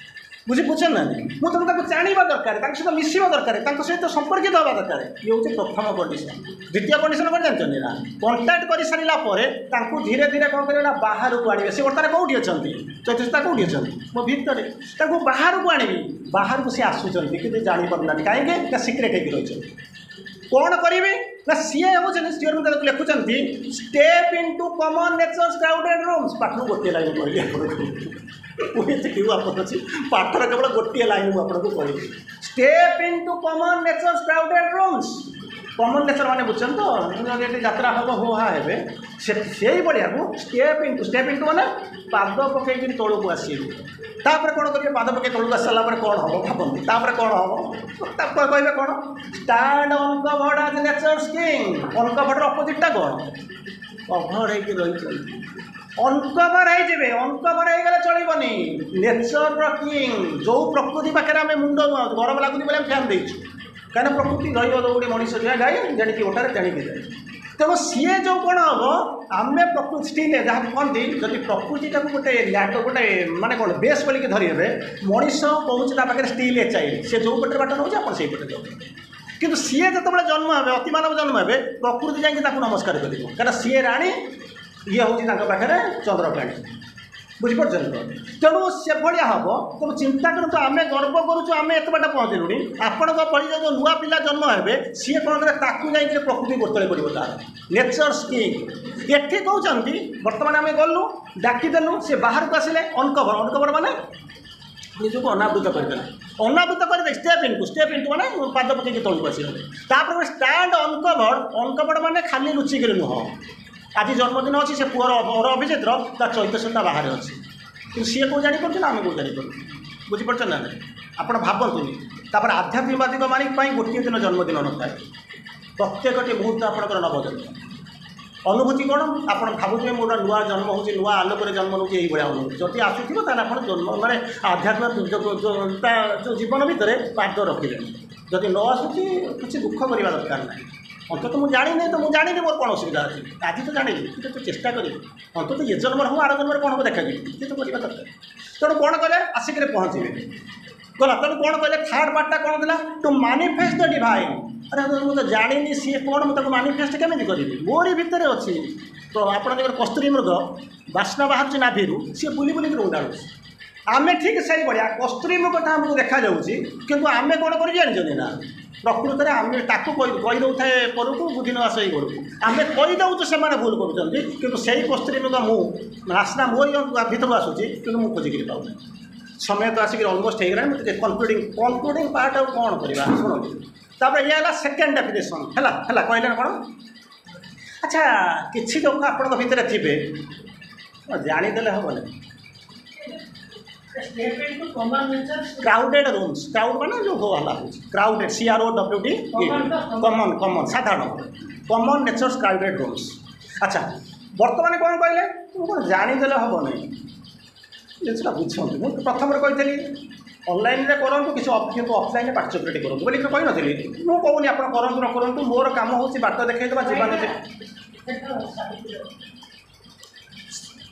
ବୁଝି ବୁଝୁଛନ୍ତି ନା? ମୁଁ ତେଣୁ ତାକୁ ଜାଣିବା ଦରକାର, ତାଙ୍କ ସହିତ ମିଶିବା ଦରକାର, ତାଙ୍କ ସହିତ ସମ୍ପର୍କିତ ହେବା ଦରକାର। ଇଏ ହେଉଛି ପ୍ରଥମ କଣ୍ଡିସନ୍। ଦ୍ୱିତୀୟ କଣ୍ଡିସନ୍ କ'ଣ ଜାଣିଛନ୍ତି ନା? କଣ୍ଟାକ୍ଟ କରିସାରିଲା ପରେ ତାଙ୍କୁ ଧୀରେ ଧୀରେ କ'ଣ କରିବେ ନା ବାହାରକୁ ଆଣିବେ। ସେ ବର୍ତ୍ତମାନ କେଉଁଠି ଅଛନ୍ତି? ଚୈତନ୍ୟତା କେଉଁଠି ଅଛନ୍ତି? ମୋ ଭିତରେ। ତାଙ୍କୁ ବାହାରକୁ ଆଣିବି। ବାହାରକୁ ସେ ଆସୁଛନ୍ତି, କିନ୍ତୁ ଜାଣିପାରୁନାହାନ୍ତି। କାହିଁକି ନା ସିକ୍ରେଟ୍ ହେଇକି ରହିଛନ୍ତି। କ'ଣ କରିବେ ନା ସିଏ ହେଉଛନ୍ତି, ସିଏ ତାକୁ ଲେଖୁଛନ୍ତି, "Step into common nature's crowded rooms." ପାଠରୁ ଗୋଟିଏ ଲାଇନ୍ କହିଲି ଆପଣଙ୍କୁ ମୁଁ, ଏତିକି ଆପଣ ଅଛି। ପାଠର କେବଳ ଗୋଟିଏ ଲାଇନ୍ ମୁଁ ଆପଣଙ୍କୁ କହିଲି, "Step into common nature's crowded rooms." Common nature ମାନେ ବୁଝୁଛନ୍ତି ତ? ଯଦି ଏଠି ଯାତ୍ରା ହେବ, ହୋ ହା ହେବେ, ସେ ସେଇଭଳିଆକୁ ଷ୍ଟେପ୍ ଇଣ୍ଟୁ, ଷ୍ଟେପ୍ ଇଣ୍ଟୁ ମାନେ ପାଦ ପକେଇକିରି ତଳକୁ ଆସିବେ। ତାପରେ କ'ଣ କରିବେ? ପାଦ ପକେଇ ତଳକୁ ଆସିସାରିଲା ପରେ କ'ଣ ହେବ ଭାବନ୍ତି। ତାପରେ କ'ଣ ହେବ? ତାପରେ କହିବେ କ'ଣ? "Stand uncovered as nature's king." ଅନକଭର୍ଡର ଅପୋଜିଟ୍ଟା କ'ଣ? କଭର୍ଡ ହେଇକି ରହିଛନ୍ତି। ଅନକଭର ହେଇଯିବେ। ଅନକଭର ହେଇଗଲେ ଚଳିବନି। ନେଚରର କିଙ୍ଗ, ଯେଉଁ ପ୍ରକୃତି ପାଖରେ ଆମେ ମୁଣ୍ଡ ନୁଆଉଛୁ, ଗରମ ଲାଗୁନି ବୋଲି ଆମେ ଫ୍ୟାନ୍ ଦେଇଛୁ। କାହିଁକିନା ପ୍ରକୃତି ରହିବ ଦୌଡ଼ି ମଣିଷ ଯାଏ ଗାଈ, ଯେଣିକି ଓଟାରେ ତେଣିକି ଯାଏ। ତେଣୁ ସିଏ ଯେଉଁ କ'ଣ ହେବ, ଆମେ ପ୍ରକୃତି ଷ୍ଟିଲ୍ ଯାହାକୁ କହନ୍ତି, ଯଦି ପ୍ରକୃତିଟାକୁ ଗୋଟେ ଲ୍ୟାଟ ଗୋଟେ ମାନେ କ'ଣ ବେସ୍ ବୋଲିକି ଧରିହେବେ, ମଣିଷ କହୁଛି ତା ପାଖରେ ଷ୍ଟିଲ୍ ଏ ଚାଇଲ୍ଡ। ସେ ଯେଉଁ ପଟରେ ବାଟ ନେଉଛି, ଆପଣ ସେଇ ପଟେ ଯାଉଛନ୍ତି। କିନ୍ତୁ ସିଏ ଯେତେବେଳେ ଜନ୍ମ ହେବେ, ଅତିମାନବ ଜନ୍ମ ହେବେ, ପ୍ରକୃତି ଯାଇକି ତାକୁ ନମସ୍କାର କରିବ। କାରଣ ସିଏ ରାଣୀ, ଇଏ ହେଉଛି ତାଙ୍କ ପାଖରେ ଚନ୍ଦ୍ରକାଣୀ, ବୁଝିପାରୁଛନ୍ତି ତ? ତେଣୁ ସେଭଳିଆ ହେବ। ତେଣୁ ଚିନ୍ତା କରନ୍ତୁ, ଆମେ ଗର୍ବ କରୁଛୁ ଆମେ ଏତେ ବାଟ ପହଞ୍ଚିଲୁଣି। ଆପଣଙ୍କ ଭଳି ଯେଉଁ ନୂଆ ପିଲା ଜନ୍ମ ହେବେ, ସିଏ କ'ଣ କରିବେ? ତାକୁ ଯାଇକରି ପ୍ରକୃତି ଗୋଡ଼ତଳେ ପଡ଼ିବ ତାର। ନେଚର୍ସ କିଙ୍ଗ ଏଠି କହୁଛନ୍ତି। ବର୍ତ୍ତମାନ ଆମେ ଗଲୁ, ଡାକିଦେଲୁ, ସେ ବାହାରକୁ ଆସିଲେ। ଅନକଭର, ଅନକଭର ମାନେ ନିଜକୁ ଅନାବୃତ କରିଦେଲେ। ଅନାବୃତ କରିଦେଇ ଷ୍ଟେପ୍ ଇଣ୍ଟୁ, ଷ୍ଟେପ୍ ଇଣ୍ଟୁ ମାନେ ପାଦ ପକେଇକି ତଳକୁ ଆସିଗଲେ। ତାପରେ ଷ୍ଟାଣ୍ଡ ଅନକଭର୍ଡ। ଅନକଭର୍ଡ ମାନେ ଖାଲି ଲୁଚିକିରି ନୁହଁ। ଆଜି ଜନ୍ମଦିନ ଅଛି ସେ ପୁଅର, ଅର ଅଭିଜିତର, ତା ଚୈତନ୍ୟତା ବାହାରେ ଅଛି। କିନ୍ତୁ ସିଏ କେଉଁ ଜାଣିପାରୁଛି ନା ଆମେ କେଉଁ ଜାଣିପାରୁଛୁ? ବୁଝିପାରୁଛନ୍ତି ନା ନାହିଁ? ଆପଣ ଭାବନ୍ତୁନି। ତାପରେ ଆଧ୍ୟାତ୍ମିକବାଦୀଙ୍କ ମାନେ ପାଇଁ ଗୋଟିଏ ଦିନ ଜନ୍ମଦିନ ନଥାଏ, ପ୍ରତ୍ୟେକଟି ମୁହୂର୍ତ୍ତ ଆପଣଙ୍କର ନବଜନ୍ମ ଅନୁଭୂତି। କ'ଣ ଆପଣ ଭାବୁଥିବେ, ମୋର ନୂଆ ଜନ୍ମ ହେଉଛି, ନୂଆ ଆଲୋକରେ ଜନ୍ମ ନେଉଛି, ଏଇଭଳିଆ ଅନୁଭୂତି ଯଦି ଆସୁଥିବ, ତାହେଲେ ଆପଣ ଜନ୍ମ ମାନେ ଆଧ୍ୟାତ୍ମିକ ତା ଯେଉଁ ଜୀବନ ଭିତରେ ପାଦ ରଖିଲେଣି। ଯଦି ନ ଆସୁଛି, କିଛି ଦୁଃଖ କରିବା ଦରକାର ନାହିଁ। ଅନ୍ତତଃ ମୁଁ ଜାଣିନି ତ ମୁଁ ଜାଣିନି, ମୋର କ'ଣ ଅସୁବିଧା ଅଛି? ଆଜି ତ ଜାଣିଲି, କିନ୍ତୁ ତ ଚେଷ୍ଟା କରିବି। ଅନ୍ତତଃ ଏ ଜନ୍ମରେ ହଉ, ଆର ଜନ୍ମରେ କ'ଣ ହେବ ଦେଖାଯିବ, କିଛି ତ କରିବା ଦରକାର। ତେଣୁ କ'ଣ କଲେ? ଆସିକିରି ପହଞ୍ଚିବେ ଗଲା। ତେଣୁ କ'ଣ କହିଲେ? ଥାର୍ଡ଼ ପାର୍ଟଟା କ'ଣ ଥିଲା? To manifest the divine. ଆରେ, ମୁଁ ତ ଜାଣିନି ସିଏ କ'ଣ, ମୁଁ ତାକୁ ମାନିଫେଷ୍ଟ କେମିତି କରିବି? ମୋରି ଭିତରେ ଅଛି ତ। ଆପଣ ଦେଖିବେ, କସ୍ତୁରୀ ମୃଗ ବାସ୍ନା ବାହାରୁଛି ନାଭିରୁ, ସିଏ ବୁଲି ବୁଲିକି ଉଣ୍ଡାଳୁଛି। ଆମେ ଠିକ୍ ସେଇଭଳିଆ। କସ୍ତୁରୀ ମୃଗଟା ଆମକୁ ଦେଖାଯାଉଛି, କିନ୍ତୁ ଆମେ କ'ଣ କରି ଜାଣିଛନ୍ତି ନା? ପ୍ରକୃତରେ ଆମେ ତାକୁ କହି କହିଦେଉଥାଏ ପରକୁ, ବୁଦ୍ଧି ନ ଆସେ ଘରକୁ। ଆମେ କହିଦେଉଛୁ ସେମାନେ ଭୁଲ କରୁଛନ୍ତି, କିନ୍ତୁ ସେଇ କସ୍ତୁରୀ ମୃଗ ମୁଁ, ବାସ୍ନା ମୋରି ଭିତରୁ ଆସୁଛି, କିନ୍ତୁ ମୁଁ ଖୋଜିକିରି ପାଉନି। ସମୟ ତ ଆସିକି ଅଲମୋଷ୍ଟ ହେଇଗଲାଣି। ମୁଁ ଟିକେ କନକ୍ଲୁଡ଼ିଂ କନକ୍ଲୁଡ଼ିଂ ପାର୍ଟ ଆଉ କ'ଣ କରିବା, ଶୁଣନ୍ତୁ। ତାପରେ ଇଏ ହେଲା ସେକେଣ୍ଡ ଡେଫିନେସନ୍। ହେଲା ହେଲା କହିଲେ କ'ଣ? ଆଚ୍ଛା, କିଛି ଲୋକ ଆପଣଙ୍କ ଭିତରେ ଥିବେ, ଜାଣିଦେଲେ ହେବନି। Step into common nature. Crowded rooms. Crowd ମାନେ ଯେଉଁ ହୋ ହଲ୍ଲା ହେଉଛି। Crowded, C R O W D, common, common ସାଧାରଣ, କମନ୍ ନେଚର୍ସ କ୍ରାଉଡେଡ୍ ରୁମ୍ସ। ଆଚ୍ଛା, ବର୍ତ୍ତମାନ କ'ଣ କହିଲେ? ମୁଁ କ'ଣ ଜାଣିଦେଲେ ହେବ ନାହିଁ, ଜିନିଷଟା ବୁଝନ୍ତୁ। ମୁଁ ପ୍ରଥମରେ କହିଥିଲି ଅନଲାଇନ୍ରେ କରନ୍ତୁ କିଛି, କିନ୍ତୁ ଅଫଲାଇନ୍ରେ ପାର୍ଟିସିପେଟ୍ କରନ୍ତୁ ବୋଲି କହିନଥିଲି। ମୁଁ କହୁନି ଆପଣ କରନ୍ତୁ ନ କରନ୍ତୁ, ମୋର କାମ ହେଉଛି ବାଟ ଦେଖାଇଦେବା, ଯିବା ନ।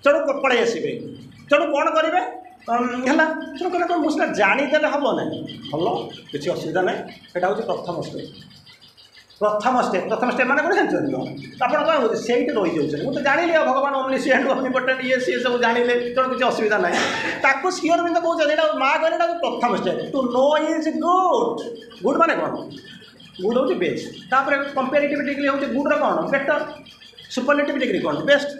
ତେଣୁ ପଳେଇ ଆସିବେ। ତେଣୁ କ'ଣ କରିବେ? ହେଲା, ତେଣୁ କହିଲେ କ'ଣ, ମୁଁ ସିନା ଜାଣିଦେଲେ ହେବ ନାହିଁ। ଭଲ, କିଛି ଅସୁବିଧା ନାହିଁ। ସେଇଟା ହେଉଛି ପ୍ରଥମ ଷ୍ଟେପ୍। ପ୍ରଥମ ଷ୍ଟେପ୍, ପ୍ରଥମ ଷ୍ଟେପ୍ ମାନେ କ'ଣ ଜାଣିଛନ୍ତି ତ? ଆପଣ କ'ଣ ହେଉଛି, ସେଇଠି ରହିଯାଉଛନ୍ତି। ମୁଁ ତ ଜାଣିଲି ଆଉ ଭଗବାନ ଅମନିସିଏଣ୍ଟ, ଅମନିପୋଟେଣ୍ଟ, ଇଏ ସିଏ ସବୁ ଜାଣିଲେ, ତେଣୁ କିଛି ଅସୁବିଧା ନାହିଁ। ତାକୁ ଶ୍ରୀ ଅରବିନ୍ଦ କହୁଛନ୍ତି, ଏଇଟା ମା କହିଲେ, ଏଇଟା ପ୍ରଥମ step. To know is good. Good ମାନେ କ'ଣ? ଗୁଡ୍ ହେଉଛି ବେଷ୍ଟ। ତାପରେ କମ୍ପାରେଟିଭ୍ ଡିଗ୍ରୀ ହେଉଛି ଗୁଡ୍ର କ'ଣ? ବେଟର୍। ସୁପରଲେଟିଭ୍ ଡିଗ୍ରୀ କ'ଣ? ବେଷ୍ଟ।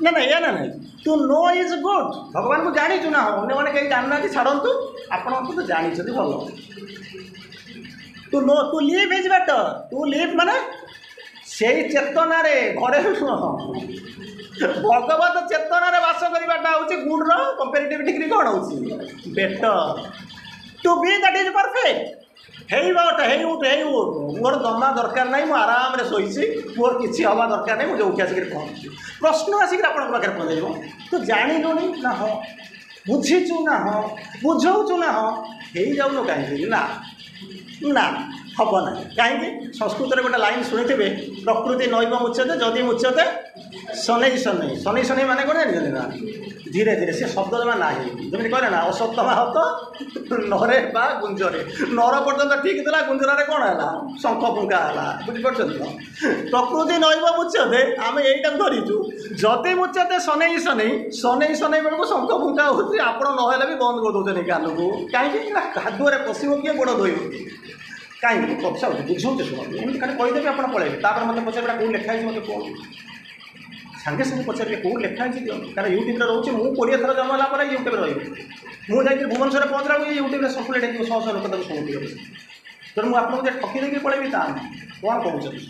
ନା ନା, ଏଇଆ ନା ନାହିଁ। To know is good. ଭଗବାନଙ୍କୁ ଜାଣିଛୁ ନା? ହଁ, ଅନ୍ୟମାନେ କେହି ଜାଣିନାହାନ୍ତି, ଛାଡ଼ନ୍ତୁ, ଆପଣ ତ ଜାଣିଛନ୍ତି, ଭଲ। To know, to live is better. To live ମାନେ ସେଇ ଚେତନାରେ ଘରେ ନୁହଁ ଭଗବତ ଚେତନାରେ ବାସ କରିବାଟା ହେଉଛି ଗୁଡ୍ର କମ୍ପାରେଟିଭ୍ ଡିଗ୍ରୀ କ'ଣ ହେଉଛି better to be that is perfect ହେଇ ବଟ ହେଇ ଉଠ ହେଇ ଉଠ ମୋର ଜମା ଦରକାର ନାହିଁ ମୁଁ ଆରାମରେ ଶୋଇଛି ମୋର କିଛି ହେବା ଦରକାର ନାହିଁ ମୁଁ ଯେଉଁଠି ଆସିକିରି ପହଞ୍ଚୁଛି ପ୍ରଶ୍ନ ଆସିକିରି ଆପଣଙ୍କ ପାଖରେ ପହଞ୍ଚିଯିବ ତୁ ଜାଣିଲୁଣି ନା ହଁ ବୁଝିଛୁ ନା ହଁ ବୁଝଉଛୁ ନା ହଁ ହେଇଯାଉନୁ କାହିଁକି ନା ନା ହେବ ନାହିଁ କାହିଁକି ସଂସ୍କୃତରେ ଗୋଟେ ଲାଇନ୍ ଶୁଣିଥିବେ ପ୍ରକୃତି ନୈବ ମୁଚ୍ୟତେ ଯଦି ମୁଚ୍ୟତେ ଶନୈ ଶନୈ ଶନୈ ଶନୈ ମାନେ କ'ଣ ଜାଣିଛନ୍ତି ନା ଧୀରେ ଧୀରେ ସେ ଶବ୍ଦ ଜମା ନାହିଁ ଯେମିତି କହିଲେ ନା ଅଶ୍ୱତ୍ଥାମା ହତ ନରେ ବା ଗୁଞ୍ଜରେ ନର ପର୍ଯ୍ୟନ୍ତ ଠିକ୍ ଥିଲା ଗୁଞ୍ଜରରେ କ'ଣ ହେଲା ଶଙ୍ଖ ଫୁଙ୍କା ହେଲା ବୁଝିପାରୁଛନ୍ତି ତ ପ୍ରକୃତି ନୈବ ମୁଚ୍ୟତେ ଆମେ ଏଇଟାକୁ ଧରିଛୁ ଯଦି ମୁଚ୍ୟତେ ଶନୈ ଶନୈ ଶନୈ ଶନୈ ବେଳକୁ ଶଙ୍ଖ ଫୁଙ୍କା ହେଉଛି ଆପଣ ନହେଲେ ବି ବନ୍ଦ କରିଦେଉଛନ୍ତି କାନକୁ କାହିଁକି ନା କାଦୁଅରେ ପଶିବ କିଏ ଗୋଡ଼ ଧୋଇବ କିଏ କାହିଁକି କଥା ହେଉଛି ବୁଝଉଛି ଶୁଣନ୍ତୁ ଏମିତି ଖାଲି କହିଦେବି ଆପଣ ପଳେଇବେ ତାପରେ ମୋତେ ପଚାରିବେ କେଉଁ ଲେଖା ହେଇଛି ମୋତେ କୁହନ୍ତୁ ସାଙ୍ଗେ ସାଙ୍ଗେ ପଚାରିବେ କେଉଁଠି ଲେଖା ହେଇଛି ଦିଅନ୍ତୁ କାରଣ ୟୁଟ୍ୟୁବରେ ରହୁଛି ମୁଁ କୋଡ଼ିଏ ଥର ଜନ୍ମ ହେଲା ପରେ ୟୁଟ୍ୟୁବରେ ରହିବି ମୁଁ ଯାଇକି ଭୁବନେଶ୍ୱରରେ ପହଞ୍ଚିଲା ବେଳକୁ ୟୁଟ୍ୟୁବରେ ସର୍କୁଲେଟ୍ ହେଇଯିବ ଶହ ଶହ ଲୋକ ତାକୁ ଶୁଣୁଥିବେ ତେଣୁ ମୁଁ ଆପଣଙ୍କୁ ଯେ ଠକି ଦେଇକି ପଳେଇବି ତା ନୁହେଁ କ'ଣ କହୁଛନ୍ତି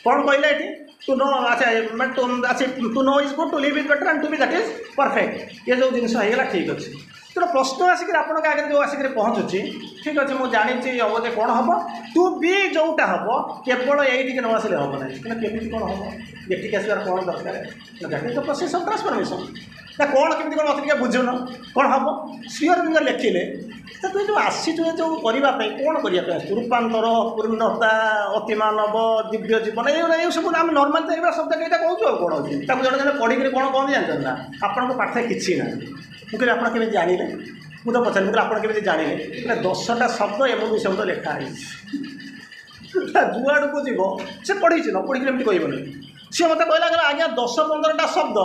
କ'ଣ କହିଲେ ଏଠି ଟୁ ନୋ ଆଚ୍ଛା ମାନେ ଟୁ ଆଚ୍ଛା to know is good to live is better and to be that is perfect ଏ ଯେଉଁ ଜିନିଷ ହେଇଗଲା ଠିକ୍ ଅଛି ତେଣୁ ପ୍ରଶ୍ନ ଆସିକିରି ଆପଣଙ୍କ ଆଗରେ ଯେଉଁ ଆସିକିରି ପହଞ୍ଚୁଛି ଠିକ୍ ଅଛି ମୁଁ ଜାଣିଛି ହେବ ଯେ କ'ଣ ହେବ ଟୁ ବି ଯେଉଁଟା ହେବ କେବଳ ଏଇଠିକି ନ ଆସିଲେ ହେବ ନାହିଁ କିନ୍ତୁ କେମିତି କ'ଣ ହେବ ଏଠିକି ଆସିବାର କ'ଣ ଦରକାର that is the process of transformation ନା କ'ଣ କେମିତି କ'ଣ ଅଛି ଟିକେ ବୁଝୁନ କ'ଣ ହେବ ଶ୍ରୀ ଅରବିନ୍ଦ ଲେଖିଲେ ତ ତୁ ଯେଉଁ ଆସିଛୁ ଏ ଯେଉଁ କରିବା ପାଇଁ କ'ଣ କରିବା ପାଇଁ ଆସିଛୁ ରୂପାନ୍ତର ପୂର୍ଣ୍ଣତା ଅତିମାନବ ଦିବ୍ୟ ଜୀବନ ଏଇଗୁଡ଼ା ଏଇ ସବୁ ଆମେ ନର୍ମାଲ୍ ତ ଏଇଗୁଡ଼ା ଶବ୍ଦ କେଇଟା କହୁଛୁ ଆଉ କ'ଣ ଅଛି ତାକୁ ଜଣେ ଜଣେ ପଢ଼ିକିରି କ'ଣ କହନ୍ତି ଜାଣିଛନ୍ତି ନା ଆପଣଙ୍କ ପାଠରେ କିଛି ନାହିଁ ମୁଁ କହିଲି ଆପଣ କେମିତି ଜାଣିଲେ ମୁଁ ତ ପଚାରିଲି ମୁଁ କହିଲି ଆପଣ କେମିତି ଜାଣିଲେ କହିଲେ ଦଶଟା ଶବ୍ଦ ଏମିତି ଶବ୍ଦ ଲେଖା ହେଇଛି ଯୁଆଡ଼କୁ ଯିବ ସେ ପଢ଼ିଛି ନ ପଢ଼ିକି ଏମିତି କହିବନି ସିଏ ମୋତେ କହିଲା କହିଲା ଆଜ୍ଞା ଦଶ ପନ୍ଦରଟା ଶବ୍ଦ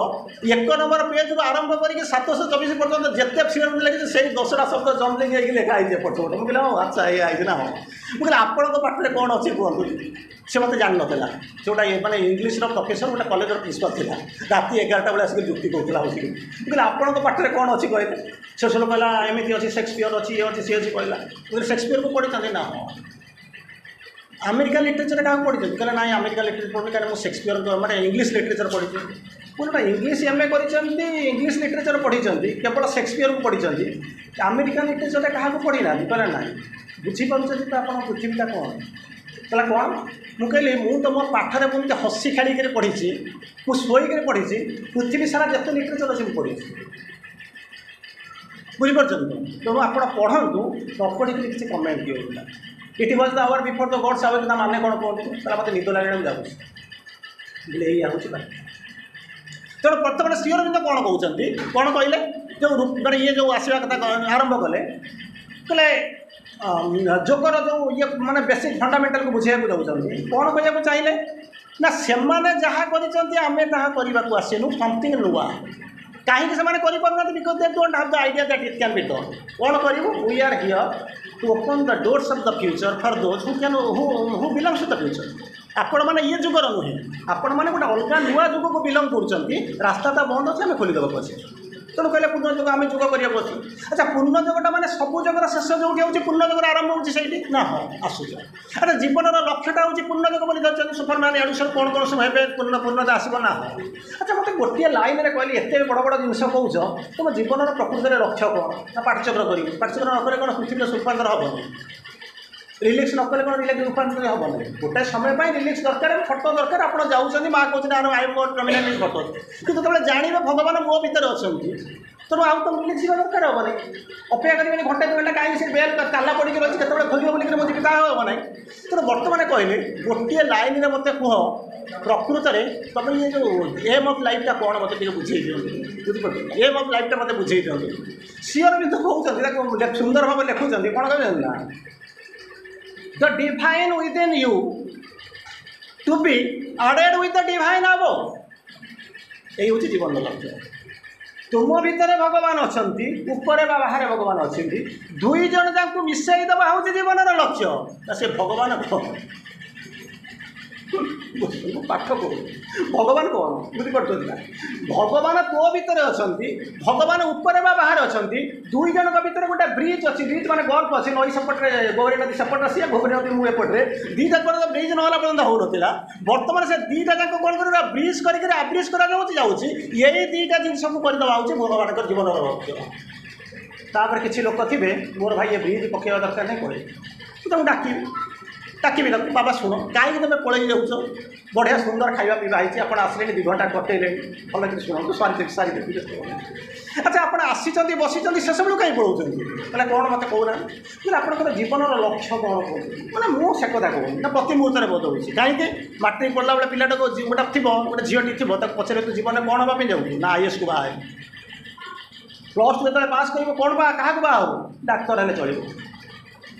ଏକ ନମ୍ବର ପେଜ୍ରୁ ଆରମ୍ଭ କରିକି ସାତଶହ ଚବିଶ ପର୍ଯ୍ୟନ୍ତ ଯେତେ ଶ୍ରୀ ଲେଖିଛି ସେଇ ଦଶଟା ଶବ୍ଦ ଜମ୍ପିଂ ହେଇକି ଲେଖା ହେଇଛି ଏପଟ ସେପଟ ମୁଁ କହିଲି ହଁ ଆଚ୍ଛା ଏଇଆ ହେଇଛି ନା ହଁ ମୁଁ କହିଲି ଆପଣଙ୍କ ପାଠରେ କ'ଣ ଅଛି କୁହନ୍ତୁ ସେ ମୋତେ ଜାଣିନଥିଲା ସେ ଗୋଟେ ମାନେ ଇଂଲିଶର ପ୍ରଫେସର ଗୋଟେ କଲେଜର ପ୍ରିନ୍ସିପାଲ୍ ଥିଲା ରାତି ଏଗାରଟା ବେଳେ ଆସିକି ଯୁକ୍ତି କହୁଥିଲା ବସିକି ମୁଁ କହିଲି ଆପଣଙ୍କ ପାଠରେ କ'ଣ ଅଛି କହିଲେ ସେ ସବୁ କହିଲା ଏମିତି ଅଛି ସେକ୍ସପିୟର ଅଛି ଇଏ ଅଛି ସିଏ ଅଛି କହିଲା ମୁଁ କହିଲି ସେକ୍ସପିୟରକୁ ପଢ଼ିଛନ୍ତି ନା ହଁ ଆମେରିକାନ ଲିଟରେଚର କାହାକୁ ପଢ଼ିଛନ୍ତି କହିଲେ ନାଇଁ ଆମେରିକାନ ଲିଟରେଚର ପଢ଼ିନି କାରଣ ମୁଁ ସେକ୍ସପିୟରଙ୍କ ମାନେ ଇଂଲିଶ ଲିଟରେଚର ପଢ଼ିଛି ମୁଁ ଗୋଟେ ଇଂଲିଶ ଏମ୍ ଏ କରିଛନ୍ତି ଇଂଲିଶ ଲିଟରେଚର ପଢ଼ିଛନ୍ତି କେବଳ ସେକ୍ସପିୟରକୁ ପଢ଼ିଛନ୍ତି ଆମେରିକାନ ଲିଟରେଚରରେ କାହାକୁ ପଢ଼ିନାହାନ୍ତି କହିଲେ ନାଇଁ ବୁଝିପାରୁଛନ୍ତି ତ ଆପଣ ପୃଥିବୀଟା କ'ଣ କହିଲା କ'ଣ ମୁଁ କହିଲି ମୁଁ ତ ମୋ ପାଠରେ ମୁଁ ଏମିତି ହସି ଖେଳିକିରି ପଢ଼ିଛି ମୁଁ ଶୋଇକିରି ପଢ଼ିଛି ପୃଥିବୀ ସାରା ଯେତେ ଲିଟରେଚର ଅଛି ମୁଁ ପଢ଼ିଛି ବୁଝିପାରୁଛନ୍ତି ତ ତେଣୁ ଆପଣ ପଢ଼ନ୍ତୁ ନ ପଢ଼ିକିରି କିଛି କମେଣ୍ଟ ଦିଅନ୍ତୁ ନା it was the hour before the gods awake ତା ମାନେ କ'ଣ କୁହନ୍ତୁ କହିଲା ମୋତେ ନିଦ ଲାଗିଲାଣି ମୁଁ ଯାଉଛି ବୋଲେ ଏଇଆ ହେଉଛି ବାକ୍ୟ ତେଣୁ ବର୍ତ୍ତମାନ ଶ୍ରୀ ଅରବିନ୍ଦ କ'ଣ କହୁଛନ୍ତି କ'ଣ କହିଲେ ଯେଉଁ ମାନେ ଇଏ ଯେଉଁ ଆସିବା କଥା ଆରମ୍ଭ କଲେ କହିଲେ ଯୋଗର ଯେଉଁ ଇଏ ମାନେ ବେସିକ୍ ଫଣ୍ଡାମେଣ୍ଟାଲକୁ ବୁଝେଇବାକୁ ଯାଉଛନ୍ତି କ'ଣ କହିବାକୁ ଚାହିଁଲେ ନା ସେମାନେ ଯାହା କରିଛନ୍ତି ଆମେ ତାହା କରିବାକୁ ଆସିନୁ ସମଥିଙ୍ଗ ନୂଆ କାହିଁକି ସେମାନେ କରିପାରୁନାହାନ୍ତି because they don't have the idea that it can be done କ'ଣ କରିବୁ we are here to open the doors of the future for those who can who who belongs to the future ଆପଣମାନେ ଇଏ ଯୁଗର ନୁହେଁ ଆପଣମାନେ ଗୋଟେ ଅଲଗା ନୂଆ ଯୁଗକୁ ବିଲଙ୍ଗ କରୁଛନ୍ତି ରାସ୍ତାଟା ବନ୍ଦ ଅଛି ଆମେ ଖୋଲିଦେବାକୁ ଅଛି ତେଣୁ କହିଲେ ପୂର୍ଣ୍ଣ ଯୋଗ ଆମେ ଯୋଗ କରିବାକୁ ଅଛି ଆଚ୍ଛା ପୂର୍ଣ୍ଣ ଯୋଗଟା ମାନେ ସବୁ ଯୋଗର ଶେଷ ଯେଉଁଠି ହେଉଛି ପୂର୍ଣ୍ଣ ଯୋଗର ଆରମ୍ଭ ହେଉଛି ସେଇଠି ନା ହଁ ଆସୁଛ ଆଚ୍ଛା ଜୀବନର ଲକ୍ଷ୍ୟଟା ହେଉଛି ପୂର୍ଣ୍ଣ ଯୋଗ ବୋଲି ଧରିଛନ୍ତି ସୁପରମ୍ୟାନ୍ ଏଆଡ଼ୁ ସବୁ କ'ଣ କ'ଣ ସବୁ ହେବେ ପୂର୍ଣ୍ଣ ପୂର୍ଣ୍ଣତା ଆସିବ ନା ହଁ ଆଚ୍ଛା ମୋତେ ଗୋଟିଏ ଲାଇନ୍ରେ କହିଲି ଏତେ ବଡ଼ ବଡ଼ ଜିନିଷ କହୁଛ ତୁମ ଜୀବନର ପ୍ରକୃତରେ ଲକ୍ଷ୍ୟ କ'ଣ ନା ପାଠଚକ୍ର କରିବି ପାଠଚକ୍ର ନ କଲେ କ'ଣ ପୃଥିବୀର ରୂପାନ୍ତର ହେବନି ରିଲାକ୍ସ ନ କଲେ କ'ଣ ରିଲାକ୍ସ ରୂପାନ୍ତର ହେବ ନାହିଁ ଗୋଟାଏ ସମୟ ପାଇଁ ରିଲାକ୍ସ ଦରକାର ଫଟୋ ଦରକାର ଆପଣ ଯାଉଛନ୍ତି ମା କହୁଛନ୍ତି ଆର I ମୋର ଟର୍ମିନାଲ ଫଟୋ କିନ୍ତୁ ଯେତେବେଳେ ଜାଣିବେ ଭଗବାନ ମୋ ଭିତରେ ଅଛନ୍ତି ତେଣୁ ଆଉ ତ ରିଲାକ୍ସ ଯିବା ଦରକାର ହେବନି ଅପେକ୍ଷା କରିବେନି ଘଣ୍ଟେ ଦୁଇ ଘଣ୍ଟା କାହିଁକି ସେ ବେଲ୍ ତାଲା ପଡ଼ିକି ରହିଛି କେତେବେଳେ ଖୋଲିବ ବୋଲିକିରି ମୁଁ ଯିବି ତାହା ହେବ ନାହିଁ ତେଣୁ ବର୍ତ୍ତମାନ କହିଲେ ଗୋଟିଏ ଲାଇନ୍ରେ ମୋତେ କୁହ ପ୍ରକୃତରେ ତୁମେ ଇଏ ଯେଉଁ ଏମ୍ ଅଫ୍ ଲାଇଫ୍ଟା କ'ଣ ମୋତେ ଟିକେ ବୁଝେଇ ଦିଅନ୍ତୁ ବୁଝିପାରୁଛନ୍ତି ଏମ୍ ଅଫ୍ ଲାଇଫ୍ଟା ମୋତେ ବୁଝେଇ ଦିଅନ୍ତୁ ଶ୍ରୀ ଅରବିନ୍ଦ କହୁଛନ୍ତି ତାକୁ ସୁନ୍ଦର ଭାବେ ଲେଖୁଛନ୍ତି କ'ଣ କହୁଛନ୍ତି ନା the divine within you to be added with the divine above ଏଇ ହେଉଛି ଜୀବନର ଲକ୍ଷ୍ୟ ତୁମ ଭିତରେ ଭଗବାନ ଅଛନ୍ତି ଉପରେ ବା ବାହାରେ ଭଗବାନ ଅଛନ୍ତି ଦୁଇ ଜଣ ଯାଙ୍କୁ ମିଶାଇ ଦେବା ହେଉଛି ଜୀବନର ଲକ୍ଷ୍ୟ ନା ସେ ଭଗବାନ କ'ଣ ମୁଁ ପାଠ କହୁନି, ଭଗବାନ କ'ଣ ବୁଝିପାରୁଛନ୍ତି ନା? ଭଗବାନ ତୋ ଭିତରେ ଅଛନ୍ତି, ଭଗବାନ ଉପରେ ବା ବାହାରେ ଅଛନ୍ତି। ଦୁଇ ଜଣଙ୍କ ଭିତରେ ଗୋଟେ ବ୍ରିଜ୍ ଅଛି, ବ୍ରିଜ୍ ମାନେ ଗଲ୍ଫ ଅଛି, ନଈ ସେପଟରେ ଗୌରୀ ନଦୀ ସେପଟରେ ସିଏ, ଗୌରୀ ନଦୀ ମୁଁ ଏପଟରେ, ଦୁଇଟା ପର୍ଯ୍ୟନ୍ତ ବ୍ରିଜ୍ ନହେଲା ପର୍ଯ୍ୟନ୍ତ ହେଉନଥିଲା। ବର୍ତ୍ତମାନ ସେ ଦୁଇଟା ଯାକ କ'ଣ କରିବ, ବ୍ରିଜ୍ କରିକିରି ଆବ୍ରିଜ୍ କରାଯାଉଛି ଯାଉଛି। ଏଇ ଦୁଇଟା ଜିନିଷକୁ କରିଦେବା ହେଉଛି ଭଗବାନଙ୍କର ଜୀବନର ଲକ୍ଷ୍ୟ। ତାପରେ କିଛି ଲୋକ ଥିବେ, ମୋର ଭାଇ ଏ ବ୍ରିଜ୍ ପକାଇବା ଦରକାର ନାହିଁ, ପଳେଇବେ। ମୁଁ ତାଙ୍କୁ ଡାକିବି, ଡାକିବି ତାକୁ, ବାବା ଶୁଣ, କାହିଁକି ତୁମେ ପଳେଇ ଯାଉଛ? ବଢ଼ିଆ ସୁନ୍ଦର ଖାଇବା ପିଇବା ହେଇଛି, ଆପଣ ଆସିଲେଣି, ଦୁଇ ଘଣ୍ଟା କଟେଇଲେଣି, ଭଲ କରି ଶୁଣନ୍ତୁ, ସାରିଦେବି ସାରିଦେବି, ବ୍ୟସ୍ତ ହୁଅନି। ଆଚ୍ଛା, ଆପଣ ଆସିଛନ୍ତି, ବସିଛନ୍ତି, ସେସବୁ କାହିଁ ପଳଉଛନ୍ତି? କହିଲେ କ'ଣ ମୋତେ କହୁନାହାନ୍ତି? କହିଲେ ଆପଣଙ୍କର ଜୀବନର ଲକ୍ଷ୍ୟ କ'ଣ କୁହନ୍ତୁ? ମାନେ ମୁଁ ସେ କଥା କହୁନି ନା, ପ୍ରତି ମୁହୂର୍ତ୍ତରେ ବଦଳୁଛି। କାହିଁକି? ମାଟ୍ରିକ ପଢ଼ିଲା ବେଳେ ପିଲାଟାକୁ ଗୋଟେ ଥିବ, ଗୋଟେ ଝିଅଟି ଥିବ, ତାକୁ ପଚାରିବ ତୁ ଜୀବନରେ କ'ଣ ହେବା ପାଇଁ ଯାଉଛୁ? ନା ଆଇଏସ୍କୁ ବାହା ହେବି। ପ୍ଲସ୍ ଟୁ ଯେତେବେଳେ ପାସ୍ କରିବ, କ'ଣ ବା କାହାକୁ ବାହା ହେବ? ଡାକ୍ତର ହେଲେ ଚଳିବ,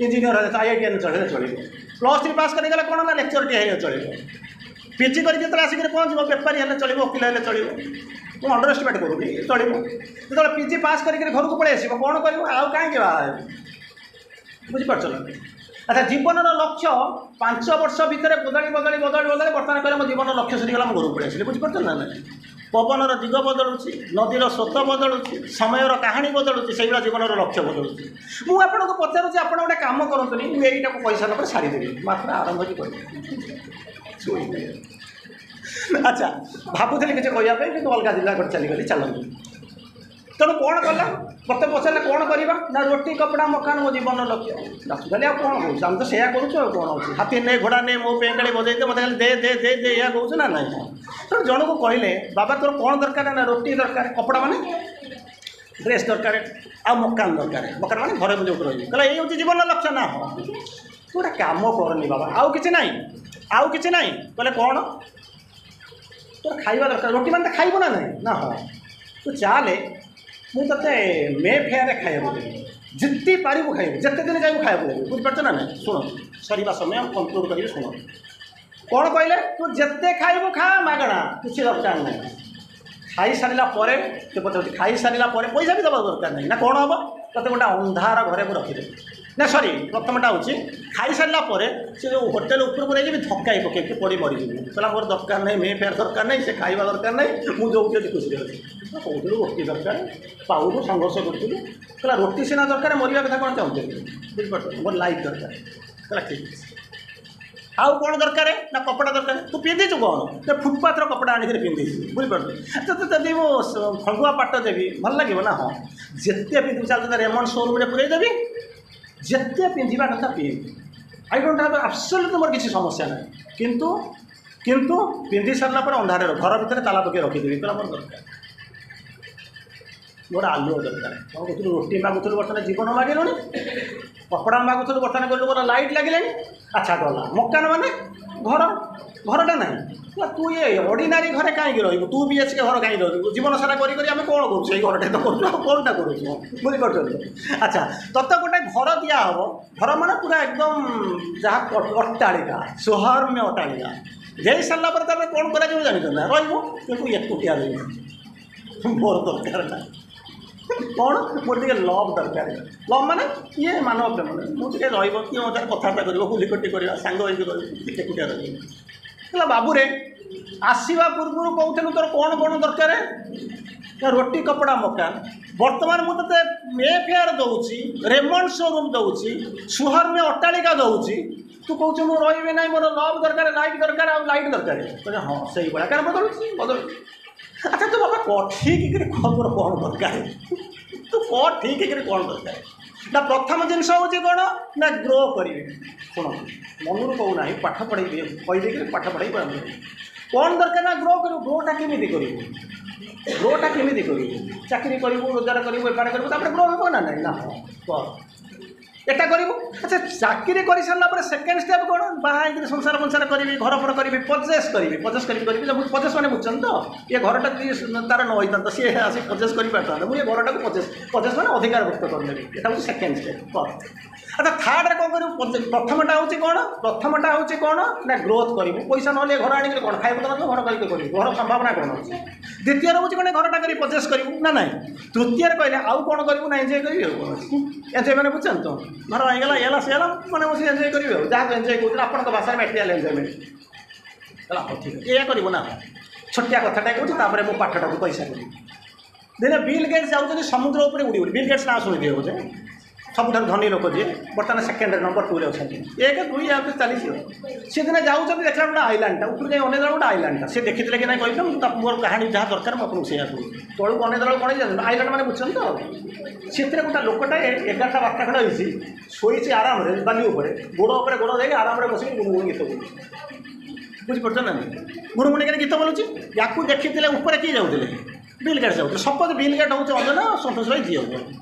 ଇଞ୍ଜିନିୟର ହେଲେ, I I T ହେଲେ ଚଳିବ ଚଳିବ। ପ୍ଲସ୍ ଥ୍ରୀ ପାସ୍ କରିଗଲେ କ'ଣ ନା ଲେକ୍ଚରଟିଏ ହେଲେ ଚଳିବ। ପି ଜି କରିକି ଯେତେବେଳେ ଆସିକରି ପହଞ୍ଚିବ, ବେପାରୀ ହେଲେ ଚଳିବ, ଓକିଲ ହେଲେ ଚଳିବ, ମୁଁ ଅଣ୍ଡର ଏଷ୍ଟିମେଟ୍ କରୁନି, ଚଳିବ। ଯେତେବେଳେ ପି ଜି ପାସ୍ କରିକିରି ଘରକୁ ପଳେଇ ଆସିବ, କ'ଣ କରିବ? ଆଉ କାହିଁକି ବାହା ହେବି? ବୁଝିପାରୁଛ ନା? ଆଚ୍ଛା, ଜୀବନର ଲକ୍ଷ୍ୟ ପାଞ୍ଚ ବର୍ଷ ଭିତରେ ବଦଳି ବଦଳି ବଦଳି ବଦଳି ବର୍ତ୍ତମାନ କହିଲେ ମୋ ଜୀବନର ଲକ୍ଷ୍ୟ ସରିଗଲା, ମୁଁ ଘରକୁ ପଳେଇ ଆସିଲି। ବୁଝିପାରୁଛ ନା ନାଇଁ? ପବନର ଦିଗ ବଦଳୁଛି, ନଦୀର ସ୍ରୋତ ବଦଳୁଛି, ସମୟର କାହାଣୀ ବଦଳୁଛି, ସେଇଭଳିଆ ଜୀବନର ଲକ୍ଷ୍ୟ ବଦଳୁଛି। ମୁଁ ଆପଣଙ୍କୁ ପଚାରୁଛି, ଆପଣ ଗୋଟେ କାମ କରନ୍ତୁନି, ମୁଁ ଏଇଟାକୁ କହିସାରିଲା ପରେ ସାରିଦେବି, ମାତ୍ର ଆରମ୍ଭ ବି କରିବି। ଆଚ୍ଛା, ଭାବୁଥିଲି କିଛି କହିବା ପାଇଁ, କିନ୍ତୁ ଅଲଗା ଜିଲ୍ଲା ଗୋଟେ ଚାଲିଗଲି, ଚାଲନ୍ତୁ। ତେଣୁ କ'ଣ କଲା? ମୋତେ ପଚାରିଲେ କ'ଣ କରିବା? ନା ରୋଟି କପଡ଼ା ମକାନ ମୋ ଜୀବନର ଲକ୍ଷ୍ୟ। ଖାଲି ଆଉ କ'ଣ କହୁଛୁ? ଆମେ ତ ସେଇଆ କରୁଛୁ, ଆଉ କ'ଣ ଅଛି? ହାତୀ ନେ ଘୋଡ଼ା ନେ ମୋ ପେଁକାଳି ବଜେଇ ଦେ, ମୋତେ ଖାଲି ଦେ ଦେ ଦେ ଦେ, ଏଇଆ କହୁଛୁ ନା ନାଇଁ? ତେଣୁ ଜଣକୁ କହିଲେ, ବାବା ତୋର କ'ଣ ଦରକାର? ନା ରୋଟି ଦରକାର, କପଡ଼ା ମାନେ ଡ୍ରେସ୍ ଦରକାର, ଆଉ ମକାନ ଦରକାର। ମକାନ ମାନେ ଘରେ ମୁଁ ଯେଉଁଠି ରହିବି। କହିଲା ଏଇ ହେଉଛି ଜୀବନର ଲକ୍ଷ୍ୟ? ନା ହଁ। ତୁ ଗୋଟେ କାମ କରନି ବାବା, ଆଉ କିଛି ନାହିଁ, ଆଉ କିଛି ନାହିଁ। କହିଲେ କ'ଣ? ତୋର ଖାଇବା ଦରକାର, ରୋଟି ମାନେ ତ ଖାଇବୁ ନା ନାହିଁ? ନା ହଁ। ତୁ ଚାଲେ, ମୁଁ ତୋତେ ମେ ଫେୟାରରେ ଖାଇବାକୁ ଦେବି, ଯେତେ ପାରିବୁ ଖାଇବୁ, ଯେତେ ଦିନ ଯାଇବୁ ଖାଇବାକୁ ଦେବି। ବୁଝିପାରୁଛ ନା ନାହିଁ? ଶୁଣନ୍ତୁ, ସରିବା ସମୟ, କନକ୍ଲୁଡ଼ କରିବି, ଶୁଣନ୍ତୁ। କ'ଣ କହିଲେ? ତୁ ଯେତେ ଖାଇବୁ ଖା, ମାଗଣା, କିଛି ଦରକାର ନାହିଁ। ଖାଇସାରିଲା ପରେ ସେ ପଚାରୁଛି, ଖାଇସାରିଲା ପରେ ପଇସା ବି ଦେବା ଦରକାର ନାହିଁ। ନା କ'ଣ ହେବ? ତୋତେ ଗୋଟେ ଅନ୍ଧାର ଘରେ ମୁଁ ରଖିଦେବି। ନା ସରି, ପ୍ରଥମଟା ହେଉଛି ଖାଇସାରିଲା ପରେ ସେ ଯେଉଁ ହୋଟେଲ ଉପରକୁ ନେଇଯିବି, ଧକ୍କାଇ ପକେଇକି ପଡ଼ି ମରିଯିବୁ। କହିଲା ମୋର ଦରକାର ନାହିଁ, ମେ ଫେୟାର ଦରକାର ନାହିଁ, ସେ ଖାଇବା ଦରକାର ନାହିଁ, ମୁଁ ଯେଉଁଠି ଅଛି ଖୁସିରେ ଅଛି। କହୁଥିଲୁ ରୋଟି ଦରକାର, ପାଉନୁ, ସଂଘର୍ଷ କରୁଥିଲୁ। କହିଲା ରୋଟି ସିନା ଦରକାର, ମରିବା କଥା କ'ଣ ଚାହୁଁଥିଲି? ବୁଝିପାରୁଛ? ମୋର ଲାଇଫ୍ ଦରକାର। କହିଲା ଠିକ୍ ଅଛି। ଆଉ କ'ଣ ଦରକାର? ନା କପଡ଼ା ଦରକାର। ତୁ ପିନ୍ଧିଛୁ କ'ଣ? ସେ ଫୁଟପାଥର କପଡ଼ା ଆଣିକିରି ପିନ୍ଧିଛୁ। ବୁଝିପାରୁଛୁ? ତତେ ଯଦି ମୁଁ ଖଣ୍ଡୁଆ ପାଟ ଦେବି ଭଲ ଲାଗିବ? ନା ହଁ। ଯେତେ ପିନ୍ଧିବୁ, ଚାଲ ତତେ ରେମଣ୍ଡ ସୋରୁମ୍ରେ ପୁରେଇ ଦେବି, ଯେତେ ପିନ୍ଧିବା କଥା ପିନ୍ଧ। I don't have absolute, ମୋର କିଛି ସମସ୍ୟା ନାହିଁ। କିନ୍ତୁ କିନ୍ତୁ ପିନ୍ଧି ସାରିଲା ପରେ ଅନ୍ଧାରରେ ଘର ଭିତରେ ତାଲା ପକାଇ ରଖିଦେବି। କହିଲା ମୋର ଦରକାର, ମୋର ଆଲୁଅ ଦରକାର। କ'ଣ କହୁଥିଲୁ? ରୋଟି ମାଗୁଥିଲୁ, ବର୍ତ୍ତମାନ ଜୀବନ ମାଗିଲୁଣି। କପଡ଼ା ମାଗୁଥିଲୁ, ବର୍ତ୍ତମାନ କହିଲୁ ମୋର ଲାଇଟ୍ ଲାଗିଲାଣି। ଆଚ୍ଛା ଗଲା। ମକାନ ମାନେ ଘର, ଘରଟା ନାହିଁ। ହେଲା ତୁ ଏ ଅର୍ଡ଼ିନାରୀ ଘରେ କାହିଁକି ରହିବୁ? ତୁ ବି ଏଚ୍ କେ ଘର କାହିଁକି ରହିବୁ? ଜୀବନ ସାରା କରି କରି ଆମେ କ'ଣ କରୁଛୁ? ସେଇ ଘରଟା ତ କରୁଛୁ, ଆଉ କ'ଣଟା କରୁଛୁ? ବୁଝିପାରୁଛନ୍ତି? ଆଚ୍ଛା, ତତେ ଗୋଟେ ଘର ଦିଆହେବ, ଘର ମାନେ ପୁରା ଏକଦମ ଯାହା ଅଟ୍ଟାଳିକା, ସୁହର୍ମ୍ୟ ଅଟ୍ଟାଳିକା। ଦେଇ ସାରିଲା ପରେ ତାପରେ କ'ଣ କରାଯିବ ଜାଣିଛ ନା? ରହିବୁ, କିନ୍ତୁ ଏକୁଟିଆ ରହିବୁ। ମୋର ଦରକାର ନାହିଁ। କ'ଣ? ମୋର ଟିକେ ଲଭ୍ ଦରକାର। ଲଭ୍ ମାନେ କିଏ? ମାନବ ପ୍ରେମ। ମୁଁ ଟିକେ ରହିବ, କିଏ ମୋ ସାଙ୍ଗରେ କଥାବାର୍ତ୍ତା କରିବ, ହୁଲିକଟି କରିବା, ସାଙ୍ଗ ହେଇକି ରହିବ, ଏକୁଟିଆ ରହିବ। ହେଲା ବାବୁରେ, ଆସିବା ପୂର୍ବରୁ କହୁଥିଲୁ ତୋର କ'ଣ କ'ଣ ଦରକାର? ନା ରୋଟି କପଡ଼ା ମକାନ। ବର୍ତ୍ତମାନ ମୁଁ ତୋତେ ମେ ଫେୟାର ଦେଉଛି, ରେମଣ୍ଡ ସୋରୁମ୍ ଦେଉଛି, ସୁହର୍ମ୍ୟ ଅଟ୍ଟାଳିକା ଦେଉଛି, ତୁ କହୁଛୁ ମୁଁ ରହିବି ନାହିଁ, ମୋର ଲଭ୍ ଦରକାର, ଲାଇଟ୍ ଦରକାର, ଆଉ ଲାଇଟ୍ ଦରକାର। କହିଲେ ହଁ, ସେଇଭଳିଆ। କାରଣ ବଦଳୁଛି ବଦଳୁଛି। ଆଚ୍ଛା ତୁ ବାବା କହ ଠିକ୍ କରି କହ, ତୋର କ'ଣ ଦରକାର? ତୁ କହ ଠିକ୍ କରି କ'ଣ ଦରକାର? ନା ପ୍ରଥମ ଜିନିଷ ହେଉଛି କ'ଣ? ନା ଗ୍ରୋ କରିବି। ଶୁଣନ୍ତୁ, ମନରୁ କହୁନାହିଁ, ପାଠ ପଢ଼େଇବି କହିଦେଇକିରି ପାଠ ପଢ଼େଇ କ'ଣ ଦରକାର? ନା ଗ୍ରୋ କରିବୁ। ଗ୍ରୋଟା କେମିତି କରିବୁ? ଗ୍ରୋଟା କେମିତି କରିବୁ? ଚାକିରି କରିବୁ, ରୋଜଗାର କରିବୁ, ବେପାର କରିବୁ, ତାପରେ ଗ୍ରୋ ହେବ ନା ନାହିଁ? ନା ହଁ, କର, ଏଟା କରିବୁ। ଆଚ୍ଛା, ଚାକିରି କରିସାରିଲା ପରେ ସେକେଣ୍ଡ ଷ୍ଟେପ୍ କ'ଣ? ବାହା ହେଇକିରି ସଂସାର ଫଂସାର କରିବି, ଘର ଫର କରିବି, ପଜେସ୍ କରିବି, ପଜେସ୍ କରିବି କରିବି। ପଜେସ୍ ମାନେ ବୁଝୁଛନ୍ତି ତ? ଇଏ ଘରଟା ଯଦି ତାର ନ ହେଇଥାନ୍ତା, ସିଏ ଆସି ପଜେସ୍ କରିପାରିଥାନ୍ତା। ମୁଁ ଏ ଘରଟାକୁ ପଜେସ୍, ପଜେସ୍ ମାନେ ଅଧିକାରଭୁକ୍ତ କରିନେବି। ଏଟା ହେଉଛି ସେକେଣ୍ଡ ଷ୍ଟେପ୍, କର। ଆଚ୍ଛା, ଥାର୍ଡ଼ରେ କ'ଣ କରିବୁ? ପ୍ରଥମଟା ହେଉଛି କ'ଣ? ପ୍ରଥମଟା ହେଉଛି କ'ଣ? ନା ଗ୍ରୋଥ୍ କରିବୁ। ପଇସା ନହେଲେ ଘର ଆଣିକିରି କ'ଣ ଖାଇବୁ? ତ ନଥିବ, ଘର କରିକି କରିବୁ, ଘର ସମ୍ଭାବନା କ'ଣ ଅଛି? ଦ୍ୱିତୀୟରେ ହେଉଛି କ'ଣ? ଘରଟା କରି ପଜେସ୍ କରିବୁ ନା ନାହିଁ? ତୃତୀୟରେ କହିଲେ ଆଉ କ'ଣ କରିବୁ? ନା ଏନ୍ଜୟ କରିବି, ଆଉ କ'ଣ ଅଛି? ଏନ୍ଜୟ ମାନେ ବୁଝୁଛନ୍ତି ତ? ଘର ହେଇଗଲା, ଇଏ ହେଲା, ସିଏ ହେଲା, ମାନେ ମୁଁ ସେ ଏନ୍ଜୟ କରିବି, ଆଉ ଯାହାକୁ ଏନ୍ଜୟ କହୁଥିଲେ ଆପଣଙ୍କ ଭାଷାରେ ମ୍ୟାଟେରିଆଲ୍ ଏନ୍ଜୟମେଣ୍ଟ। କହିଲା ହଉ ଠିକ୍ ଅଛି, ଏଇଆ କରିବୁ ନା। ଛୋଟିଆ କଥାଟା କହୁଛି, ତାପରେ ମୁଁ ପାଠଟାକୁ ପଇସା କରିବି। ଦିନେ ବିଲ୍ ଗେଟ୍ସ ଯାଉଛନ୍ତି ସମୁଦ୍ର ଉପରେ ଉଡ଼ି ଉଡ଼ି। ବିଲ୍ ଗେଟ୍ସ ନାଁ ଶୁଣିଥିବେ ବୋଧେ, ସବୁଠାରୁ ଧନୀ ଲୋକ ଯିଏ, ବର୍ତ୍ତମାନ ସେକେଣ୍ଡରେ ନମ୍ବର ଟୁରେ ଅଛନ୍ତି, ଏକ ଦୁଇ ୟା ଚାଲିଛି। ସେ ଦିନେ ଯାଉଛନ୍ତି, ଦେଖିଲା ଗୋଟେ ଆଇଲାଣ୍ଡଟା, ଉପରୁ ଯାଇ ଅନେଇ ଦେଲା ଗୋଟେ ଆଇଲାଣ୍ଡଟା। ସେ ଦେଖିଥିଲେ କି ନାହିଁ କହିଲେ, ମୁଁ ମୋର କାହାଣୀ ଯାହା ଦରକାର ମୁଁ ଆପଣଙ୍କୁ ସେଇଆ କହୁଛି। ତଳକୁ ଅନେଇ ଦେଲା କ'ଣ ହେଇଛି, ଆଇଲାଣ୍ଡ ମାନେ ବୁଝୁଛନ୍ତି ତ? ସେଥିରେ ଗୋଟେ ଲୋକଟା ଏଗାରଟା ବାରଟା ଖଣ୍ଡେ ହେଇଛି, ଶୋଇଛି ଆରାମରେ ବାଲି ଉପରେ, ଗୋଡ଼ ଉପରେ ଗୋଡ଼ ଦେଇକି ଆରାମରେ ବସିକି ଗୁଣୁଗୁଣୁ ଗୀତ ବୋଲୁଛି। ବୁଝିପାରୁଛ ନା? ଗୁଣୁଗୁଣି କରି ଗୀତ ବୋଲୁଛି। ୟାକୁ ଦେଖିଥିଲେ ଉପରେ କିଏ ଯାଉଥିଲେ? ବିଲ୍ ଗେଟ୍ସ ଯାଉଥିଲେ। ସପୋଜ ବିଲ୍ ଗେଟ୍ ହେଉଛି ଅଞ୍ଜନା, ସନ୍ତୋଷ ଭାଇ ଯିଏ ହବ,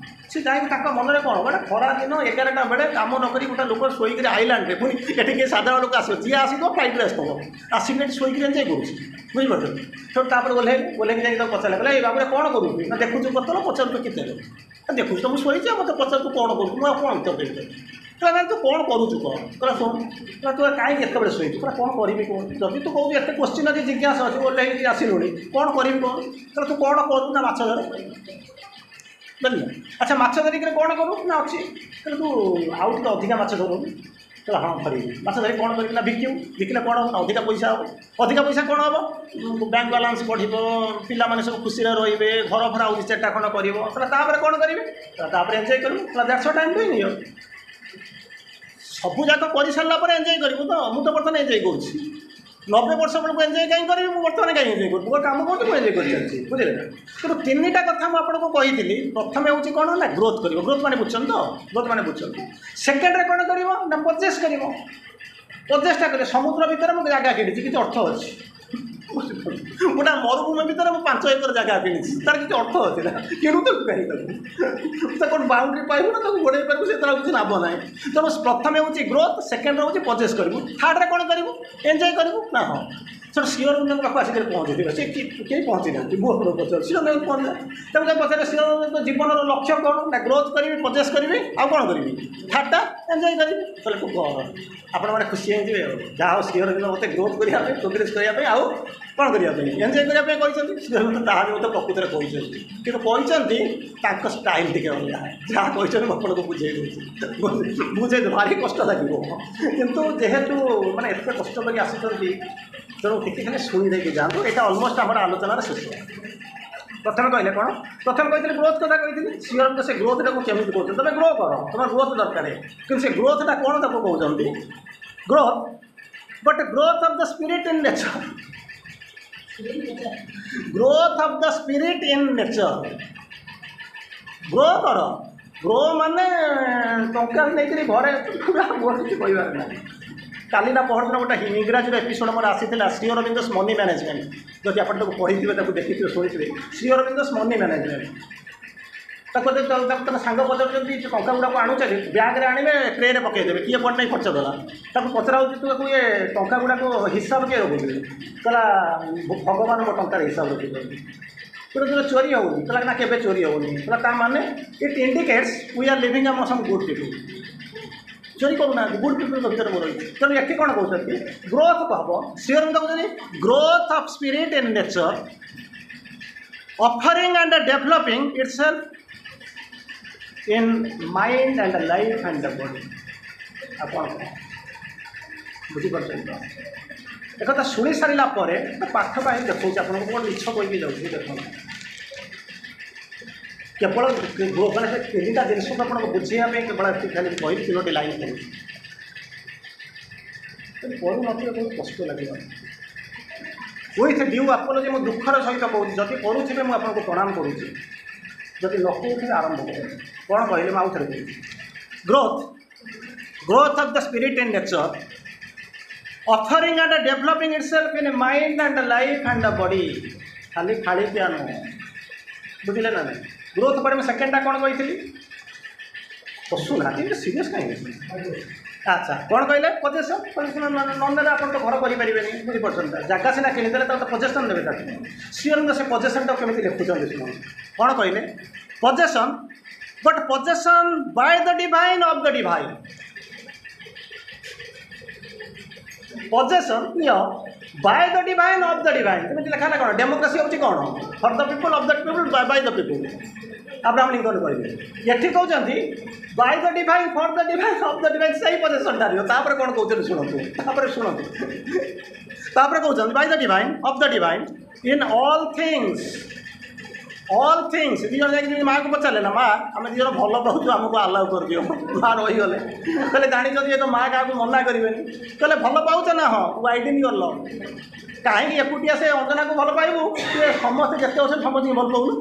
ସେ ଯାଇକି ତାଙ୍କ ମନରେ କ'ଣ, ଗୋଟେ ଖରା ଦିନ ଏଗାରଟା ବେଳେ କାମ ନ କରି ଗୋଟେ ଲୋକ ଶୋଇକରି ଆଇଲାଣ୍ଡରେ, ପୁଣି ଏଠି କିଏ ସାଧାରଣ ଲୋକ ଆସିବ, ଯିଏ ଆସିବ ଫ୍ଲାଇଟ୍ରେ ଆସିଥିବ, ଆସିକି ଏଠି ଶୋଇକରି ଏନ୍ଜୟ କରୁଛି। ବୁଝିପାରୁଛନ୍ତି? ତେଣୁ ତାପରେ ଓହ୍ଲେଇଲେ, ଓହ୍ଲେଇକି ଯାଇକି ତାକୁ ପଚାରିଲେ, କହିଲେ ଏଇ ବାବୁରେ କ'ଣ କରୁଛୁ? ନା ଦେଖୁଛୁ ବୋତଲ, ପଚାରୁଛୁ କେତେ? ଦେଖୁଛୁ ତ ମୁଁ ଶୋଇଛି, ଆଉ ମୋତେ ପଚାରୁଛୁ କ'ଣ କରୁଛୁ? ମୁଁ ଆଉ କ'ଣ ଉତ୍ତର ଦେବି? କହିଲା ନାଇଁ ତୁ କ'ଣ କରୁଛୁ କହ। କହିଲା ଶୁଣ, କହିଲା ତୁ କାହିଁକି ଏତେବେଳେ ଶୋଇଛୁ? କହିଲା କ'ଣ କରିବି କହ, ଯଦି ତୁ କହୁଛୁ ଏତେ କୋଶ୍ଚିନ୍ ଅଛି, ଜିଜ୍ଞାସା ଅଛି, ଓହ୍ଲେଇକି ଆସିଲୁଣି, କ'ଣ କରିବି କହ? କହିଲା ତୁ କ'ଣ କରୁ? ନା ମାଛ ଧରେ। ବୁଝିଲୁ? ଆଚ୍ଛା, ମାଛ ଧରିକିରି କ'ଣ କରୁ? ନା ଅଛି। କହିଲେ ତୁ ଆଉ ଟିକେ ଅଧିକା ମାଛ ଧରୁନୁ। କହିଲା ହଁ ଧରିବି। ମାଛ ଧରି କ'ଣ କରିବି? ନା ବିକିବୁ। ବିକିଲେ କ'ଣ ହେବ? ନା ଅଧିକା ପଇସା ହେବ। ଅଧିକା ପଇସା କ'ଣ ହେବ? ବ୍ୟାଙ୍କ ବାଲାନ୍ସ ବଢ଼ିବ, ପିଲାମାନେ ସବୁ ଖୁସିରେ ରହିବେ, ଘର ଫର ଆଉ ଦୁଇ ଚାରିଟା ଖଣ୍ଡ କରିବ। କହିଲା ତାପରେ କ'ଣ କରିବି? ତାପରେ ଏନ୍ଜୟ କରିବୁ। କହିଲା that's what I am doing here. ସବୁ ଯାକ କରିସାରିଲା ପରେ ଏନ୍ଜୟ କରିବୁ ତ, ମୁଁ ତ ବର୍ତ୍ତମାନ ଏନ୍ଜୟ କରୁଛି। ନବେ ବର୍ଷ ବେଳକୁ ଏନ୍ଜୟ କାହିଁ କରିବି? ମୁଁ ବର୍ତ୍ତମାନ କାହିଁ ଏନ୍ଜୟ କରୁଛି? ମୁଁ କାମ କରୁଛି, ମୁଁ ଏନ୍ଜୟ କରି ଚାଲିଛି। ବୁଝିଲେ ନା? ତେଣୁ ତିନିଟା କଥା ମୁଁ ଆପଣଙ୍କୁ କହିଥିଲି। ପ୍ରଥମେ ହେଉଛି କ'ଣ ନା ଗ୍ରୋଥ୍ କରିବ। ଗ୍ରୋଥ୍ ମାନେ ବୁଝୁଛନ୍ତି ତ? ଗ୍ରୋଥ୍ ମାନେ ବୁଝୁଛନ୍ତି। ସେକେଣ୍ଡରେ କ'ଣ କରିବ? ନା ପଜେସ୍ କରିବ। ପଜେସ୍ଟା କରିବ। ସମୁଦ୍ର ଭିତରେ ମୁଁ ଜାଗା କିଣିଛି, କିଛି ଅର୍ଥ ଅଛି? ଗୋଟେ ମରୁଭୂମି ଭିତରେ ମୁଁ ପାଞ୍ଚ ଏକର ଜାଗା କିଣିଛି, ତାର କିଛି ଅର୍ଥ ଅଛି ନା? କିଣୁଥିଲୁ କାହିଁ ତାକୁ? ତାକୁ କ'ଣ ବାଉଣ୍ଡ୍ରି ପାଇବୁ ନା ତାକୁ ଗୋଡ଼େଇ ପାରିବୁ? ସେଥିରେ ଆଉ କିଛି ଲାଭ ନାହିଁ। ତେଣୁ ପ୍ରଥମେ ହେଉଛି ଗ୍ରୋଥ୍, ସେକେଣ୍ଡରେ ହେଉଛି ପଜେସ୍ କରିବୁ, ଥାର୍ଡ଼ରେ କ'ଣ କରିବୁ? ଏନ୍ଜୟ କରିବୁ ନା? ହଁ। ସେଠୁ ଶ୍ରୀ ଅରବିନ୍ଦଙ୍କ ପାଖକୁ ଆସିକରି ପହଞ୍ଚିଥିବେ। ସେ କେହି ପହଞ୍ଚି ନାହାନ୍ତି, ମୁଁ ଆପଣଙ୍କୁ ପଚାରୁଛି। ଶ୍ରୀ ଅରବିନ୍ଦ ପହଞ୍ଚିଲା, ତାକୁ ଯାଇ ପଚାରିଲେ ଶ୍ରୀ ଅରବିନ୍ଦଙ୍କ ଜୀବନର ଲକ୍ଷ୍ୟ କ'ଣ? ନା ଗ୍ରୋଥ୍ କରିବି, ପଜେସ୍ କରିବି, ଆଉ କ'ଣ କରିବି? ଥାର୍ଡ଼ଟା ଏନ୍ଜୟ କରିବି। କହିଲେ ଖୁବ୍ ଆପଣମାନେ ଖୁସି ହେଇଯିବେ, ଆଉ ଯାହା ହଉ ଶ୍ରୀ ଅରବିନ୍ଦ ମୋତେ ଗ୍ରୋଥ୍ କରିବା ପାଇଁ, ପ୍ରୋଗ୍ରେସ୍ କରିବା ପାଇଁ, ଆଉ କ'ଣ କରିବା ପାଇଁ, ଏନ୍ଜୟ କରିବା ପାଇଁ କହିଛନ୍ତି। ଶ୍ରୀ ଅରବିନ୍ଦ ତାହା ବି ମୋତେ ପ୍ରକୃତରେ କହିଛନ୍ତି, କିନ୍ତୁ କହିଛନ୍ତି ତାଙ୍କ ଷ୍ଟାଇଲ୍ ଟିକେ ଅଲଗା। ଯାହା କହିଛନ୍ତି ମୁଁ ଆପଣଙ୍କୁ ବୁଝେଇ ଦେଉଛି, ବୁଝେଇ ଭାରି କଷ୍ଟ ଲାଗିବ, କିନ୍ତୁ ଯେହେତୁ ମାନେ ଏତେ କଷ୍ଟ କରି ଆସିଛନ୍ତି, ତେଣୁ ଟିକେ ଖାଲି ଶୁଣି ଦେଇକି ଯାଆନ୍ତୁ। ଏଇଟା ଅଲମୋଷ୍ଟ ଆମର ଆଲୋଚନାର ଶେଷ। ପ୍ରଥମେ କହିଲେ କ'ଣ? ପ୍ରଥମେ କହିଥିଲେ ଗ୍ରୋଥ୍ କଥା କହିଥିଲି। ଶ୍ରୀ ଅରବିନ୍ଦ ସେ ଗ୍ରୋଥଟାକୁ କେମିତି କହୁଛନ୍ତି? ତୁମେ ଗ୍ରୋ କର, ତୁମର ଗ୍ରୋଥ୍ ଦରକାର, କିନ୍ତୁ ସେ ଗ୍ରୋଥଟା କ'ଣ ତାକୁ କହୁଛନ୍ତି? Growth, but growth of the spirit in nature. Growth of the spirit in nature. Grow କର। ଗ୍ରୋ ମାନେ ଟଙ୍କା ନେଇକରି ଘରେ ପୁରା, ମୋର କିଛି କହିବାର ନାହିଁ। କାଲି ନା ପହରଦିନ ଗୋଟେ ଇଂରାଜୀର ଏପିସୋଡ଼ ମୋର ଆସିଥିଲା, ଶ୍ରୀ ଅରବିନ୍ଦସ୍ ମନି ମ୍ୟାନେଜମେଣ୍ଟ। ଯଦି ଆପଣ ତାକୁ ପଢ଼ିଥିବେ, ତାକୁ ଦେଖିଥିବେ, ଶୁଣିଥିବେ, ଶ୍ରୀ ଅରବିନ୍ଦସ୍ ମନି ମ୍ୟାନେଜମେଣ୍ଟ। ତାକୁ ତାକୁ ତାଙ୍କ ସାଙ୍ଗ ପଚାରୁଛନ୍ତି, ଟଙ୍କା ଗୁଡ଼ାକୁ ଆଣୁଛନ୍ତି, ବ୍ୟାଗ୍ରେ ଆଣିବେ, ଟ୍ରେରେ ପକାଇଦେବେ, କିଏ କୁଆଡ଼େ ନେଇ ଖର୍ଚ୍ଚ କଲା? ତାକୁ ପଚରା ହେଉଛି, ତୁ ତାକୁ ଇଏ ଟଙ୍କା ଗୁଡ଼ାକୁ ହିସାବ କିଏ ରଖୁଛି? କହିଲା ଭଗବାନ ମୋ ଟଙ୍କାର ହିସାବ ରଖୁଛନ୍ତି। କହିଲା ତୁମେ ଚୋରି ହେଉନି? କହିଲା ନା, କେବେ ଚୋରି ହେଉନି। କହିଲା ତା ମାନେ it indicates we are living among some good people. ଚୋରି କରୁନାହାନ୍ତି, ଗୁଡ୍ ପିପୁଲ୍ଙ୍କ ଭିତରେ ମୁଁ ରହିଛି। ତେଣୁ ଏଠି କ'ଣ କହୁଛନ୍ତି? ଗ୍ରୋଥ୍ ହେବ। ଶ୍ରୀ ଅରବିନ୍ଦ କହୁଛନ୍ତି growth of spirit in nature, offering and developing itself in mind and life and body. ଆଉ କ'ଣ କ'ଣ ବୁଝିପାରୁଛନ୍ତି ତ? ଏକଥା ଶୁଣି ସାରିଲା ପରେ ପାଠ ପାଇଁ ଦେଖାଉଛି ଆପଣଙ୍କୁ, କ'ଣ ମିଛ କହିକି ଯାଉଛି ଦେଖନ୍ତୁ। କେବଳ ମାନେ ସେ ତିନିଟା ଜିନିଷକୁ ଆପଣଙ୍କୁ ବୁଝେଇବା ପାଇଁ କେବଳ ଏତିକି ଖାଲି କହିଲି, ତିନୋଟି ଲାଇନ୍ କହୁଛି। କରୁନଥିବେ ବହୁତ କଷ୍ଟ ଲାଗିବ। ୱିଥ୍ ଡ୍ୟୁ ଆପୋଲୋଜି, ମୁଁ ଦୁଃଖର ସହିତ କହୁଛି, ଯଦି କରୁଥିବେ ମୁଁ ଆପଣଙ୍କୁ ପ୍ରଣାମ କରୁଛି, ଯଦି ନ କରୁଥିବେ ଆରମ୍ଭ କରନ୍ତୁ। କ'ଣ କହିଲେ ମୁଁ ଆଉ ଥରେ କହୁଛି। Growth, growth of the spirit in nature, offering and developing itself in mind and life and body. ଖାଲି ଖାଳି ପିଆ ନୁହଁ, ବୁଝିଲେ ନା ନାହିଁ? ଗ୍ରୋଥ୍ ପରେ ମୁଁ ସେକେଣ୍ଡଟା କ'ଣ କହିଥିଲି? ହସୁନାହାନ୍ତି, ସିରିୟସ୍ କାହିଁକି? ଆଚ୍ଛା, କ'ଣ କହିଲେ? ପଜେସନ୍। ପଜେସନ୍ ନ ନେଲେ ଆପଣ ତ ଘର କରିପାରିବେନି, ବୁଝିପାରୁଛନ୍ତି? ଜାଗା ସିନା କିଣିଦେଲେ ତାକୁ ତ ପଜେସନ୍ ନେବେ ତାକୁ। ଶ୍ରୀ ଅରବିନ୍ଦ ସେ ପଜେସନ୍ଟାକୁ କେମିତି ଲେଖୁଛନ୍ତି ଶୁଣନ୍ତୁ। କ'ଣ କହିଲେ? Possession, but possession by the divine, of the divine. Possession ନିଅ, by the divine, of the divine. ଯେମିତି ଲେଖା ହେଲା କ'ଣ? ଡେମୋକ୍ରାସି ହେଉଛି କ'ଣ? For the people, of the people, by the people. Abraham Lincoln କହିଲେ ଏଠି କହୁଛନ୍ତି by the divine for the divine of the divine ସେଇ ପଜେସନ୍ଟା ଦିଅ ତାପରେ କ'ଣ କହୁଛନ୍ତି ଶୁଣନ୍ତୁ ତାପରେ ଶୁଣନ୍ତୁ ତାପରେ କହୁଛନ୍ତି by the divine of the divine in all things all things ଦୁଇ ଜଣ ଯାଇକି ମାଆକୁ ପଚାରିଲେ ନା ମା ଆମେ ଦୁଇ ଜଣ ଭଲ ପାଉଛୁ ଆମକୁ ଆଲାଉ କରିଦିଅ ମା ରହିଗଲେ କହିଲେ ଜାଣିଛନ୍ତି ଏ ତ ମା କାହାକୁ ମନା କରିବେନି କହିଲେ ଭଲ ପାଉଛ ନା ହଁ ୱାଇଡେନ୍ your love କାହିଁକି ଏକୁଟିଆ ସେ ଅଞ୍ଜନାକୁ ଭଲ ପାଇବୁ ସେ ସମସ୍ତେ ଯେତେ ଅଛନ୍ତି ସମସ୍ତଙ୍କୁ ଭଲ ପାଉନୁ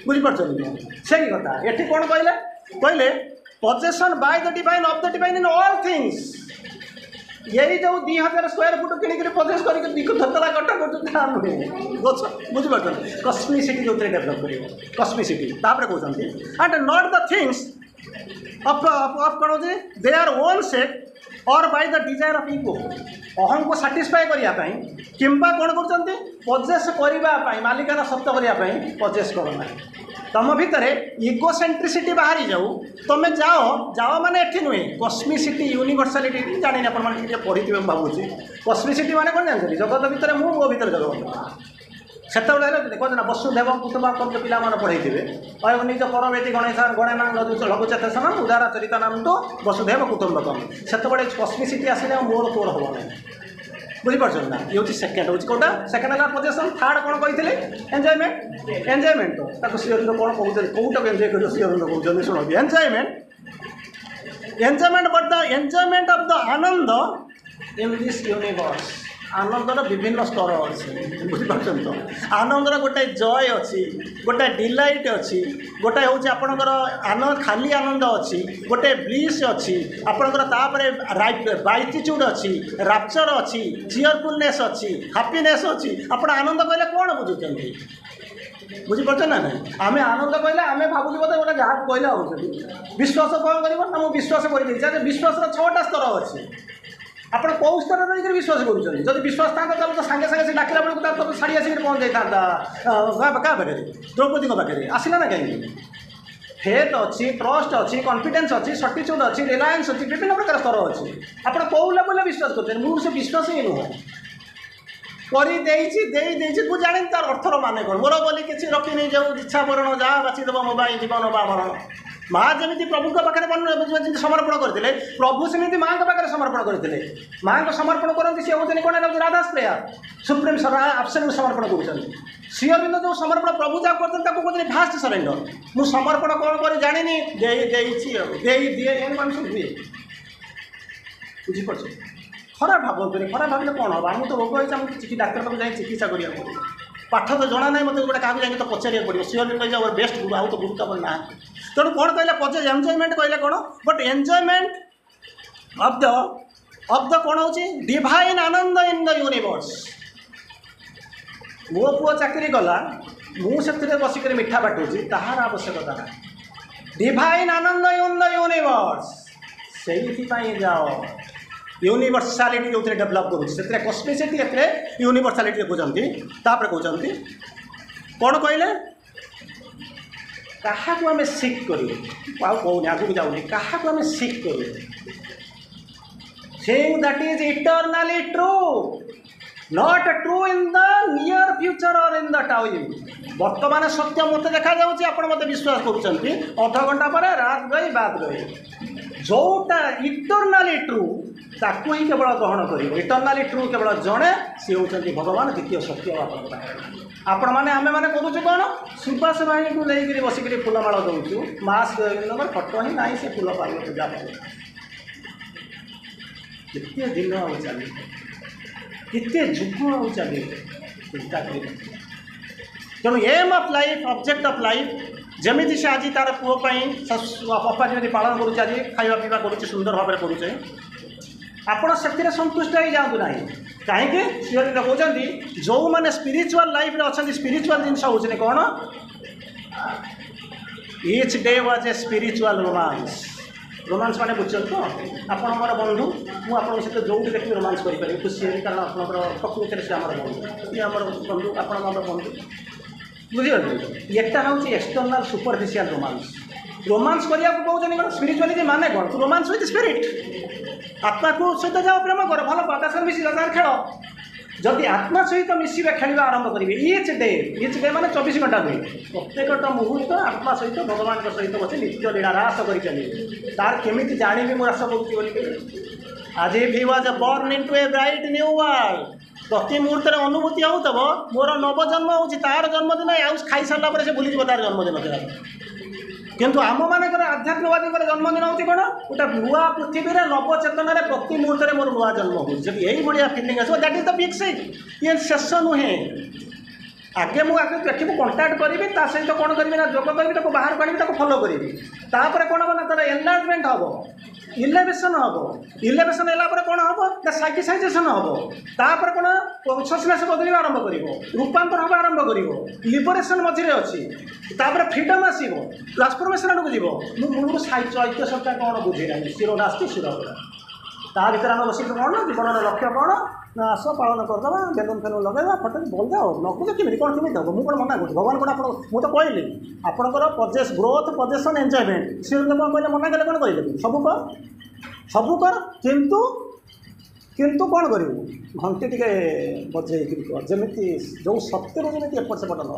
ବୁଝିପାରୁଛନ୍ତି ସେଇ କଥା ଏଠି କ'ଣ କହିଲେ କହିଲେ possession by the divine of the divine in all things ଏଇ ଯେଉଁ ଦୁଇ ହଜାର ସ୍କୋୟାର ଫୁଟ କିଣିକିରି ପଜେସ୍ କରିକି ଦୁଇ ଦୋତଲା କଟା କରୁଛୁ ତା ନୁହେଁ ଗଛ ବୁଝିପାରୁଛନ୍ତି କସ୍ମିସିଟି ଯେଉଁଥିରେ ଡେଭଲପ୍ କରିବ କସ୍ମିସିଟି ତାପରେ କହୁଛନ୍ତି and not the things of of କ'ଣ ହେଉଛି their own sake or by the desire of ego ଅହଂକୁ satisfy କରିବା ପାଇଁ କିମ୍ବା କ'ଣ କରୁଛନ୍ତି ପଜେସ୍ କରିବା ପାଇଁ ମାଲିକାନା ସତ୍ୟ କରିବା ପାଇଁ ପଜେସ୍ କର ନାହିଁ ତମ ଭିତରେ ଇଗୋ ସେଣ୍ଟ୍ରିସିଟି ବାହାରି ଯାଉ ତମେ ଯାଅ ଯାଅ ମାନେ ଏଠି ନୁହେଁ କସ୍ମିସିଟି ୟୁନିଭର୍ସାଲିଟି ଜାଣିନି ଆପଣମାନେ ଟିକେ ପଢ଼ିଥିବେ ମୁଁ ଭାବୁଛି କସ୍ମିସିଟି ମାନେ କ'ଣ ଜାଣିଛନ୍ତି ଜଗତ ଭିତରେ ମୁଁ ମୋ ଭିତରେ ଜଗତ ସେତେବେଳେ ହେଲେ ଦେଖନ୍ତୁ ନା ବସୁଧୈବ କୁଟୁମ୍ବକମ୍ ଯେଉଁ ପିଲାମାନେ ପଢ଼େଇଥିବେ କହିବ ନିଜ ପରବେତି ଗଣେଶ ଗଣେନା ଲଘୁଚେତସନ ଉଦାର ଚରିତ ନାମ ତ ବସୁଧୈବ କୁଟୁମ୍ବକମ୍ ସେତେବେଳେ କସ୍ମିସିଟି ଆସିଲେ ଆଉ ମୋର ତୋର ହେବ ନାହିଁ ବୁଝିପାରୁଛନ୍ତି ନା ଇଏ ହେଉଛି ସେକେଣ୍ଡ ହେଉଛି କେଉଁଟା ସେକେଣ୍ଡ ହେଲା ପଜେସନ୍ ଥାର୍ଡ଼ କ'ଣ କହିଥିଲେ ଏନ୍ଜୟମେଣ୍ଟ ଏନ୍ଜୟମେଣ୍ଟ ତାକୁ ଶ୍ରୀଅରବିନ୍ଦ କ'ଣ କହୁଛନ୍ତି କେଉଁଟାକୁ ଏନ୍ଜୟ କରିବ ଶ୍ରୀଅରବିନ୍ଦ କହୁଛନ୍ତି ଶୁଣନ୍ତୁ enjoyment enjoyment but the enjoyment of the Ananda in this universe ଆନନ୍ଦର ବିଭିନ୍ନ ସ୍ତର ଅଛି ବୁଝିପାରୁଛନ୍ତି ତ ଆନନ୍ଦର ଗୋଟେ ଜୟ ଅଛି ଗୋଟେ ଡିଲାଇଟ୍ ଅଛି ଗୋଟେ ହେଉଛି ଆପଣଙ୍କର ଆନନ୍ଦ ଖାଲି ଆନନ୍ଦ ଅଛି ଗୋଟେ ବ୍ଲିସ୍ ଅଛି ଆପଣଙ୍କର ତାପରେ ବିଆଟିଚ୍ୟୁଡ଼୍ ଅଛି ରାପଚର୍ ଅଛି ଚିୟରଫୁଲନେସ୍ ଅଛି ହାପିନେସ୍ ଅଛି ଆପଣ ଆନନ୍ଦ କହିଲେ କ'ଣ ବୁଝୁଛନ୍ତି ବୁଝିପାରୁଛନ୍ତି ନା ନାହିଁ ଆମେ ଆନନ୍ଦ କହିଲେ ଆମେ ଭାବୁଛୁ ବୋଧେ ଗୋଟେ ଯାହାକୁ କହିଲେ ଭାବୁଛନ୍ତି ବିଶ୍ୱାସ କ'ଣ କରିବ ନା ମୁଁ ବିଶ୍ୱାସ କରିଦେଇଛି ଆଚ୍ଛା ବିଶ୍ୱାସର ଛଅଟା ସ୍ତର ଅଛି ଆପଣ କେଉଁ ସ୍ତରରେ ରହିକରି ବିଶ୍ୱାସ କରୁଛନ୍ତି ଯଦି ବିଶ୍ୱାସ ଥାନ୍ତା ତାହେଲେ ତ ସାଙ୍ଗେ ସାଙ୍ଗେ ସେ ଡାକିଲା ବେଳକୁ ତାର ତ ଶାଢ଼ୀ ଆସିକରି ପହଞ୍ଚି ଯାଇଥାନ୍ତା କାହା କାହା ପାଖରେ ଦ୍ରୌପଦୀଙ୍କ ପାଖରେ ଆସିଲା ନା କାହିଁକି ଫେଥ୍ ଅଛି ଟ୍ରଷ୍ଟ ଅଛି କନଫିଡେନ୍ସ ଅଛି ସର୍ଟିଚ୍ୟୁଡ଼୍ ଅଛି ରିଲାଏନ୍ସ ଅଛି ବିଭିନ୍ନ ପ୍ରକାର ସ୍ତର ଅଛି ଆପଣ କେଉଁ ଲେଭେଲରେ ବିଶ୍ୱାସ କରୁଛନ୍ତି ମୁଁ ସେ ବିଶ୍ୱାସ ହିଁ ନୁହଁ କରିଦେଇଛି ଦେଇ ଦେଇଛି ମୁଁ ଜାଣିନି ତାର ଅର୍ଥର ମାନେ କ'ଣ ମୋର ବୋଲି କିଛି ରଖିନି ଯେଉଁ ଇଚ୍ଛା ବରଣ ଯାହା ବାଛିଦେବ ମୋ ପାଇଁ ଜୀବନ ବା ମରଣ ମା ଯେମିତି ପ୍ରଭୁଙ୍କ ପାଖରେ ଯେମିତି ସମର୍ପଣ କରିଥିଲେ ପ୍ରଭୁ ସେମିତି ମାଆଙ୍କ ପାଖରେ ସମର୍ପଣ କରିଥିଲେ ମାଆଙ୍କ ସମର୍ପଣ କରନ୍ତି ସିଏ ହେଉଛନ୍ତି କ'ଣ ନା ରାଧାସ ପ୍ରେୟାର ସୁପ୍ରିମ୍ ଆବସଲ୍ୟୁଟ୍ ସମର୍ପଣ କରୁଛନ୍ତି ଶ୍ରୀ ଅରବିନ୍ଦ ଯେଉଁ ସମର୍ପଣ ପ୍ରଭୁ ଯାହା କରୁଛନ୍ତି ତାକୁ କହୁଛନ୍ତି ଭାଷ୍ଟ ସରେଣ୍ଡର ମୁଁ ସମର୍ପଣ କ'ଣ କରି ଜାଣିନି ଦେଇ ଦେଇଛି ଆଉ ଦେଇ ଦିଏ ଏମିତି କ'ଣ ସବୁ ହୁଏ ବୁଝିପାରୁଛନ୍ତି ଖରାପ ଭାବନ୍ତୁନି ଖରାପ ଭାବିଲେ କ'ଣ ହେବ ଆମକୁ ତ ରୋଗ ହେଇଛି ଆମକୁ ଚିକି ଡାକ୍ତର ପାଖକୁ ଯାଇ ଚିକିତ୍ସା କରିବାକୁ ପଡ଼ିବ ପାଠ ତ ଜଣା ନାହିଁ ମୋତେ ଗୋଟେ କାହାକୁ ଯାଇକି ତ ପଚାରିବାକୁ ପଡ଼ିବ ଶ୍ରୀ ଅରବିନ୍ଦ କହିଛି ଆମର ବେଷ୍ଟ ଗୁରୁ ଆଉ ତ ଗୁରୁ ତ ଆମର ନାହାନ୍ତି ତେଣୁ କ'ଣ କହିଲେ ପଜେ ଏନ୍ଜୟମେଣ୍ଟ କହିଲେ କ'ଣ but enjoyment of the of the କ'ଣ ହେଉଛି divine Ananda in the universe ମୋ ପୁଅ ଚାକିରି କଲା ମୁଁ ସେଥିରେ ବସିକରି ମିଠା ବାଟୁଛି ତାହାର ଆବଶ୍ୟକତା ନାହିଁ divine Ananda in the universe ସେଇଥିପାଇଁ ଯାଅ ୟୁନିଭର୍ସାଲିଟି ଯେଉଁଥିରେ ଡେଭଲପ୍ କରୁଛି ସେଥିରେ କସ୍ମିସିଟି ଏଥିରେ ୟୁନିଭର୍ସାଲିଟି କହୁଛନ୍ତି ତାପରେ କହୁଛନ୍ତି କ'ଣ କହିଲେ କାହାକୁ ଆମେ ସିକ୍ କରିବୁ ଆଉ କହୁନି ଆଗକୁ ଯାଉନି କାହାକୁ ଆମେ ସିକ୍ କରିବୁ thing that is eternally true not true in the near future or in the time ବର୍ତ୍ତମାନ ସତ୍ୟ ମୋତେ ଦେଖାଯାଉଛି ଆପଣ ମୋତେ ବିଶ୍ୱାସ କରୁଛନ୍ତି ଅଧଘଣ୍ଟା ପରେ रात गई बात गई ଯେଉଁଟା ଇଟର୍ନାଲି ଟ୍ରୁ ତାକୁ ହିଁ କେବଳ ଗ୍ରହଣ କରିବ ଇଟର୍ନାଲି ଟ୍ରୁ କେବଳ ଜଣେ ସିଏ ହେଉଛନ୍ତି ଭଗବାନ ଦ୍ୱିତୀୟ ସତ୍ୟ ଆପଣଙ୍କ ପାଖରେ ଆପଣମାନେ ଆମେମାନେ କରୁଛୁ କ'ଣ ସୁବାସ ଭାଇଙ୍କୁ ନେଇକରି ବସିକରି ଫୁଲମାଳ ଦେଉଛୁ ମା ଶ୍ରୀଅରବିନ୍ଦଙ୍କର ଫଟୋ ହିଁ ନାହିଁ ସେ ଫୁଲ ପାଇବ ପୂଜା ପାଇବ କେତେ ଦିନ ଆଉ ଚାଲିବ କେତେ ଯୁଗ ଆଉ ଚାଲିବ ଚିନ୍ତା କରିବ ତେଣୁ aim of life object of life ଯେମିତି ସେ ଆଜି ତାର ପୁଅ ପାଇଁ ଅପା ଯେମିତି ପାଳନ କରୁଛି ଆଜି ଖାଇବା ପିଇବା କରୁଛି ସୁନ୍ଦର ଭାବରେ କରୁଛେ ଆପଣ ସେଥିରେ ସନ୍ତୁଷ୍ଟ ହେଇଯାଆନ୍ତୁ ନାହିଁ କାହିଁକି ଶ୍ରୀଅରବିନ୍ଦ କହୁଛନ୍ତି ଯେଉଁମାନେ ସ୍ପିରିଚୁଆଲ୍ ଲାଇଫ୍ରେ ଅଛନ୍ତି ସ୍ପିରିଚୁଆଲ୍ ଜିନିଷ ହେଉଛନ୍ତି କ'ଣ each day was a spiritual romance romance ମାନେ ବୁଝୁଛନ୍ତି ତ ଆପଣ ମୋର ବନ୍ଧୁ ମୁଁ ଆପଣଙ୍କ ସହିତ ଯେଉଁଠି ଦେଖିବି ରୋମାନ୍ସ କରିପାରିବି ଖୁସି ହେବି କାରଣ ଆପଣଙ୍କର ପ୍ରକୃତିରେ ସେ ଆମର ବନ୍ଧୁ ଇଏ ଆମର ବନ୍ଧୁ ଆପଣ ଆମର ବନ୍ଧୁ ବୁଝିପାରୁଛନ୍ତି ଏଟା ହେଉଛି ଏକ୍ସଟର୍ନାଲ୍ ସୁପରଫିସିଆଲ୍ ରୋମାନ୍ସ ରୋମାନ୍ସ କରିବାକୁ କହୁଛନ୍ତି କ'ଣ ସ୍ପିରିଚୁଆଲିଟି ମାନେ କ'ଣ ରୋମାନ୍ସ ୱିଥ୍ ସ୍ପିରିଟ୍ ଆତ୍ମାକୁ ସହିତ ଯାଅ ପ୍ରେମ କର ଭଲ ପାଅ ତା ସହିତ ମିଶି ଯାଅ ତାର ଖେଳ ଯଦି ଆତ୍ମା ସହିତ ମିଶିବା ଖେଳିବା ଆରମ୍ଭ କରିବେ ଇଚ୍ ଡେ ଇଚ୍ ଡେ ମାନେ ଚବିଶ ଘଣ୍ଟା ନୁହେଁ ପ୍ରତ୍ୟେକଟା ମୁହୂର୍ତ୍ତ ଆତ୍ମା ସହିତ ଭଗବାନଙ୍କ ସହିତ ବସି ନିତ୍ୟ ଲୀଳା ରାସ କରି ଚାଲିବେ ତାର କେମିତି ଜାଣିବି ମୁଁ ରାସ କରୁଛି ବୋଲି as if he was born into a bright new world ପ୍ରତି ମୁହୂର୍ତ୍ତରେ ଅନୁଭୂତି ହେଉଥିବ ମୋର ନବଜନ୍ମ ହେଉଛି ତାର ଜନ୍ମଦିନ ଆଉ ଖାଇସାରିଲା ପରେ ସେ ଭୁଲିଯିବ ତାର ଜନ୍ମଦିନ ଥିଲା କିନ୍ତୁ ଆମମାନଙ୍କର ଆଧ୍ୟାତ୍ମବାଦୀଙ୍କର ଜନ୍ମଦିନ ହେଉଛି କ'ଣ ଗୋଟେ ନୂଆ ପୃଥିବୀରେ ନବଚେତନାରେ ପ୍ରତି ମୁହୂର୍ତ୍ତରେ ମୋର ନୂଆ ଜନ୍ମ ହେଉଛି ଯଦି ଏଇଭଳିଆ ଫିଲିଂ ଆସିବ that is the big sick ଇଏ ଶେଷ ନୁହେଁ ଆଗେ ମୁଁ ଆଗେ ଦେଖିବୁ କଣ୍ଟାକ୍ଟ କରିବି ତା ସହିତ କ'ଣ କରିବି ନା ଯୋଗ କରିବି ତାକୁ ବାହାରକୁ ଆଣିବି ତାକୁ ଫଲୋ କରିବି ତାପରେ କ'ଣ ହେବ ନା ତାର ଏନଲାର୍ଜମେଣ୍ଟ ହେବ ଇଲେଭେସନ୍ ହେବ ଇଲେଭେସନ୍ ହେଲା ପରେ କ'ଣ ହେବ ନା ସାଇକିସାଇଜେସନ୍ ହେବ ତାପରେ କ'ଣ କନସସନେସ୍ ବଦଳିବା ଆରମ୍ଭ କରିବ ରୂପାନ୍ତର ହେବା ଆରମ୍ଭ କରିବ ଲିବରେସନ୍ ମଝିରେ ଅଛି ତାପରେ ଫ୍ରିଡ଼ମ୍ ଆସିବ ଟ୍ରାନ୍ସଫର୍ମେସନ୍ ଆଡ଼କୁ ଯିବ ମୁଁ ମୂଳରୁ ସାଇ ଚୈତ୍ୟ ସତ୍ତା କ'ଣ ବୁଝି ନାହିଁ ଶିର ନାସ୍ତି ଶିର ତା ଭିତରେ ଆମେ ବସିକି କ'ଣ ନା ଜୀବନର ଲକ୍ଷ୍ୟ କ'ଣ ନା ଆସ ପାଳନ କରିଦେବା ବେଲୁନ୍ ଫେଲୁନ୍ ଲଗାଇବା ଫଟୋ ବଲଯାଅ ନକଲେ କେମିତି କ'ଣ କେମିତି ହେବ ମୁଁ କ'ଣ ମନା କରୁଛି ଭଗବାନ କ'ଣ ଆପଣ ମୁଁ ତ କହିଲି ଆପଣଙ୍କର ପଜେସ୍ ଗ୍ରୋଥ୍ ପଜେସନ୍ ଏନ୍ଜୟମେଣ୍ଟ ସିଏ କ'ଣ କହିଲେ ମନା କଲେ କ'ଣ କହିଲେ ସବୁ କର ସବୁ କର କିନ୍ତୁ କିନ୍ତୁ କ'ଣ କରିବୁ ଘଣ୍ଟି ଟିକେ ବଜେଇକିରି କର ଯେମିତି ଯେଉଁ ସତ୍ୟରୁ ଯେମିତି ଏପଟ ସେପଟ ନ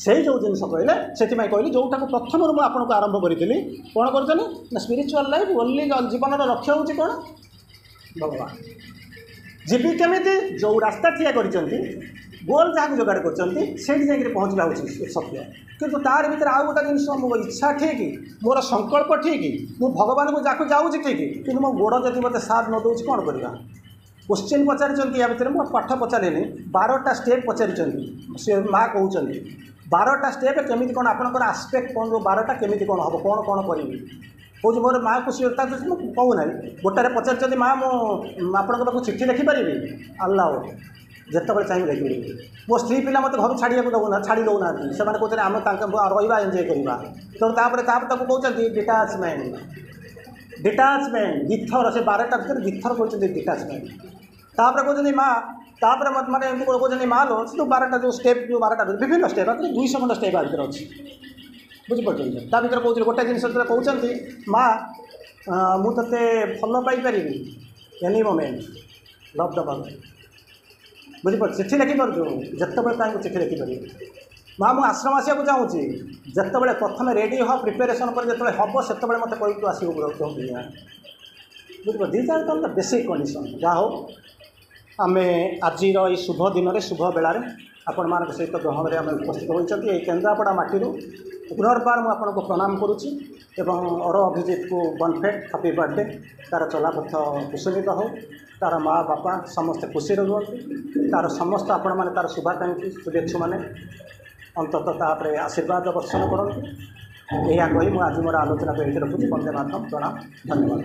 ସେଇ ଯେଉଁ ଜିନିଷ କହିଲେ ସେଥିପାଇଁ କହିଲି ଯେଉଁଟାକୁ ପ୍ରଥମରୁ ମୁଁ ଆପଣଙ୍କୁ ଆରମ୍ଭ କରିଥିଲି କ'ଣ କରୁଛନ୍ତି ନା ସ୍ପିରିଚୁଆଲ୍ ଲାଇଫ୍ ଓନ୍ଲି ଜୀବନର ଲକ୍ଷ୍ୟ ହେଉଛି କ'ଣ ଭଗବାନ ଯିବି କେମିତି ଯେଉଁ ରାସ୍ତା ଠିଆ କରିଛନ୍ତି ଗୋଲ୍ ଯାହାକୁ ଯୋଗାଡ଼ କରିଛନ୍ତି ସେଇଠି ଯାଇକରି ପହଞ୍ଚିବା ହେଉଛି ସତ୍ୟ କିନ୍ତୁ ତାରି ଭିତରେ ଆଉ ଗୋଟେ ଜିନିଷ ମୋ ଇଚ୍ଛା ଠିକ୍ ମୋର ସଂକଳ୍ପ ଠିକ୍ ମୁଁ ଭଗବାନଙ୍କୁ ଯାକୁ ଯାଉଛି ଠିକ୍ କିନ୍ତୁ ମୋ ଗୋଡ଼ ଯଦି ମୋତେ ସାଥ ନ ଦେଉଛି କ'ଣ କରିବା କୋଶ୍ଚିନ୍ ପଚାରିଛନ୍ତି ୟା ଭିତରେ ମୁଁ ପାଠ ପଚାରିନି ବାରଟା ଷ୍ଟେପ୍ ପଚାରିଛନ୍ତି ସେ ମା କହୁଛନ୍ତି ବାରଟା ଷ୍ଟେପ୍ କେମିତି କ'ଣ ଆପଣଙ୍କର ଆସ୍ପେକ୍ଟ କ'ଣ ଯେଉଁ ବାରଟା କେମିତି କ'ଣ ହେବ କ'ଣ କ'ଣ କରିବି କହୁଛି ମୋର ମାଆକୁ ସିଏ ତା ମୁଁ କହୁନାହିଁ ଗୋଟାରେ ପଚାରିଛନ୍ତି ମା ମୁଁ ଆପଣଙ୍କ ପାଖକୁ ଚିଠି ଲେଖିପାରିବି ଆଲ୍ଲାହ ଯେତେବେଳେ ଚାହିଁବି ଲେଖିପାରିବି ମୋ ସ୍ତ୍ରୀ ପିଲା ମୋତେ ଘରୁ ଛାଡ଼ିବାକୁ ଦେଉନା ଛାଡ଼ି ଦେଉନାହାନ୍ତି ସେମାନେ କହୁଛନ୍ତି ଆମେ ତାଙ୍କ ରହିବା ଏନ୍ଜୟ କରିବା ତେଣୁ ତାପରେ ତାପରେ ତାକୁ କହୁଛନ୍ତି ଡିଟାଚମେଣ୍ଟ ଡିଟାଚମେଣ୍ଟ ଦୁଇଥର ସେ ବାରଟା ଭିତରେ ଦୁଇଥର କହୁଛନ୍ତି ଡିଟାଚମେଣ୍ଟ ତାପରେ କହୁଛନ୍ତି ମା ତାପରେ ମାନେ ଏମିତି କହୁଛନ୍ତି ମା ଲୋ ସେ ଯେଉଁ ବାରଟା ଯେଉଁ ଷ୍ଟେପ୍ ଯେଉଁ ବାରଟା ବିଭିନ୍ନ ଷ୍ଟେପ୍ ଭିତରେ ଦୁଇଶହ ଖଣ୍ଡ ଷ୍ଟେପ୍ ଆ ଭିତରେ ଅଛି ବୁଝିପାରୁଛନ୍ତି ତା ଭିତରେ କହୁଛନ୍ତି ଗୋଟେ ଜିନିଷ ଯେତେବେଳେ କହୁଛନ୍ତି ମା ମୁଁ ତୋତେ ଭଲ ପାଇପାରିବି ଏନି ମୋମେଣ୍ଟ ଲଭ୍ ଦ ପାରୁ ବୁଝିପାରୁଛୁ ଚିଠି ଲେଖିପାରୁଛୁ ଯେତେବେଳେ ଚାହିଁବୁ ଚିଠି ଲେଖିପାରିବୁ ମା ମୁଁ ଆଶ୍ରମ ଆସିବାକୁ ଚାହୁଁଛି ଯେତେବେଳେ ପ୍ରଥମେ ରେଡ଼ି ହ ପ୍ରିପାରେସନ୍ ପରେ ଯେତେବେଳେ ହେବ ସେତେବେଳେ ମୋତେ କହିବୁ ତୁ ଆସିବୁ ବୁଝିପାରୁ these are the basic condition ଯାହା ହଉ ଆମେ ଆଜିର ଏଇ ଶୁଭ ଦିନରେ ଶୁଭ ବେଳାରେ ଆପଣମାନଙ୍କ ସହିତ ଗହଣରେ ଆମେ ଉପସ୍ଥିତ ହୋଇଛନ୍ତି ଏଇ କେନ୍ଦ୍ରାପଡ଼ା ମାଟିରୁ ପୁନର୍ବାର ମୁଁ ଆପଣଙ୍କୁ ପ୍ରଣାମ କରୁଛି ଏବଂ ଅର ଅଭିଜିତକୁ ବନଫେଟ୍ ହାପି ବାର୍ଥଡେ ତା'ର ଚଲାପଥ କୁସୁମିତ ହେଉ ତା'ର ମା ବାପା ସମସ୍ତେ ଖୁସିରେ ରୁହନ୍ତୁ ତା'ର ସମସ୍ତ ଆପଣମାନେ ତା'ର ଶୁଭାକାଂକ୍ଷୀ ଶୁଭେଚ୍ଛୁମାନେ ଅନ୍ତତଃ ତାପରେ ଆଶୀର୍ବାଦ ବର୍ଷଣ କରନ୍ତୁ ଏହା କହି ମୁଁ ଆଜି ମୋର ଆଲୋଚନାକୁ ଏଇଠି ରଖୁଛି ବନ୍ଦେ ମାତରମ୍ ପ୍ରଣାମ ଧନ୍ୟବାଦ